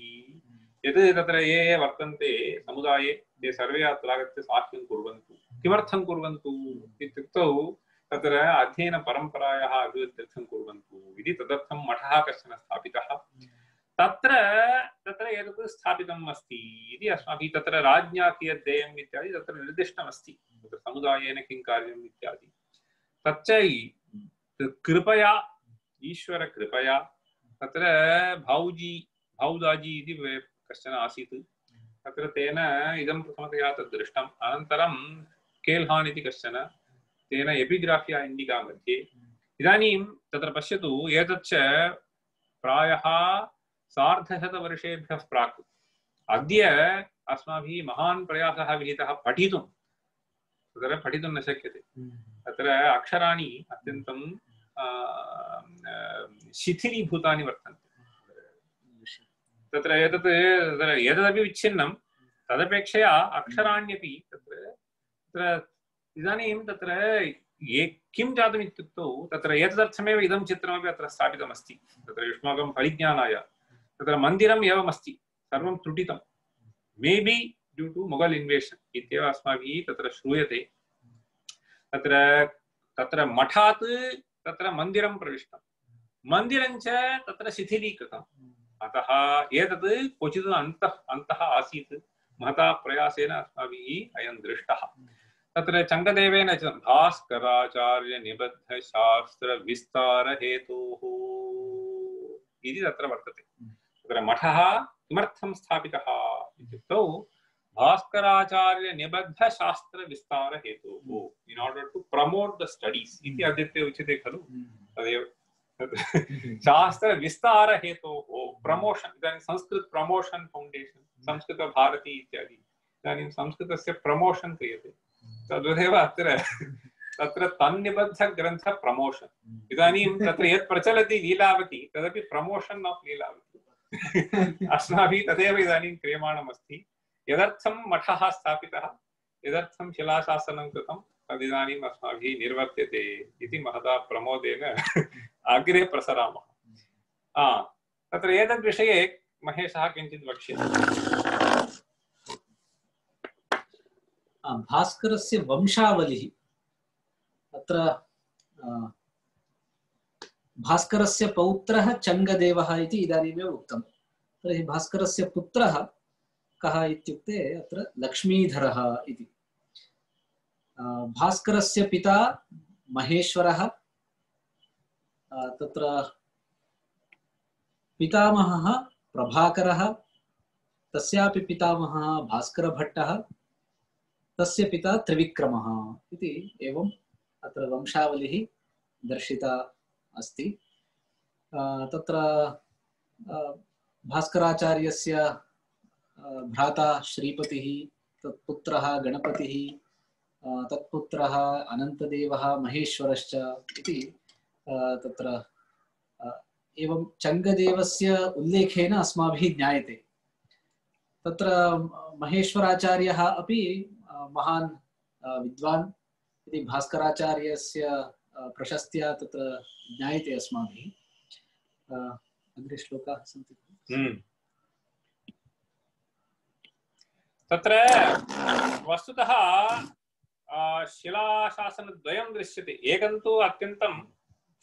यत् तत्र ये ये वर्तन्ते समुदाये ते सर्वे अत्र आगत्य साक्ष्यं कुर्वन्तु किमर्थं कुर्वन्तु इत्युक्तौ तत्र अध्ययनपरम्परायाः अभिवृद्ध्यर्थं कुर्वन्तु इति तदर्थं मठः कश्चन स्थापितः तत्र तत्र एतत् स्थापितम् अस्ति इति अस्माभिः तत्र राज्ञा कियत् देयम् इत्यादि तत्र निर्दिष्टमस्ति तत्र समुदायेन किं कार्यम् इत्यादि तच्च कृपया ईश्वरकृपया तत्र भाऊजी भाऊदाजी इति कश्चन आसीत् तत्र तेन इदं प्रथमतया तद् दृष्टम् अनन्तरं केल्हान् इति कश्चन तेन एपिग्राफिया इण्डिका मध्ये इदानीं तत्र पश्यतु एतच्च प्रायः सार्धशतवर्षेभ्यः प्राक् अद्य अस्माभिः महान् प्रयासः विहितः पठितुं तत्र पठितुं न शक्यते तत्र अक्षराणि अत्यन्तं शिथिलीभूतानि वर्तन्ते तत्र एतत् तत्र एतदपि विच्छिन्नं तदपेक्षया अक्षराण्यपि तत्र तत्र इदानीं तत्र ये किं जातम् इत्युक्तौ तत्र एतदर्थमेव इदं चित्रमपि अत्र स्थापितमस्ति तत्र युष्माकं परिज्ञानाय तत्र मन्दिरम् एवमस्ति सर्वं त्रुटितं may be due two Mughal इन्वेशन् इत्येव अस्माभिः तत्र श्रूयते तत्र तत्र मठात् तत्र मन्दिरं प्रविष्टं मन्दिरं च तत्र शिथिलीकृतम् अतः एतत् क्वचित् अन्तः अन्तः आसीत् महता प्रयासेन अस्माभिः अयं दृष्टः तत्र चङ्गदेवेन भास्कराचार्य निबद्ध शास्त्र विस्तार हेतोः इति तत्र वर्तते तत्र मठः किमर्थं स्थापितः इत्युक्तौ भास्कराचार्य निबद्ध शास्त्र विस्तार हेतोः in order to promote the studies इति अद्यत्वे उच्यते खलु तदेव शास्त्र विस्तार हेतोः प्रमोशन इदानीं संस्कृत प्रमोशन फाउंडेशन संस्कृत भारती इत्यादि इदानीं संस्कृतस्य प्रमोशन क्रियते तद्वदेव अत्र तत्र तन्निबद्ध ग्रन्थ प्रमोशन इदानीं तत्र यत् प्रचलति लीलावती तदपि प्रमोशन ऑफ लीलावती अस्माभिः तदेव इदानीं क्रियमाणमस्ति। यदर्थं मठः स्थापितः, यदर्थं शिलाशासनं कृतं, तदिदानीम् अस्माभिः निर्वर्त्यते इति महता प्रमोदेन अग्रे प्रसरामः। तत्र एतद्विषये महेशः किञ्चित् वक्ष्यति। भास्करस्य वंशावलिः अत्र भास्करस्य पौत्रः चङ्गदेवः इति इदानीमेव उक्तं। तर्हि भास्करस्य पुत्रः कः इत्युक्ते अत्र लक्ष्मीधरः इति। भास्करस्य पिता महेश्वरः, तत्र पितामहः प्रभाकरः, तस्यापि पितामहः भास्करभट्टः, तस्य पिता त्रिविक्रमः इति एवं अत्र वंशावलिः दर्शिता अस्ति। तत्र भास्कराचार्यस्य भ्राता श्रीपतिः, तत्पुत्रः गणपतिः, तत्पुत्रः अनन्तदेवः महेश्वरश्च इति तत्र एवं चङ्गदेवस्य उल्लेखेन अस्माभिः ज्ञायते। तत्र महेश्वराचार्यः अपि महान् विद्वान् इति भास्कराचार्यस्य प्रशस्त्या तत्र ज्ञायते अस्माभिः। अग्रे श्लोकाः सन्ति। तत्र वस्तुतः शिलाशासनद्वयं दृश्यते। एकं तु अत्यन्तं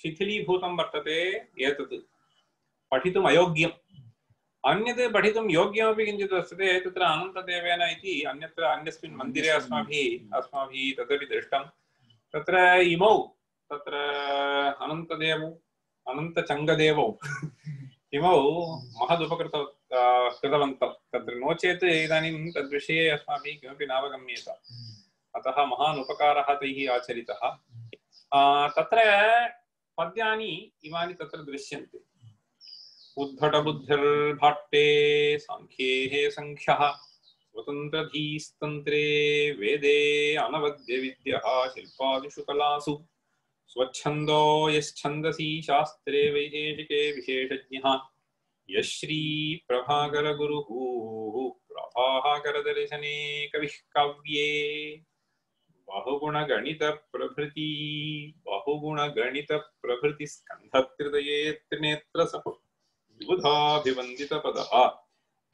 शिथिलीभूतं वर्तते, एतत् पठितुम् अयोग्यम्। अन्यत् पठितुं योग्यमपि किञ्चित् वर्तते। तत्र अनन्तदेवेन इति अन्यत्र अन्यस्मिन् मन्दिरे अस्माभिः अस्माभिः तदपि दृष्टं। तत्र इमौ तत्र अनन्तदेवौ अनन्तचङ्गदेवौ इमौ महदुपकृत कृतवन्तौ। तत्र नो चेत् इदानीं तद्विषये अस्माभिः किमपि नावगम्येत। अतः महान् उपकारः तैः आचरितः। तत्र पद्यानि इमानि तत्र दृश्यन्ते। उद्धटबुद्धिर्भाट्टे सांख्ये संख्यः स्वतन्त्रधीस्तन्त्रे वेदे अनवद्यविद्यः शिल्पादिषु कलासु स्वच्छन्दो यश्छन्दसि शास्त्रे वैशेषिके विशेषज्ञः यश्री प्रभाकरगुरुः प्रभाकरदर्शने कविः काव्ये बहुगुणगणितप्रभृति बहुगुणगणितप्रभृतिस्कन्धत्रितये त्रिनेत्रसः विबुधाभिवन्दितपदः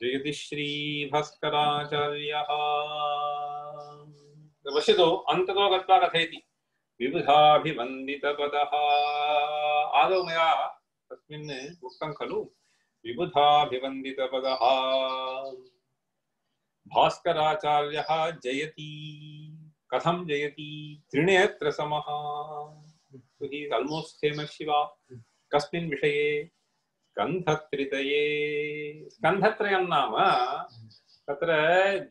जयति श्रीभास्कराचार्यः। पश्यतु, अन्ततो गत्वा कथयति विबुधाभिवन्दितपदः। आदौ मया तस्मिन् उक्तं खलु विबुधाभिवन्दितपदः। भास्कराचार्यः जयति। कथं जयति? त्रिनेत्रसमः। हि आल्मोस्ट फेमस शिवा। कस्मिन् विषये? स्कन्धत्रितये। स्कन्धत्रयं नाम तत्र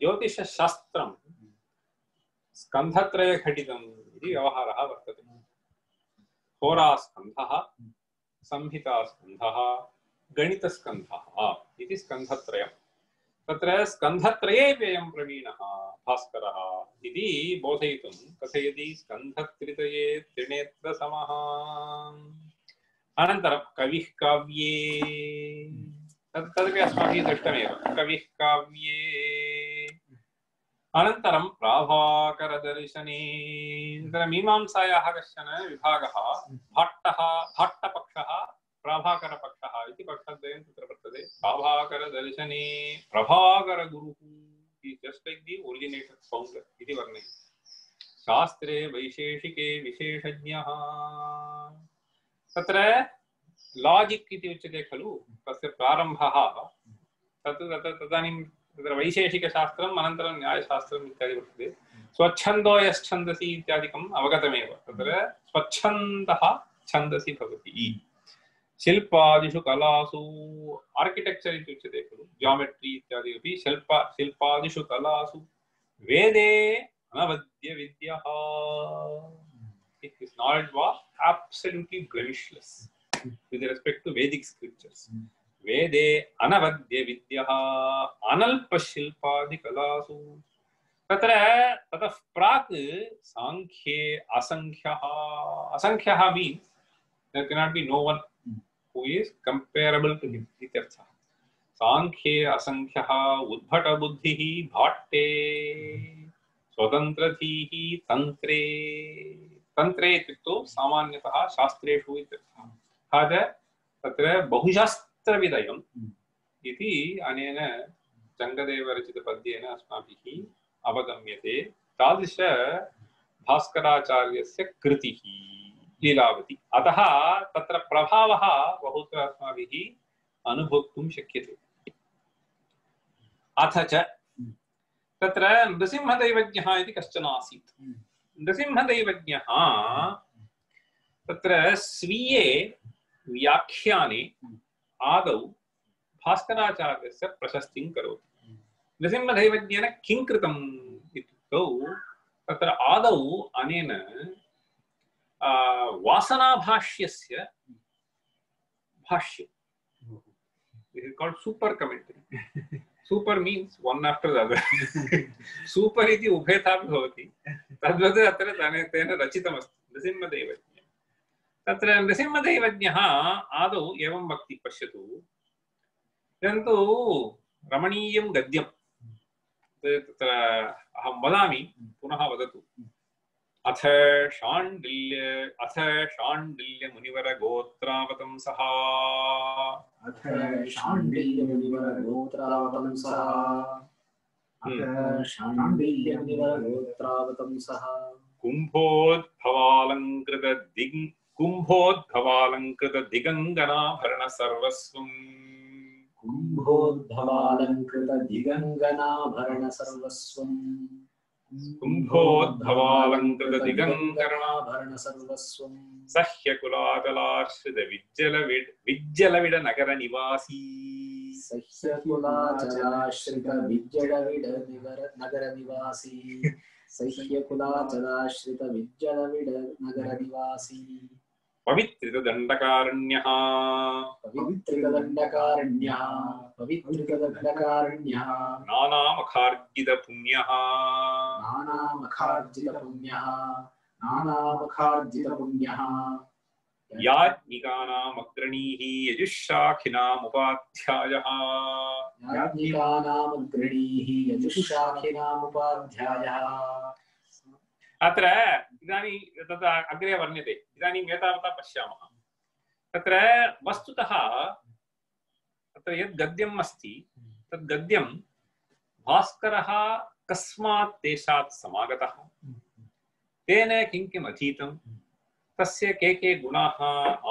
ज्योतिषशास्त्रं स्कन्धत्रयघटितम् इति व्यवहारः वर्तते। होरास्कन्धः, संहितास्कन्धः, गणितस्कन्धः इति स्कन्धत्रयम्। तत्र स्कन्धत्रये व्ययं प्रवीणः भास्करः इति बोधयितुं कथयति स्कन्धत्रितये त्रिनेत्रसमः। अनन्तरं कविः काव्ये, तद् तदपि अस्माभिः दृष्टमेव। कविः काव्ये अनन्तरं प्राभाकरदर्शने। तत्र मीमांसायाः कश्चन विभागः भाट्टः भाट्टपक्षः प्राभाकरपक्षः इति पक्षद्वयं तत्र वर्तते। प्राभाकरदर्शने प्रभाकरगुरुः just like the originator founder इति वर्णयति। शास्त्रे वैशेषिके विशेषज्ञः। तत्र लाजिक् इति उच्यते खलु, तस्य प्रारम्भः तत् तदानीं तत्र वैशेषिकशास्त्रम् अनन्तरं न्यायशास्त्रम् इत्यादि वर्तते। स्वच्छन्दो यश्छन्दसि इत्यादिकम् अवगतमेव। तत्र स्वच्छन्दः छन्दसि भवति। शिल्पादिषु कलासु आर्किटेक्चर् इति उच्यते खलु, जियोमेट्री इत्यादि अपि शिल्प शिल्पादिषु कलासु वेदे अनवद्यविद्यः। His knowledge was absolutely blemishless with respect to Vedic scriptures. Vede anavadya vidyaha analpa shilpadi kalasu. Tatra tatah prak sankhye asankhyaha. Asankhyaha means there cannot be no one who is comparable to him. Ityartha. सांख्ये असंख्यः उद्भटबुद्धिः भाट्टे स्वतन्त्रधीः तन्त्रे तन्त्रे इत्युक्तौ सामान्यतः शास्त्रेषु इत्यर्थः। तथा च तत्र बहुशास्त्रविदयम् इति अनेन जङ्गदेवरचितपद्येन अस्माभिः अवगम्यते। तादृश भास्कराचार्यस्य कृतिः लीलावती। अतः तत्र प्रभावः बहुत्र अस्माभिः अनुभोक्तुं शक्यते। अथ च तत्र नृसिंहदैवज्ञः इति कश्चन आसीत्। नृसिंहदैवज्ञः तत्र स्वीये व्याख्याने आदौ भास्कराचार्यस्य प्रशस्तिं करोति। नृसिंहदैवज्ञेन किं कृतम् इत्युक्तौ तत्र आदौ अनेन वासनाभाष्यस्य भाष्यं, this is called super commentary. Super means one after the other. Super इति उभयथापि भवति। तद्वत् अत्र तेन रचितमस्ति नृसिंहदैवज्ञ। तत्र नृसिंहदैवज्ञः आदौ एवं वक्ति, पश्यतु, परन्तु रमणीयं गद्यं तत्र अहं वदामि, पुनः वदतु। अथ शाण्डिल्य अथ शाण्डिल्य मुनिवर गोत्रावतंसः अथ शाण्डिल्य मुनिवर गोत्रावतंसः अथ शाण्डिल्य मुनिवर गोत्रावतंसः कुम्भोद्भवालङ्कृत दिग् कुम्भोद्भवालङ्कृत दिगङ्गनाभरण सर्वस्वम् कुम्भोद्भवालङ्कृत दिगङ्गनाभरण सर्वस्वम् कुम्भोद्भवालङ्कृत दिगङ्गनाभरण सर्वस्वम् सह्यकुलाचलाश्रित विज्जलविड विज्जलविड नगर निवासी सह्यकुलाचलाश्रित विज्जलविड नगर निवासी सह्यकुलाचलाश्रित विज्जलविड नगर निवासी पवित्रितदण्डकारण्यः पवित्रितदण्डकारण्यः पवित्रितदण्डकारण्यः नानामखार्जितपुण्यः नानामखार्जितपुण्यः नानामखार्जितपुण्यः याज्ञिकानामग्रणीः यजुःशाखिनामुपाध्यायः याज्ञिकानामग्रणीः यजुःशाखिनामुपाध्यायः। अत्र इदानीं तत्र अग्रे वर्ण्यते। इदानीम् एतावता पश्यामः। तत्र वस्तुतः तत्र यद् गद्यम् अस्ति तद् गद्यं भास्करः कस्मात् देशात् समागतः, तेन किं किम् अधीतं, तस्य के के गुणाः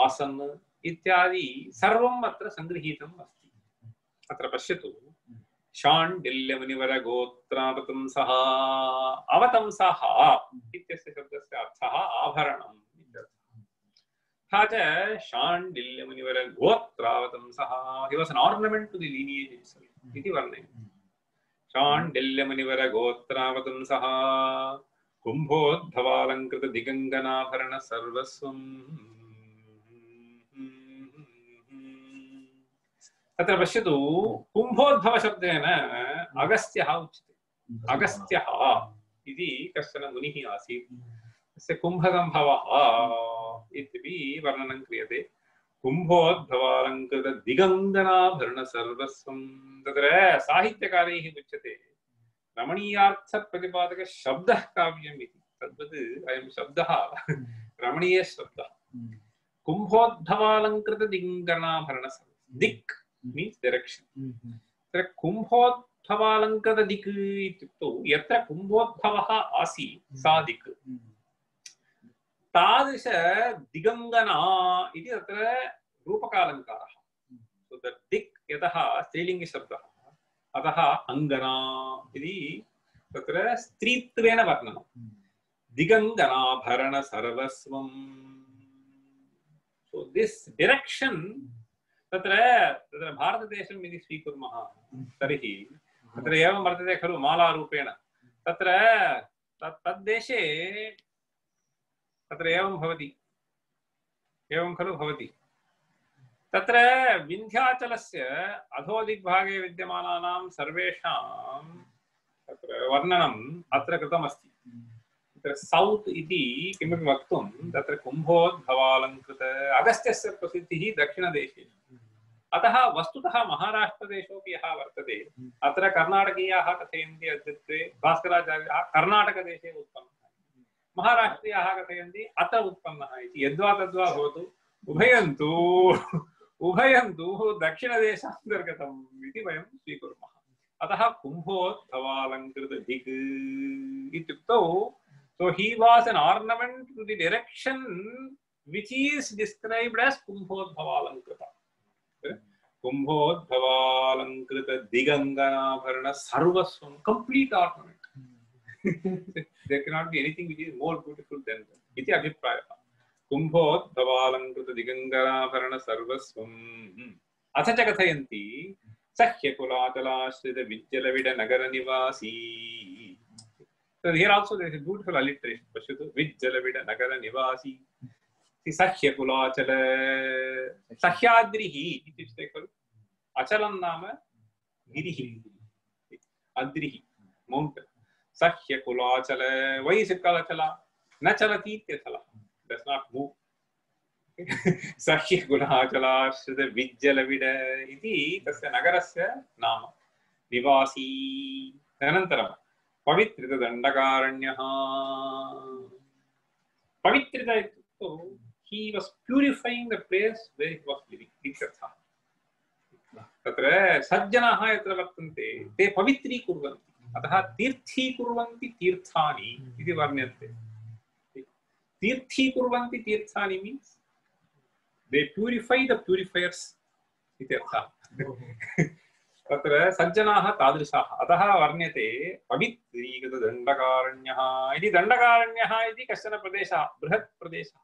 आसन् इत्यादि सर्वम् अत्र सङ्गृहीतम् अस्ति। अत्र पश्यतु, शाण्डिल्यमुनिवर गोत्रावतंसः। अवतंसः इत्यस्य शब्दस्य अर्थः आभरणम् इत्यर्थः। तथा च शाण्डिल्यमुनिवर गोत्रावतंसः, he was an ornament to the lineage itself इति वर्णयति। शाण्डिल्यमुनिवर गोत्रावतंसः कुम्भोद्भवालङ्कृत दिगङ्गनाभरण सर्वस्वम्। तत्र पश्यतु, कुम्भोद्भव शब्देन अगस्त्यः उच्यते। अगस्त्यः इति कश्चन मुनिः आसीत्, तस्य कुम्भसम्भवः इत्यपि वर्णनं क्रियते। कुम्भोद्भवालङ्कृत दिगङ्गनाभरण सर्वस्वं। तत्र साहित्यकारैः उच्यते रमणीयार्थप्रतिपादक शब्दः काव्यम् इति। तद्वत् अयं शब्दः रमणीयशब्दः। कुम्भोद्भवालङ्कृत दिगङ्गनाभरण दिक् means direction. तत्र कुम्भोद्भवालङ्कृत दिक् इत्युक्तौ यत्र कुम्भोद्भवः आसीत् सा दिक्, तादृश दिगङ्गना इति तत्र रूपकालङ्कारः। So the दिक् यतः स्त्रीलिङ्गशब्दः, अतः अङ्गना इति तत्र स्त्रीत्वेन वर्णनं। दिगङ्गनाभरण सर्वस्वम्। So this direction, तत्र तत्र भारतदेशम् इति स्वीकुर्मः तर्हि तत्र एवं वर्तते खलु मालारूपेण। तत्र तद्देशे तत्र एवं भवति, एवं खलु भवति। तत्र विन्ध्याचलस्य अधोदिग्भागे विद्यमानानां सर्वेषां तत्र वर्णनम् अत्र कृतमस्ति। तत्र सौत् इति किमपि वक्तुं तत्र कुम्भोद्भवालङ्कृत, अगस्त्यस्य प्रसिद्धिः दक्षिणदेशे, अतः वस्तुतः महाराष्ट्रदेशोऽपि यः वर्तते अत्र कर्णाटकीयाः कथयन्ति अद्यत्वे भास्कराचार्यः कर्णाटकदेशे उत्पन्नः महाराष्ट्रीयाः कथयन्ति अत्र उत्पन्नः इति यद्वा तद्वा भवतु उभयं तु उभयं तु दक्षिणदेशान्तर्गतम् इति वयं स्वीकुर्मः अतः कुम्भोद्भवालङ्कृतदिक् इत्युक्तौ so he was an ornament to the direction which is described as kumbhodbhavalankrita kumbhodbhavalankrita diganganabharana sarvasvam complete ornament there cannot be anything which is more beautiful than that iti abhiprayah kumbhodbhavalankrita diganganabharana sarvasvam atha cha kathayanti sahyakulachalashrita vijjalavida nagara nivasi. So here also there is a beautiful alliteration. Pashatu vijjalavida nagara nivasi. Sahyakulachala sahyadrihi ityucte khalu achalam nama girihi adrihi mountain. Sahyakulachala why is it called achala? Na chalati ityathala does not move. Sahyakulachala shrita vijjalavida iti tasya nagarasya nama nivasi. Anantaram पवित्रित दंडकारण्यः पवित्रित इत्युक्तौ he was purifying the place where he was living इत्यर्थः तत्र सज्जनाः यत्र वर्तन्ते ते पवित्रीकुर्वन्ति अतः तीर्थीकुर्वन्ति तीर्थानि इति वर्ण्यन्ते तीर्थीकुर्वन्ति तीर्थानि means they purify the purifiers इत्यर्थः तत्र सज्जनाः तादृशाः अतः वर्ण्यते पवित्रीकृत दण्डकारण्यः इति दण्डकारण्यः इति कश्चन प्रदेशः बृहत् प्रदेशः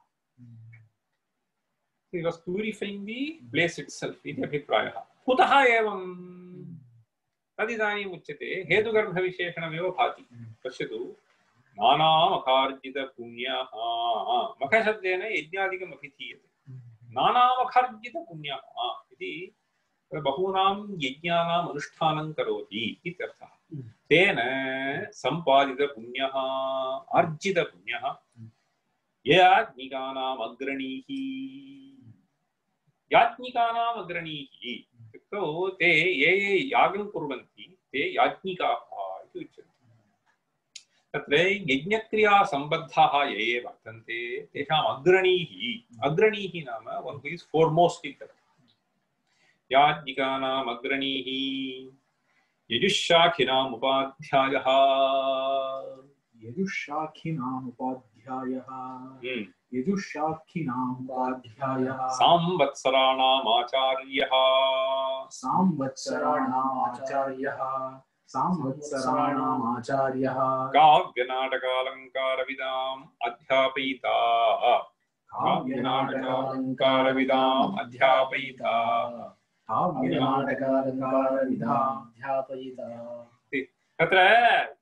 he was purifying the place itself इति अभिप्रायः कुतः एवं तदिदानीम् उच्यते हेतुगर्भविशेषणमेव भाति पश्यतु नानामखार्जित पुण्यः मखशब्देन यज्ञादिकम् अभिधीयते नानामखार्जित पुण्यः इति बहूनां यज्ञानाम् अनुष्ठानं करोति इत्यर्थः तेन सम्पादित पुण्यः अर्जित पुण्यः याज्ञिकानाम् अग्रणीः याज्ञिकानाम् अग्रणीः इत्युक्तौ ते ये ये यागं कुर्वन्ति ते याज्ञिकाः इति उच्यते तत्र यज्ञक्रियासम्बद्धाः ये ये वर्तन्ते तेषाम् अग्रणीः अग्रणीः नाम one who is foremost इत्यर्थः याज्ञिकानाम् अग्रणीः यजुःशाखिनाम् उपाध्यायः यजुःशाखिनाम् उपाध्यायः यजुःशाखिनाम् उपाध्यायः सांवत्सराणाम् आचार्यः सांवत्सराणाम् आचार्यः सांवत्सराणाम् आचार्यः काव्यनाटकालङ्कारविदाम् अध्यापयिता काव्यनाटकालङ्कारविदाम् अध्यापयिता तत्र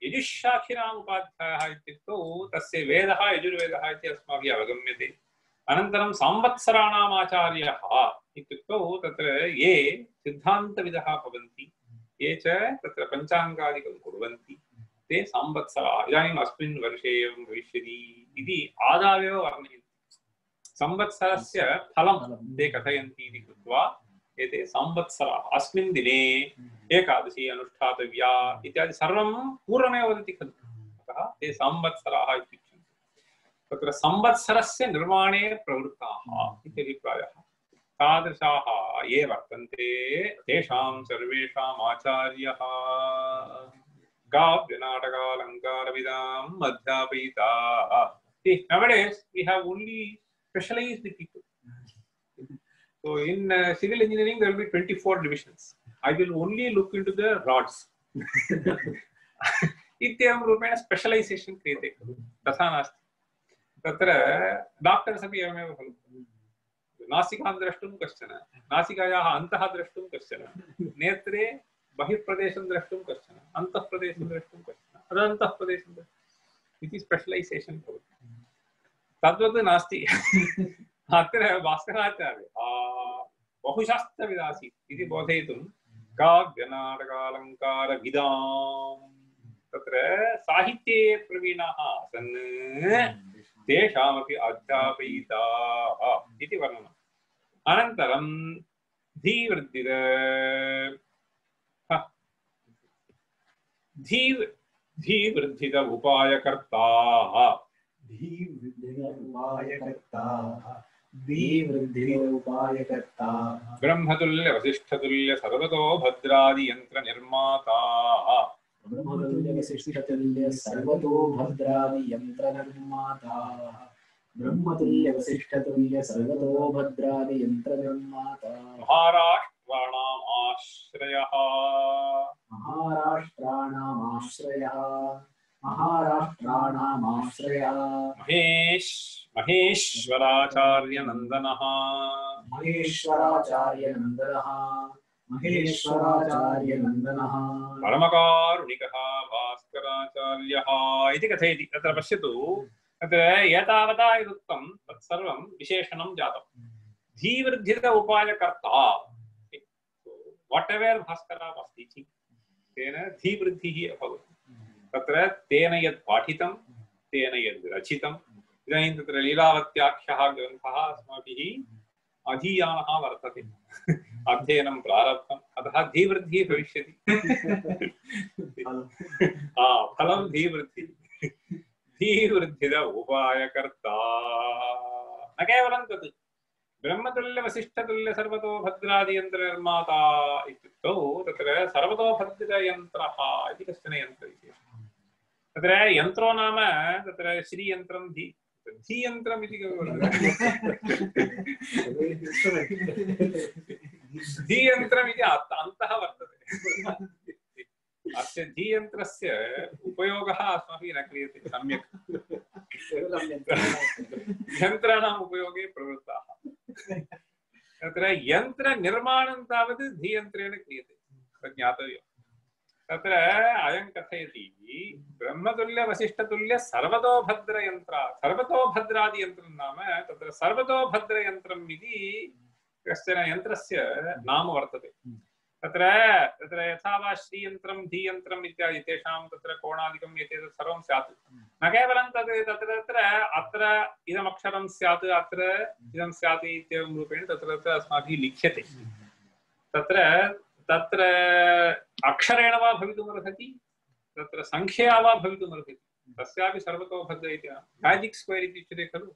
यजुःशाखिनाम् उपाध्यायः इत्युक्तौ तस्य वेदः यजुर्वेदः इति अस्माभिः अवगम्यते अनन्तरं संवत्सराणाम् आचार्यः इत्युक्तौ तत्र ये सिद्धान्तविदः भवन्ति ये च तत्र पञ्चाङ्गादिकं कुर्वन्ति ते संवत्सराः इदानीम् अस्मिन् वर्षे एवं भविष्यति इति आदावेव वर्णयन्ति संवत्सरस्य फलं ते कथयन्ति इति कृत्वा एते संवत्सराः अस्मिन् दिने एकादशी अनुष्ठातव्या इत्यादि सर्वं पूर्वमेव वदति खलु अतः ते संवत्सराः इत्युच्यन्ते तत्र संवत्सरस्य निर्माणे प्रवृत्ताः इति अभिप्रायः तादृशाः ये वर्तन्ते तेषां सर्वेषाम् आचार्यः काव्यनाटकालङ्कारविदाम् अध्यापयिताः. Nowadays we have only specialized people. So in uh, civil engineering there will be twenty-four divisions. I will only look into the rods. इत्येवं रूपेण स्पेशलाइजेशन क्रियते तथा नास्ति तत्र डॉक्टर्स् अपि एवमेव खलु नासिकां द्रष्टुं कश्चन नासिकायाः अन्तः द्रष्टुं कश्चन नेत्रे बहिर्प्रदेशं द्रष्टुं कश्चन अन्तःप्रदेशं द्रष्टुं कश्चन अदन्तःप्रदेशं इति स्पेशलाइजेशन भवति तद्वत् नास्ति अत्र भास्कराचार्यः बहुशास्त्रविदासीत् इति बोधयितुं काव्यनाटकालङ्कारविदाम् तत्र साहित्ये प्रवीणाः आसन् तेषामपि अध्यापयिताः इति वर्णनम् अनन्तरं धीवृद्धिद धी धीवृद्धिद उपायकर्ता धीवृद्धिद उपायकर्ता धीवृद्धिद उपायकर्ता ब्रह्मतुल्य वसिष्ठतुल्य सर्वतो भद्रादि यंत्र निर्माता ब्रह्मतुल्य वसिष्ठतुल्य सर्वतो भद्रादि यंत्र निर्माता ब्रह्मतुल्य वसिष्ठतुल्य सर्वतो भद्रादि यंत्र निर्माता महाराष्ट्राणाम् आश्रयः महाराष्ट्राणामाश्रयः महाराष्ट्राणामाश्रयः महेश महेश्वराचार्य नंदनः महेश्वराचार्य नंदनः महेश्वराचार्य नंदनः परमकारुणिकः भास्कराचार्यः इति कथयति। तत्र पश्यतु, तत्र एतावता यदुक्तं तत्सर्वं विशेषणं जातं। धीवृद्धिद उपायकर्ता, वाट् एवर् भास्करः अस्ति तेन धीवृद्धिः अभवत्। तत्र तेन यत् पाठितं, तेन यद् रचितं, इदानीं तत्र लीलावत्याख्यः ग्रन्थः अस्माभिः अधीयानः वर्तते, अध्ययनं प्रारब्धम्, अतः धीवृद्धिः भविष्यति। फलं धीवृद्धिः। धीवृद्धिद उपायकर्ता न केवलं तत्, ब्रह्मतुल्य वसिष्ठतुल्य सर्वतो भद्रादि यंत्र निर्माता इत्युक्तौ तत्र सर्वतो भद्रयन्त्रः इति कश्चन यन्त्रविशेषः। तत्र यन्त्रो नाम तत्र श्रीयन्त्रं धी धीयन्त्रम् इति धीयन्त्रम् इति अन्तः वर्तते। अस्य धीयन्त्रस्य उपयोगः अस्माभिः न क्रियते सम्यक्। यन्त्राणाम् उपयोगे प्रवृत्ताः। तत्र यन्त्रनिर्माणं तावत् धीयन्त्रेण क्रियते, तत् ज्ञातव्यम्। तत्र अयं कथयति ब्रह्मतुल्य वसिष्ठतुल्य सर्वतो भद्रयन्त्र, सर्वतो भद्रादि यन्त्रं नाम तत्र सर्वतो भद्रयन्त्रम् इति कश्चन यन्त्रस्य नाम वर्तते। तत्र तत्र यथा वा श्रीयन्त्रं धीयन्त्रम् इत्यादि तेषां तत्र कोणादिकम् एतत् सर्वं स्यात्। न केवलं तद् तत्र तत्र अत्र इदमक्षरं स्यात्, अत्र इदं स्यात् इत्येवं रूपेण तत्र तत्र अस्माभिः लिख्यते। तत्र तत्र अक्षरेण वा भवितुमर्हति, तत्र संख्यया वा भवितुमर्हति, तस्यापि सर्वतो भद्र इति मैजिक् स्क्वेर् इति उच्यते खलु,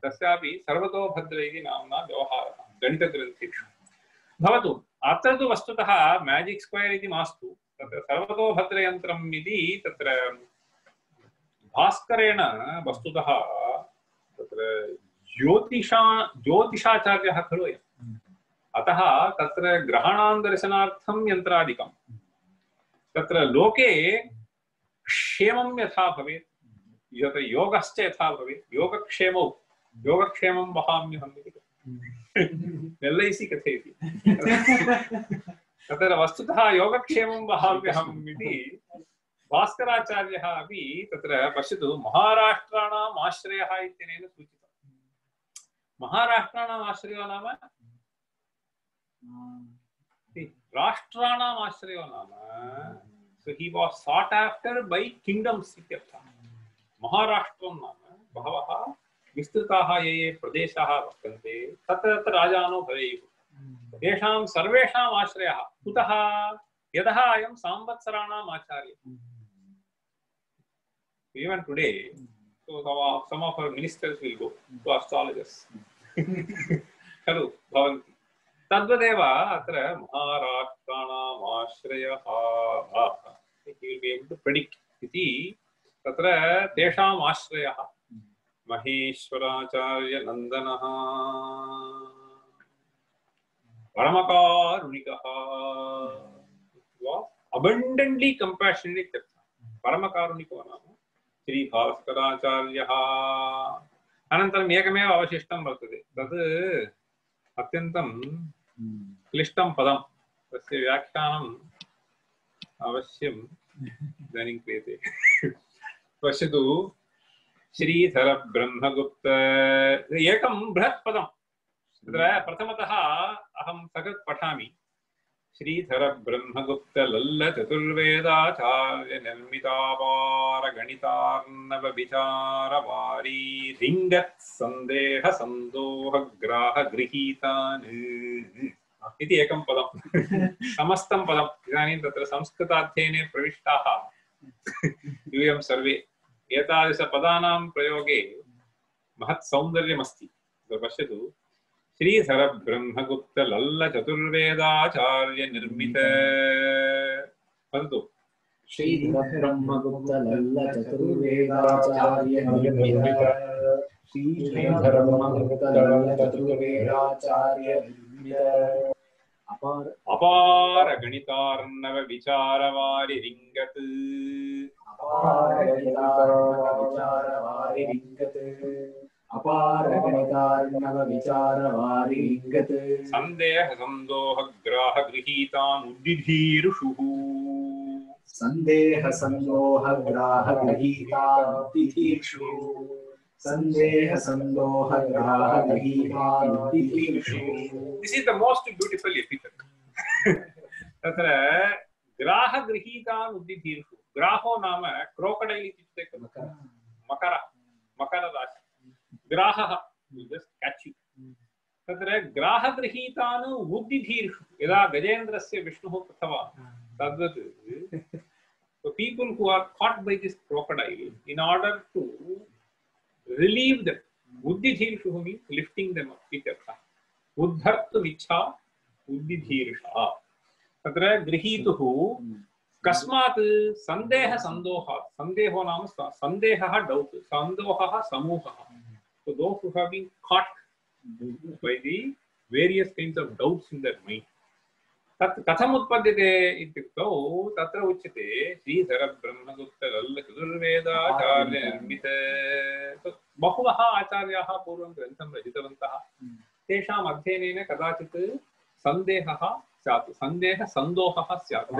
तस्यापि सर्वतो भद्र इति नाम्ना व्यवहारः गणितग्रन्थेषु भवतु। अत्र तु वस्तुतः मैजिक् स्क्वेर् इति मास्तु, तत्र सर्वतो भद्रयन्त्रम् इति तत्र भास्करेण वस्तुतः तत्र ज्योतिषा ज्योतिषाचार्यः खलु अयम्। अतः तत्र ग्रहाणां दर्शनार्थं यन्त्रादिकं, तत्र लोके क्षेमं यथा भवेत्, यत् योगश्च यथा भवेत्, योगक्षेमौ योगक्षेमं वहाम्यहम् इति एल् ऐ सि कथयति। तत्र वस्तुतः योगक्षेमं वहाम्यहम् इति भास्कराचार्यः अपि तत्र पश्यतु, महाराष्ट्राणाम् आश्रयः इत्यनेन सूचितम्। महाराष्ट्राणाम् आश्रयो नाम राष्ट्राणाम् आश्रयो नाम, so he was sought after by kingdoms इत्यर्थः। महाराष्ट्रं नाम बहवः विस्तृताः ये ये प्रदेशाः वर्तन्ते तत्र तत्र राजानो भवेयुः, तेषां सर्वेषाम् आश्रयः कुतः? यतः अयं संवत्सराणाम् आचार्यः। Even today, so some of our ministers will go to astrologers. खलु भवन्ति। तद्वदेव अत्र महाराष्ट्राणाम् आश्रयः, he will be able to predict इति तत्र तेषाम् आश्रयः महेश्वराचार्य नंदनः परमकारुणिकः, abundantly compassionate, परमकारुणिको नाम श्री भास्कराचार्यः। अनन्तरम् एकमेव अवशिष्टं वर्तते, तत् अत्यन्तं क्लिष्टं पदं, तस्य व्याख्यानम् अवश्यम् इदानीं क्रियते। पश्यतु, श्रीधर ब्रह्मगुप्त एकं बृहत् पदं, तत्र प्रथमतः अहं सकृत् पठामि। श्रीधर ब्रह्मगुप्त लल्ल चतुर्वेदाचार्य निर्मितापार गणितार्णव विचारवारी रिंगत् संदेह संदोह ग्राह गृहीतान्। इति एकं पदं समस्तं पदम् इदानीं तत्र संस्कृताध्ययने प्रविष्टाः यूयं सर्वे एतादृशपदानां प्रयोगे महत् सौन्दर्यमस्ति। पश्यतु श्रीधर ब्रह्मगुप्त लल्ल चतुर्वेदाचार्य निर्मित वदतु श्रीधर ब्रह्मगुप्त लल्ल चतुर्वेदाचार्य निर्मित श्रीधर ब्रह्मगुप्त लल्ल चतुर्वेदाचार्य निर्मित अपार अपार गणितार्णव विचारवारि रिंगत अपार गणितार्णव विचारवारि रिंगत अपार गणितार्णव विचारवारि रिंगत संदेह संदोह ग्राह गृहीतान् उद्दिधीरुषुः संदेह संदोह ग्राह गृहीतानुत्तिधीर्षु संदेह संदोह ग्राह गृहीतानुत्तिधीर्षु। This is the most beautiful epithet. तत्र ग्राह गृहीतान् उद्दिधीर्षु ग्राहो नाम क्रोकोडैल इत्युक्ते मकर मकर राशि ग्राहः just catch you. तत्र ग्राह गृहीतान् उद्दिधीर्षु यदा गजेन्द्रस्य विष्णुः कृतवान् तद्वत् so people who are caught by this crocodile in order to relieve them uddidhirshu means lifting them up ityartha uddhartum ichha uddidhirsha tatra grihituhu kasmat sandeha sandoha sandeho naam sandehah doubt sandohah samuhah so those who have been caught by the various kinds of doubts in their mind तत् कथम् उत्पद्यते इत्युक्तौ तत्र उच्यते श्रीधर ब्रह्मगुप्त लल्ल चतुर्वेदाचार्य निर्मित बहवः आचार्याः पूर्वं ग्रन्थं रचितवन्तः तेषाम् अध्ययनेन कदाचित् सन्देहः स्यात् सन्देह सन्दोहः स्यात्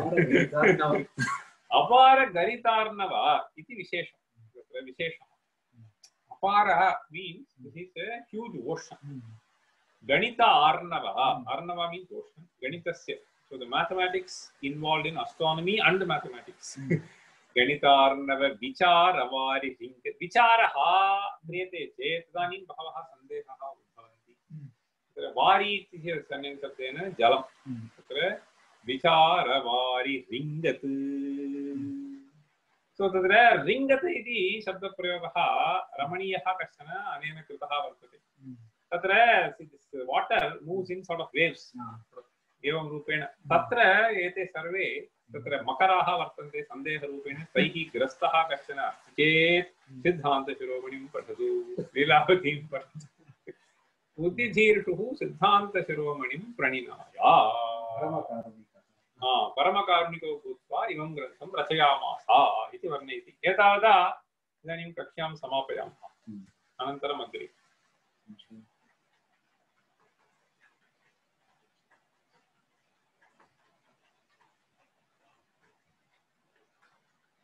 अपार गणितार्णव इति विशेषः तत्र विशेषः अपारः means this is a huge ocean गणित अर्णव Arnav means ocean गणितस्य so the mathematics involved in astronomy and mathematics गणित अर्णव विचारवारि रिंग विचारः क्रियते चेत् तदानीं बहवः सन्देहाः उद्भवन्ति तत्र वारि इति शब्देन जलं तत्र विचारवारि रिंगत् so तत्र रिंगत् इति शब्दप्रयोगः रमणीयः कश्चन अनेन कृतः वर्तते तत्र water moves in sort of waves एवं रूपेण तत्र एते सर्वे तत्र मकराः वर्तन्ते सन्देह रूपेण तैः ग्रस्तः कश्चन चेत् सिद्धान्त शिरोमणिं पठतु लीलावतीं पठतु उद्दिधीर्षुः सिद्धान्त शिरोमणिं प्रणिनाय हा परमकारुणिको भूत्वा इमं ग्रन्थं रचयामास इति वर्णयति एतावता इदानीं कक्ष्यां समापयामः अनन्तरम् अग्रे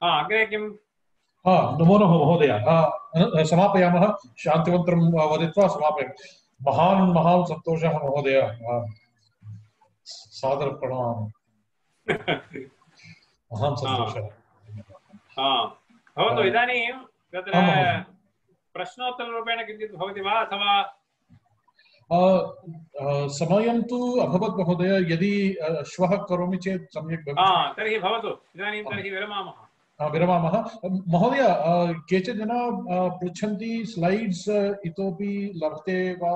अग्रे किं नमो नमः महोदय समापयामः शान्तिमन्त्रं वदित्वा समापयामः महान् महान् सन्तोषः महोदय सादरप्रणमामि महान् सन्तोषः भवतु इदानीं तत्र प्रश्नोत्तररूपेण किञ्चित् भवति वा अथवा समयं तु अभवत् महोदय यदि श्वः करोमि चेत् सम्यक् भवति तर्हि भवतु इदानीं तर्हि विरमामः विरमामः महोदय केचन जनाः पृच्छन्ति स्लैड्स् इतोपि लभ्यते वा